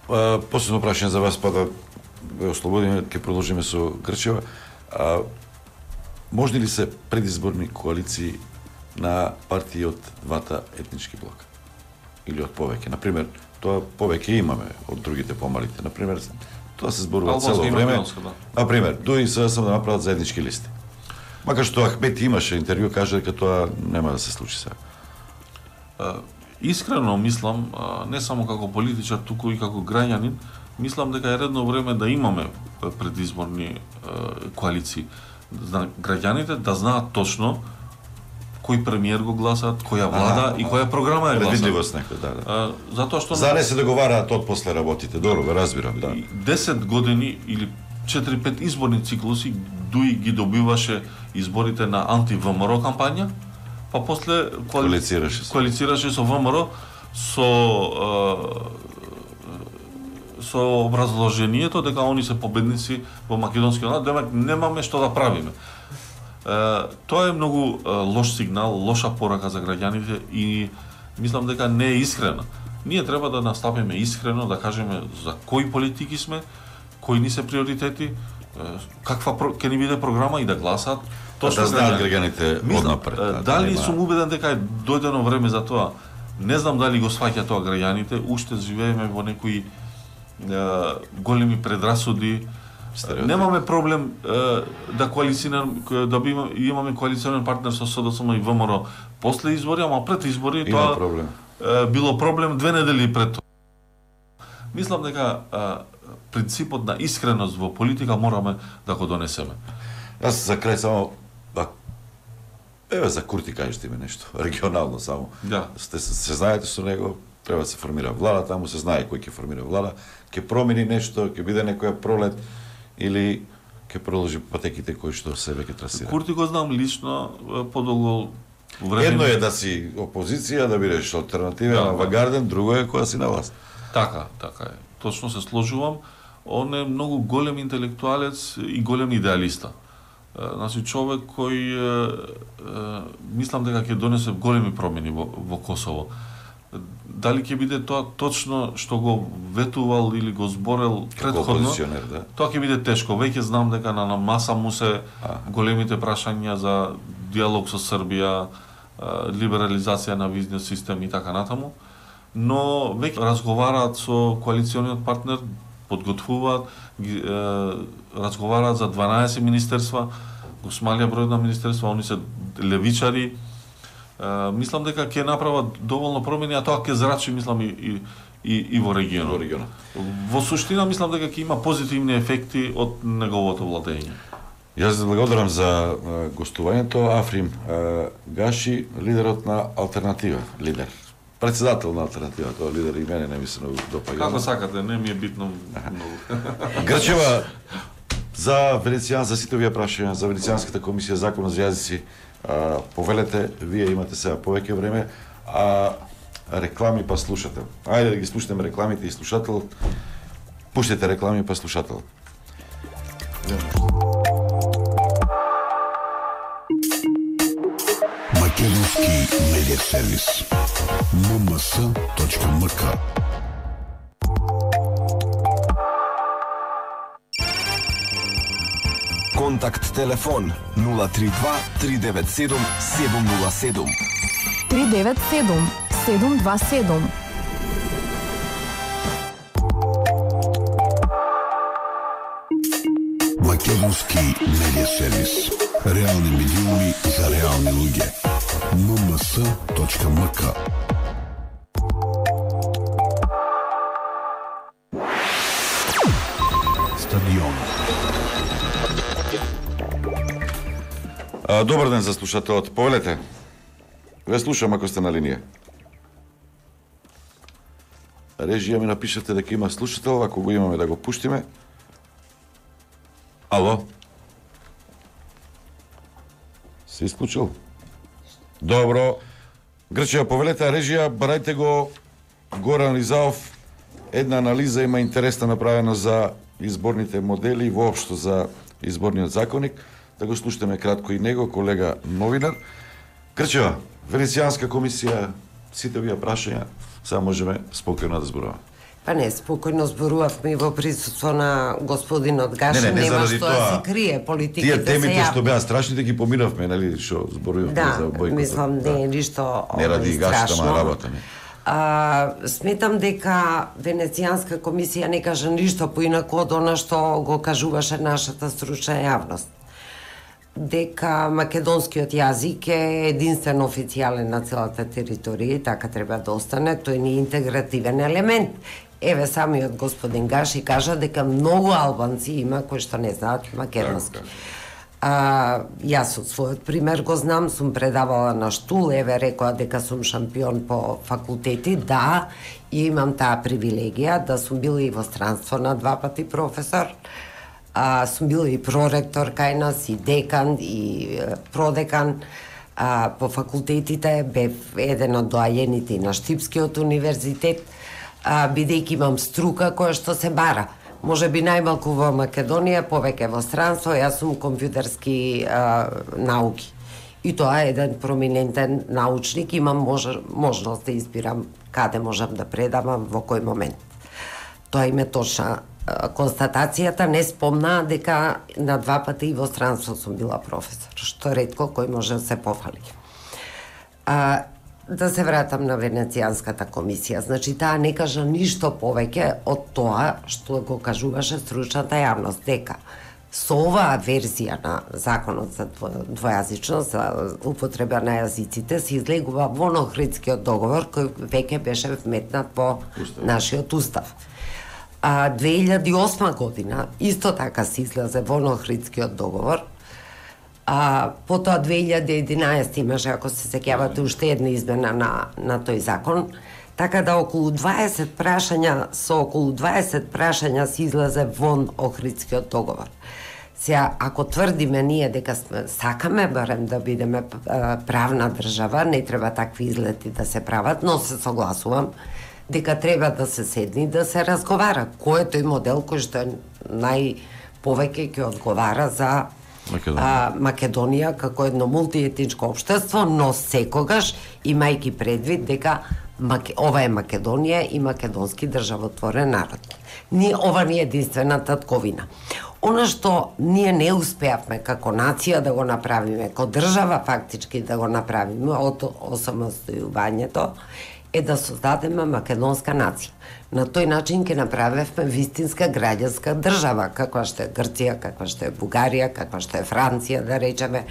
S2: А, последно прашање за вас, па да ве ослободиме, ќе продолжиме со Грчева. А, можни ли се предизборни коалиции на партии од двата етнички блока или од повеќе. Например, тоа повеќе имаме од другите помалите. Например, тоа се зборува цело време. Да. Например, дури се сам да направат заеднички листи. Макар што Ахмет имаше интервју, каже дека тоа нема да се случи сега.
S3: Искрено мислам, не само како политичар, туку и како граѓанин, мислам дека е редно време да имаме предизборни коалиции. Граѓаните да знаат точно кој премиер го гласат, која влада а, и која програма е гласат.
S2: Предвидливост некој, да, да.
S3: Затоа што
S2: за не се договараат од после работите. Добро, го разбирам, да.
S3: десет години или четири-пет изборни циклуси дуи ги добиваше изборите на анти-ВМРО кампања, па после коали...
S2: коалицираше,
S3: коалицираше со ВМРО со со образложението дека они се победници во македонскиот народ, демек немаме што да правиме. Тоа е многу лош сигнал, лоша порака за граѓаните и мислам дека не е искрена. Ние треба да настапиме искрено, да кажеме за кои политики сме, кои ни се приоритети, каква ќе ни биде програма и да гласат.
S2: Точно да знаат граѓаните однапред. Да,
S3: дали да сум убеден дека е дојдено време за тоа? Не знам дали го сваќа тоа граѓаните, уште живееме во некои големи предрасуди. Стереотип. Немаме проблем е, да коалицираме, да би имаме коалиционен партнер со СДСМ и ВМРО после избори, ама пред избори
S2: има
S3: тоа
S2: проблем.
S3: Е, било проблем две недели пред тоа. Мислам дека е, принципот на искреност во политика мораме да го донесеме.
S2: Јас за крај само да еве за Курти кажете ми нешто, регионално само.
S3: Да.
S2: Сте се, се знаете со него, треба да се формира влада, таму се знае кој ќе формира влада, ќе промени нешто, ќе биде некоја пролет или ќе продолжи патеките кои што себе ќе трасира.
S3: Курти го знам лично подолго време.
S2: Едно е да си опозиција, да бидеш алтернативен, да, авангарден, друго е кога си на власт.
S3: Така, така е. Точно се сложувам. Он е многу голем интелектуалец и голем идеалиста. Значи човек кој е, е, мислам дека ќе донесе големи промени во, во Косово. Дали ќе биде тоа точно што го ветувал или го зборел претходно,
S2: да.
S3: Тоа ќе биде тешко. Веќе знам дека на, на маса му се а. големите прашања за диалог со Србија, либерализација на визниот систем и така натаму, но веќе разговараат со коалициониот партнер, подготвуваат, ги, е, разговараат за дванаесет министерства, го смалија бројот на министерства, они се левичари. Uh, мислам дека ќе направат доволно промени, а тоа ќе зрачи, мислам, и, и, и, и во регионот.
S2: Во регионот.
S3: Во суштина, мислам дека ќе има позитивни ефекти од неговото владење.
S2: Јас благодарам за uh, гостувањето. Африм uh, Гаши, лидерот на Алтернатива, лидер. Председател на Алтернатива, тоа лидер и мене не ми се многу допаѓа.
S3: Како сакате, не ми е битно многу.
S2: Грчева, за Венецијан, за сите овие прашања, за Венецијанската комисија, законот за јазици, А, повелете, вие имате сега повеќе време, а реклами па слушател. Ајде да ги слушнеме рекламите и слушател. Пуштете реклами па слушател.
S5: Македонски медиа сервис ем ем ес точка ем ка.
S11: Контакт телефон нула три два три девет седум седум нула седум.
S7: три девет седум седум два седум.
S5: Македонски медиа сервис. Реални медиуми за реални луѓе. ем ем ес точка ем ка. Стадион.
S2: А, добар ден за слушателот. Повелете. Ве слушам ако сте на линија. Режија ми напишете дека има слушател, ако го имаме да го пуштиме. Ало? Се исклучил? Добро. Грчија, повелете, режија, барајте го Горан Ризаов. Една анализа има интересна направена за изборните модели и воопшто за изборниот законник. Да го слушаме кратко и него, колега новинар. Грчева, Венецијанска комисија, сите овие прашања, сега можеме спокојно да зборуваме.
S1: Па не, спокојно зборувавме и во присуство на господинот Гаши,
S2: не, не, не,
S1: нема
S2: заради
S1: што
S2: тоа,
S1: да се крие, политиките се
S2: Тие темите
S1: јавни.
S2: што беа страшните ги помиравме, нели, што зборувавме
S1: Да,
S2: за бојкотот.
S1: мислам, не е ништо
S2: Не ради
S1: овој
S2: Гаши,
S1: страшно.
S2: тама работа, не.
S1: А, сметам дека Венецијанска комисија не кажа ништо поинако од она што го кажуваше нашата стручна јавност. Дека македонскиот јазик е единствен официјален на целата територија и така треба да остане, тој не е интегративен елемент. Еве самиот господин Гаши кажа дека многу албанци има кои што не знаат македонски. А, јас од својот пример го знам, сум предавала на штул, еве рекоа дека сум шампион по факултети, да, и имам таа привилегија да сум била и во странство на два пати професор, а, сум била и проректор кај нас, и декан, и е, продекан, а, по факултетите, бев еден од доајените и на Штипскиот универзитет, а, бидејќи имам струка која што се бара. Може би најмалку во Македонија, повеќе во странство, јас сум компјутерски а, науки. И тоа е еден проминентен научник, имам мож, можност да избирам каде можам да предавам, во кој момент. Тоа им е точна а, констатацијата, не спомнаа дека на два пати и во странство сум била професор, што ретко кој може да се пофали. А, Да се вратам на Венецијанската комисија. Значи, таа не кажа ништо повеќе од тоа што го кажуваше стручната јавност, дека со оваа верзија на законот за двојазичност, за употреба на јазиците, се излегува во Охридскиот договор, кој веќе беше вметнат во Устав. Нашиот устав. А две илјади и осма година исто така се излезе во Охридскиот договор. А потоа две илјади и единаесета имаше, ако се сеќавате, уште една измена на, на тој закон, така да околу дваесет прашања, со околу дваесет прашања се излезе вон Охридскиот договор. Сега, ако тврдиме ние дека сме, сакаме барем да бидеме правна држава, не треба такви излети да се прават, но се согласувам дека треба да се седни и да се разговара. Кој е тој модел кој што е најповеќе ќе одговара за Македонија. А, Македонија како едно мултиетничко општество, но секогаш имајќи предвид дека Маке... ова е Македонија и македонски државотворен народ. Ние, ова не е единствената тковина. Она што ние не успеавме како нација да го направиме, како држава фактички да го направиме од осамостојувањето, е да создадеме македонска нација. На тој начин ќе направевме вистинска граѓанска држава, каква што е Грција, каква што е Бугарија, каква што е Франција, да речеме,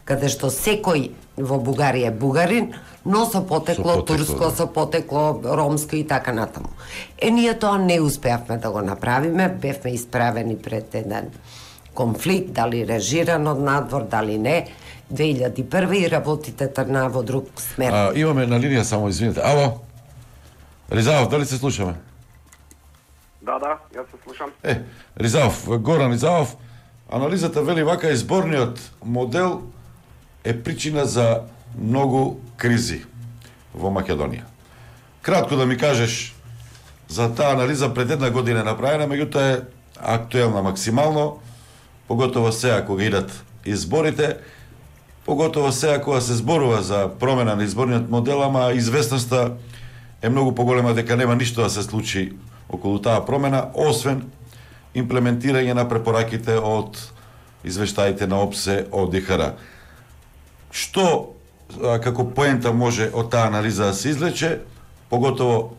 S1: каде што секој во Бугарија е бугарин, но со потекло, со потекло турско, да. Со потекло ромско и така натаму. Е, ние тоа не успеавме да го направиме, бевме исправени пред еден конфликт, дали режиран од надвор, дали не, две илјади и прва и работите тргнаа во друг смер.
S2: А, имаме на линија, само извините. Ало? Ризаов, дали се слушаме?
S17: Да, да, јас се слушам.
S2: Е, Ризаов, Горан Ризаов, анализата вели вака, изборниот модел е причина за многу кризи во Македонија. Кратко да ми кажеш за таа анализа, пред една година е направена, меѓутоа е актуелна максимално, поготово сега кога идат изборите, поготово сега кога се зборува за промена на изборниот модел, ама известноста е многу поголема дека нема ништо да се случи околу таа промена, освен имплементирање на препораките од извештаите на ОПСЕ од ДХР. Што како поента може од таа анализа да се извлече, поготово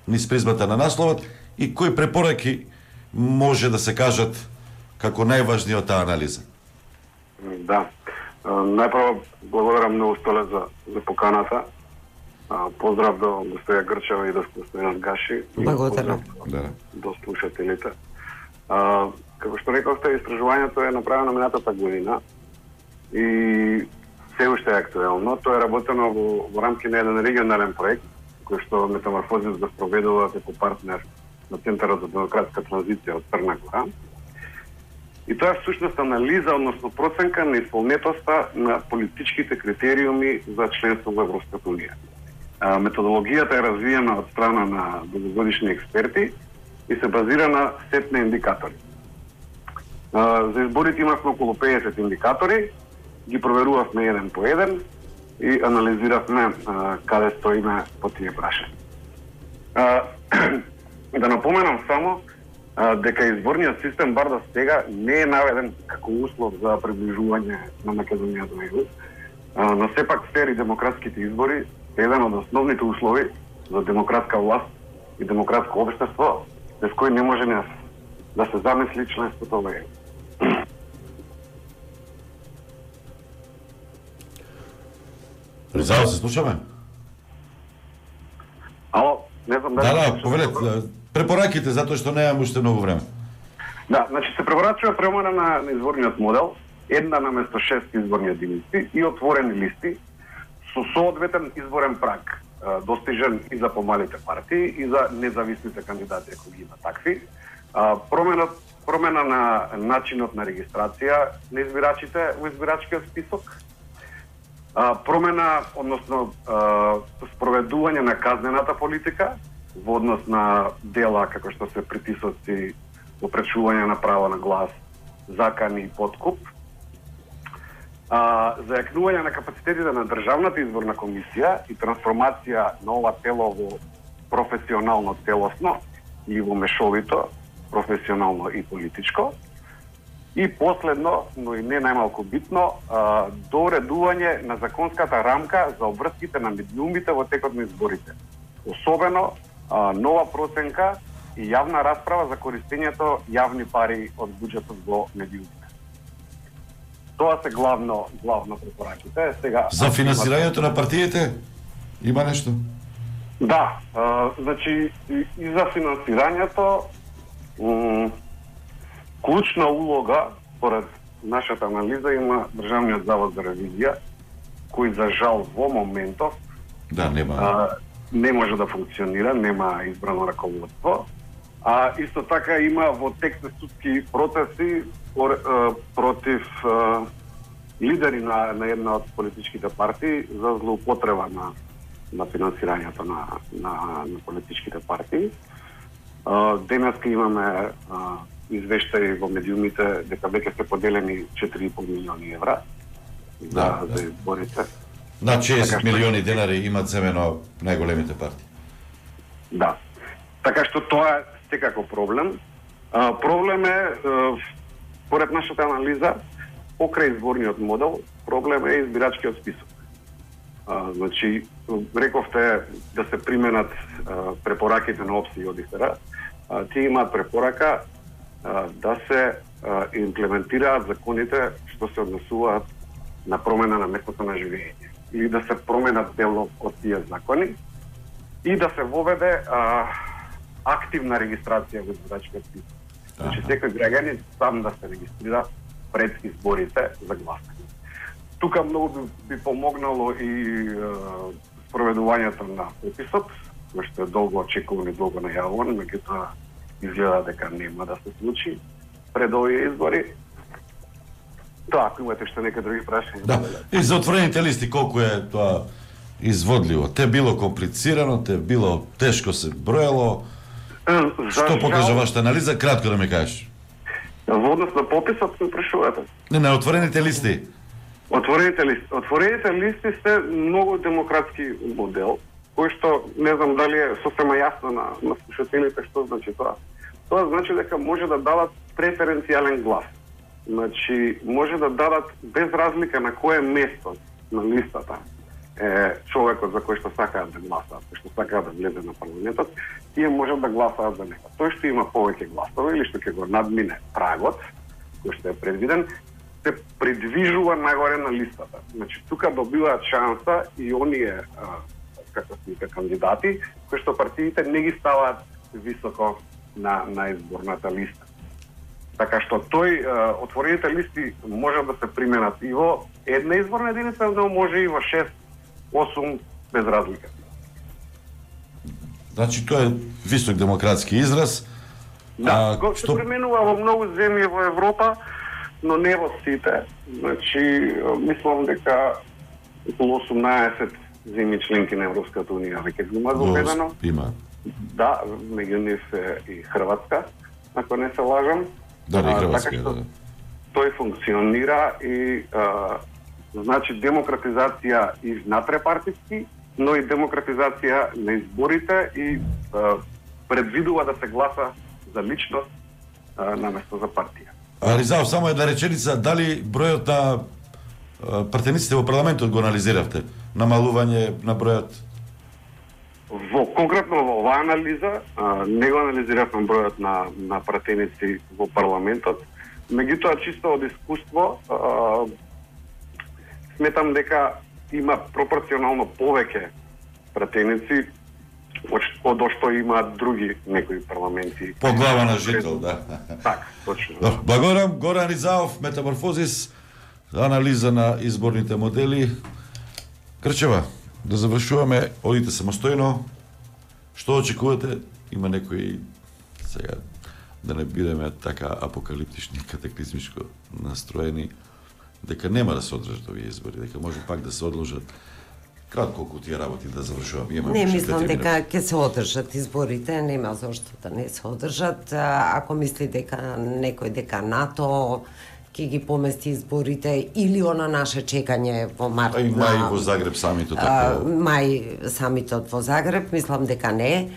S2: низ призмата на насловот, и кои препораки може да се кажат како најважни од таа анализа?
S17: Да. Најпрво благодарам многу Столе за, за поканата. Поздрав до гостоја Грчева и до господинот Гаши.
S1: Благодарам.
S17: Да. До слушателите. А, како што рековте, истражувањето е направено минатата година и се уште е актуелно. Тоа е работено во, во рамки на еден регионален проект, кој што Метаморфозис го спроведува како партнер на Центарот за демократска транзиција од Црна Гора. И тоа е всушност анализа, односно проценка на исполнетоста на политичките критериуми за членство во Европската унија. А, методологијата е развиена од страна на дългогодишни експерти и се базира на сет на индикатори. А, за изборите имавме околу педесет индикатори, ги проверувавме еден по еден и анализиравме а, каде стоиме по тие прашања. Да напоменам само а, дека изборниот систем бар до сега не е наведен како услов за приближување на Македонија до Е У, а, но сепак фер и демократските избори е еден од основните услови за демократска власт и демократско општество, без кој не може не да се замисли членството во Е У.
S2: Ризао, се слушаме?
S17: Ало, не знам дали...
S2: Да, да, повелете, препораките, затоа што немам уште многу време.
S17: Да, значи се препорачува промена на, на изборниот модел, една наместо шест изборни единици и отворени листи со соодветен изборен праг, достижен и за помалите партии и за независните кандидати, ако ги има такви. Промена, промена на начинот на регистрација на избирачите во избирачкиот список, промена, односно спроведување на казнената политика во однос на дела како што се притисоци, опречување на право на глас, закани и подкуп, а, зајакнување на капацитетите на Државната изборна комисија и трансформација на ова тело во професионално целосно или во мешовито, професионално и политичко. И последно, но и не најмалку битно, а, доуредување на законската рамка за обврските на медиумите во текот на изборите. Особено а, нова проценка и јавна расправа за користењето јавни пари од буџетот во медиумите. Тоа се главно главно препораките. Сега
S2: За финансирањето на партиите има нешто?
S17: Да, а, значи и, и за финансирањето м, клучна улога, според нашата анализа, има Државниот завод за ревизија, кој за жал во моментов
S2: да, нема.
S17: А, не може да функционира, нема избрано раководство. А исто така има во тек на судски процеси против а, лидери на, на една од политичките партии за злоупотреба на, на финансирањето на, на, на политичките партии. А, денеска имаме а, извештаи во медиумите дека веќе се поделени четири и пол милиони евра за,
S2: да,
S17: за изборите.
S2: На шест
S17: така
S2: милиони денари имат земено најголемите партии.
S17: Да. Така што тоа е секако проблем. А, проблем е, а, поред нашата анализа, покрај изборниот модел, проблем е избирачкиот список. А, значи, рековте да се применат а, препораките на ОПСИ и ОДИХР, а, тие имаат препорака а, да се а, имплементираат законите што се однесуваат на промена на местото на живење или да се променат дел од тие закони и да се воведе а, активна регистрација во избирачкиот список. Значи секој граѓанин сам да се регистрира пред изборите за гласање. Тука многу би, би помогнало и е, спроведувањето на пописот, кој што е долго очекуван и долго најавуван, меѓутоа изгледа дека нема да се случи пред овие избори. Тоа, ако имате што нека други прашања.
S2: Да. И за отворените листи колку е тоа изводливо? Те било комплицирано, те било тешко се броело. Што покажа вашата анализа? Кратко да ми кажеш.
S17: Во однос на пописот се прашувате?
S2: Не, на отворените листи.
S17: Отворените листи. Отворените листи се многу демократски модел, кој што не знам дали е сосема јасно на, на слушателите што значи тоа. Тоа значи дека може да дадат преференцијален глас. Значи, може да дадат без разлика на кое место на листата е човекот за кој што сакаат да гласаат, кој што сакаат да влезе на парламентот, тие можат да гласаат за него. Тој што има повеќе гласови или што ќе го надмине прагот, кој што е предвиден, се придвижува нагоре на листата. Значи, тука добиваат шанса и оние а, како се кандидати, кои што партиите не ги ставаат високо на, на изборната листа. Така што тој, отворените листи може да се применат и во една изборна единица, но може и во шест осум без разлика.
S2: Значи тоа е висок демократски израз.
S17: Да, го се што... применува во многу земји во Европа, но не во сите. Значи, мислам дека околу осумнаесет земји членки на Европската унија веќе го има заведено.
S2: Има.
S17: Да, меѓу нив е и Хрватска, ако не се лажам.
S2: Да, и Хрватска,
S17: така што,
S2: да.
S17: Тој функционира и а, значи демократизација и внатре партиски, но и демократизација на изборите и а, предвидува да се гласа за личност наместо за партија.
S2: А Ризаов, само една реченица, дали бројот на пратениците во парламентот го анализиравте? Намалување на бројот?
S17: Во конкретно во оваа анализа не го анализиравме бројот на на пратеници во парламентот, меѓутоа чисто од искуство сметам дека има пропорционално повеќе пратеници од што имаат други некои парламенти.
S2: По глава на жител, да.
S17: Така, точно.
S2: Благодарам, Горан Ризаов, Метаморфозис, анализа на изборните модели. Крчева, да завршуваме, одите самостојно. Што очекувате? Има некои, сега, да не бидеме така апокалиптични, катаклизмичко настроени, дека нема да се одржат овие избори, дека може пак да се одложат. Кратко колку тие работи да завршувам.
S1: Не мислам дека ќе се одржат изборите, нема зошто да не се одржат. Ако мисли дека некој дека НАТО ќе ги помести изборите или она наше чекање во март.
S2: А и мај на, во Загреб самитот така.
S1: Мај самитот во Загреб, мислам дека не.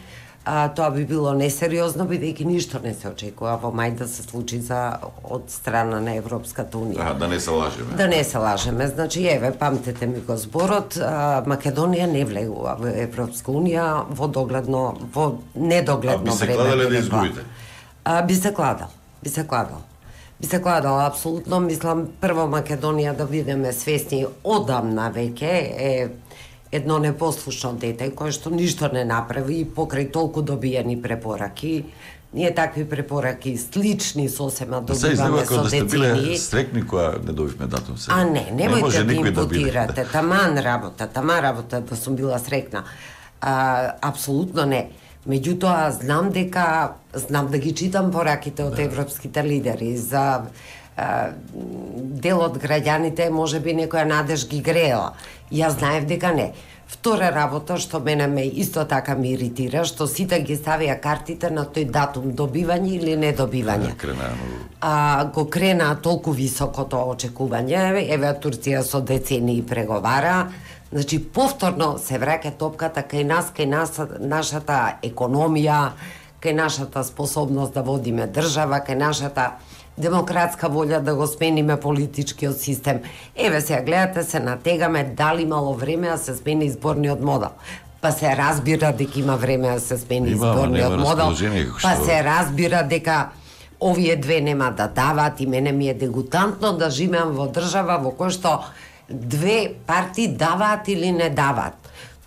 S1: А, тоа би било несериозно, бидејќи ништо не се очекува во мај да се случи за од страна на Европската унија.
S2: А, да не се лажеме.
S1: Да не се лажеме. Значи, еве, памтете ми го зборот, а, Македонија не влегува во Европска унија во догледно, во недогледно време.
S2: А би се кладале да изгубите?
S1: А, би се кладал. Би се кладал. Би се кладал, апсолутно. Мислам, прво Македонија да бидеме свесни одамна веќе е едно непослушно дете кое што ништо не направи и покрај толку добиени препораки. Ние такви препораки слични сосема добиваме со
S2: децени. Да сте биле стрекни кога не добивме датум се.
S1: А не, немојте да импутирате.
S2: Да
S1: таман работа, таман работа да сум била срекна. А, апсолутно не. Меѓутоа, знам дека, знам да ги читам пораките од да. Европските лидери за а, дел од граѓаните, може би некоја надеж ги греела. Јас знаев дека не. Втора работа што мене ме исто така ми иритира, што сите ги ставија картите на тој датум добивање или недобивање. А, го крена толку високо тоа очекување, еве Турција со децении преговара, значи повторно се враќа топката кај нас, кај нас, нашата економија, кај нашата способност да водиме држава, кај нашата демократска волја да го смениме политичкиот систем. Еве сега гледате, се натегаме дали имало време да се смени изборниот модел. Па се разбира дека има време да се смени има, изборниот модел. Па се разбира дека овие две нема да дават и мене ми е дегутантно да живеам во држава во која што две партии даваат или не даваат.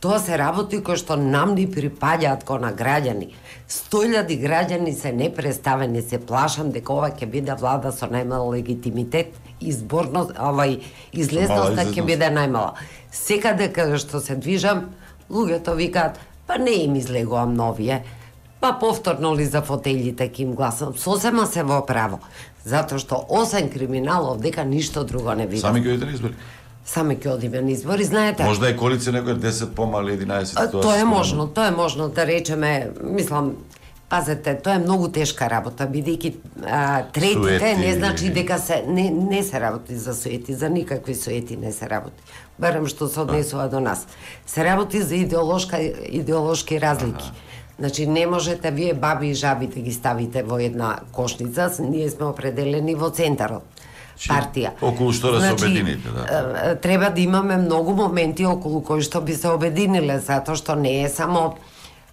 S1: Тоа се работи кои што нам ни припаѓаат ко на граѓани. сто илјади граѓани се непреставени, се плашам дека ова ќе биде влада со најмал легитимитет, изборно, овај излезноста ќе биде најмала. Секаде каде што се движам, луѓето викаат, па не им излегувам новие, па повторно ли за фотелите ќе им гласам. Сосема се во право, затоа што осем криминалов дека ништо друго не видам.
S2: Сами ќе одите на избори?
S1: Сами ќе одиме на избори, знаете.
S2: Можда е коалиција некој десет помали, единаесет.
S1: Тоа, тоа е можно, тоа е можно да речеме, мислам, пазете, тоа е многу тешка работа, бидејќи третите суети, не значи дека се не не се работи за суети, за никакви суети не се работи. Барем што се однесува до нас. Се работи за идеолошка идеолошки разлики. Ага. Значи не можете вие баби и жаби да ги ставите во една кошница, ние сме определени во центарот. Партија.
S2: Околу што да се значи, обедините, да.
S1: Треба да имаме многу моменти околу кои што би се обединиле, затоа што не е само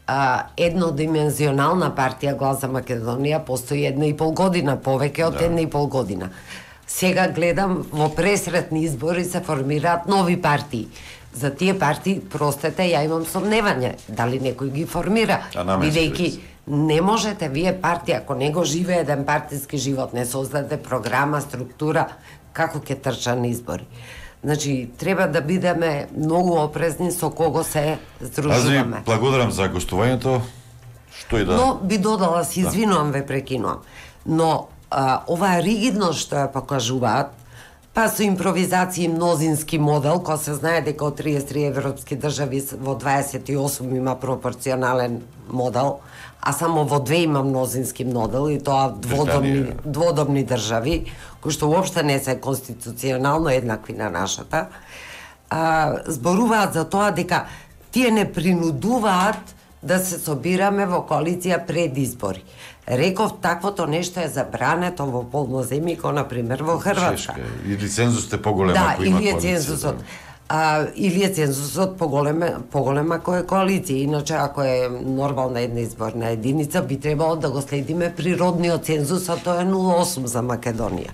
S1: а, еднодимензионална партија Глас за Македонија, постои една и пол година, повеќе од да. една и пол година. Сега гледам во пресретни избори се формираат нови партии. За тие партии, простете, ја имам сомневање дали некој ги формира, бидејќи не можете вие партија, ако не го живее еден партиски живот, не создаде програма, структура, како ќе трча на избори. Значи, треба да бидеме многу опрезни со кого се здружуваме.
S2: Аз ви благодарам за гостувањето. Што и да...
S1: Но би додала, се извинувам, ве прекинувам. Но а, оваа ригидност што ја покажуваат, па со импровизација и мнозински модел, кој се знае дека од триесет и три европски држави во дваесет и осум има пропорционален модел, а само во две има мнозински модел и тоа дводомни, дводомни држави, кои што уопште не се конституционално еднакви на нашата, а, зборуваат за тоа дека тие не принудуваат да се собираме во коалиција пред избори. Реков, таквото нешто е забрането во полноземје, како например во Хрватска.
S2: Чешка. Или цензусот е поголем
S1: да,
S2: ако има
S1: или е
S2: коалиција.
S1: цензусот. А, или е цензусот поголема, поголема ако е коалиција. Иначе, ако е нормална една изборна единица, би требало да го следиме природниот цензус, а тоа е нула целу осум за Македонија.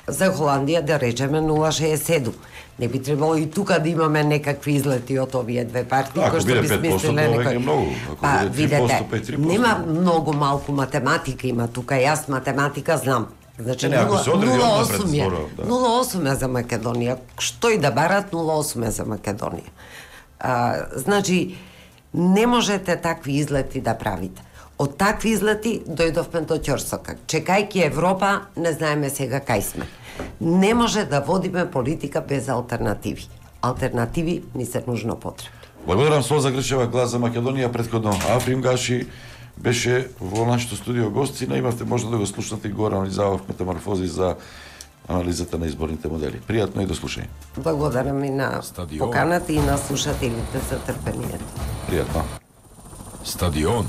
S1: За Холандија, да речеме, нула целу шеесет и седум. Не би требало и тука да имаме некакви излети од овие две партии,
S2: Ако
S1: кои што
S2: биде
S1: би
S2: пет проценти,
S1: смислиле
S2: тоа
S1: некој...
S2: е многу. Ако
S1: Па,
S2: биде три проценти,
S1: видете,
S2: па и три проценти.
S1: нема многу малку математика има тука, јас математика знам. Значи,
S2: Не, ако се одреди
S1: нула целу
S2: однапред
S1: осум е.
S2: зборот, да.
S1: нула целу осум е за Македонија. Што и да барат, нула целу осум е за Македонија. А, значи, не можете такви излети да правите. Од такви излети дојдовме до ќорсокак. Чекајќи Европа, не знаеме сега кај сме. Не може да водиме политика без алтернативи. Алтернативи ни се нужно потребни.
S2: Благодарам Солза Грчева, Глас за Македонија, претходно Африм Гаши беше во нашето студио гостина. Имавте можност да го слушнете и горе анализавав метаморфози за анализата на изборните модели. Пријатно и до слушање.
S1: Благодарам и на
S11: Стадион.
S1: поканата и на слушателите за трпението.
S2: Пријатно.
S11: Стадион.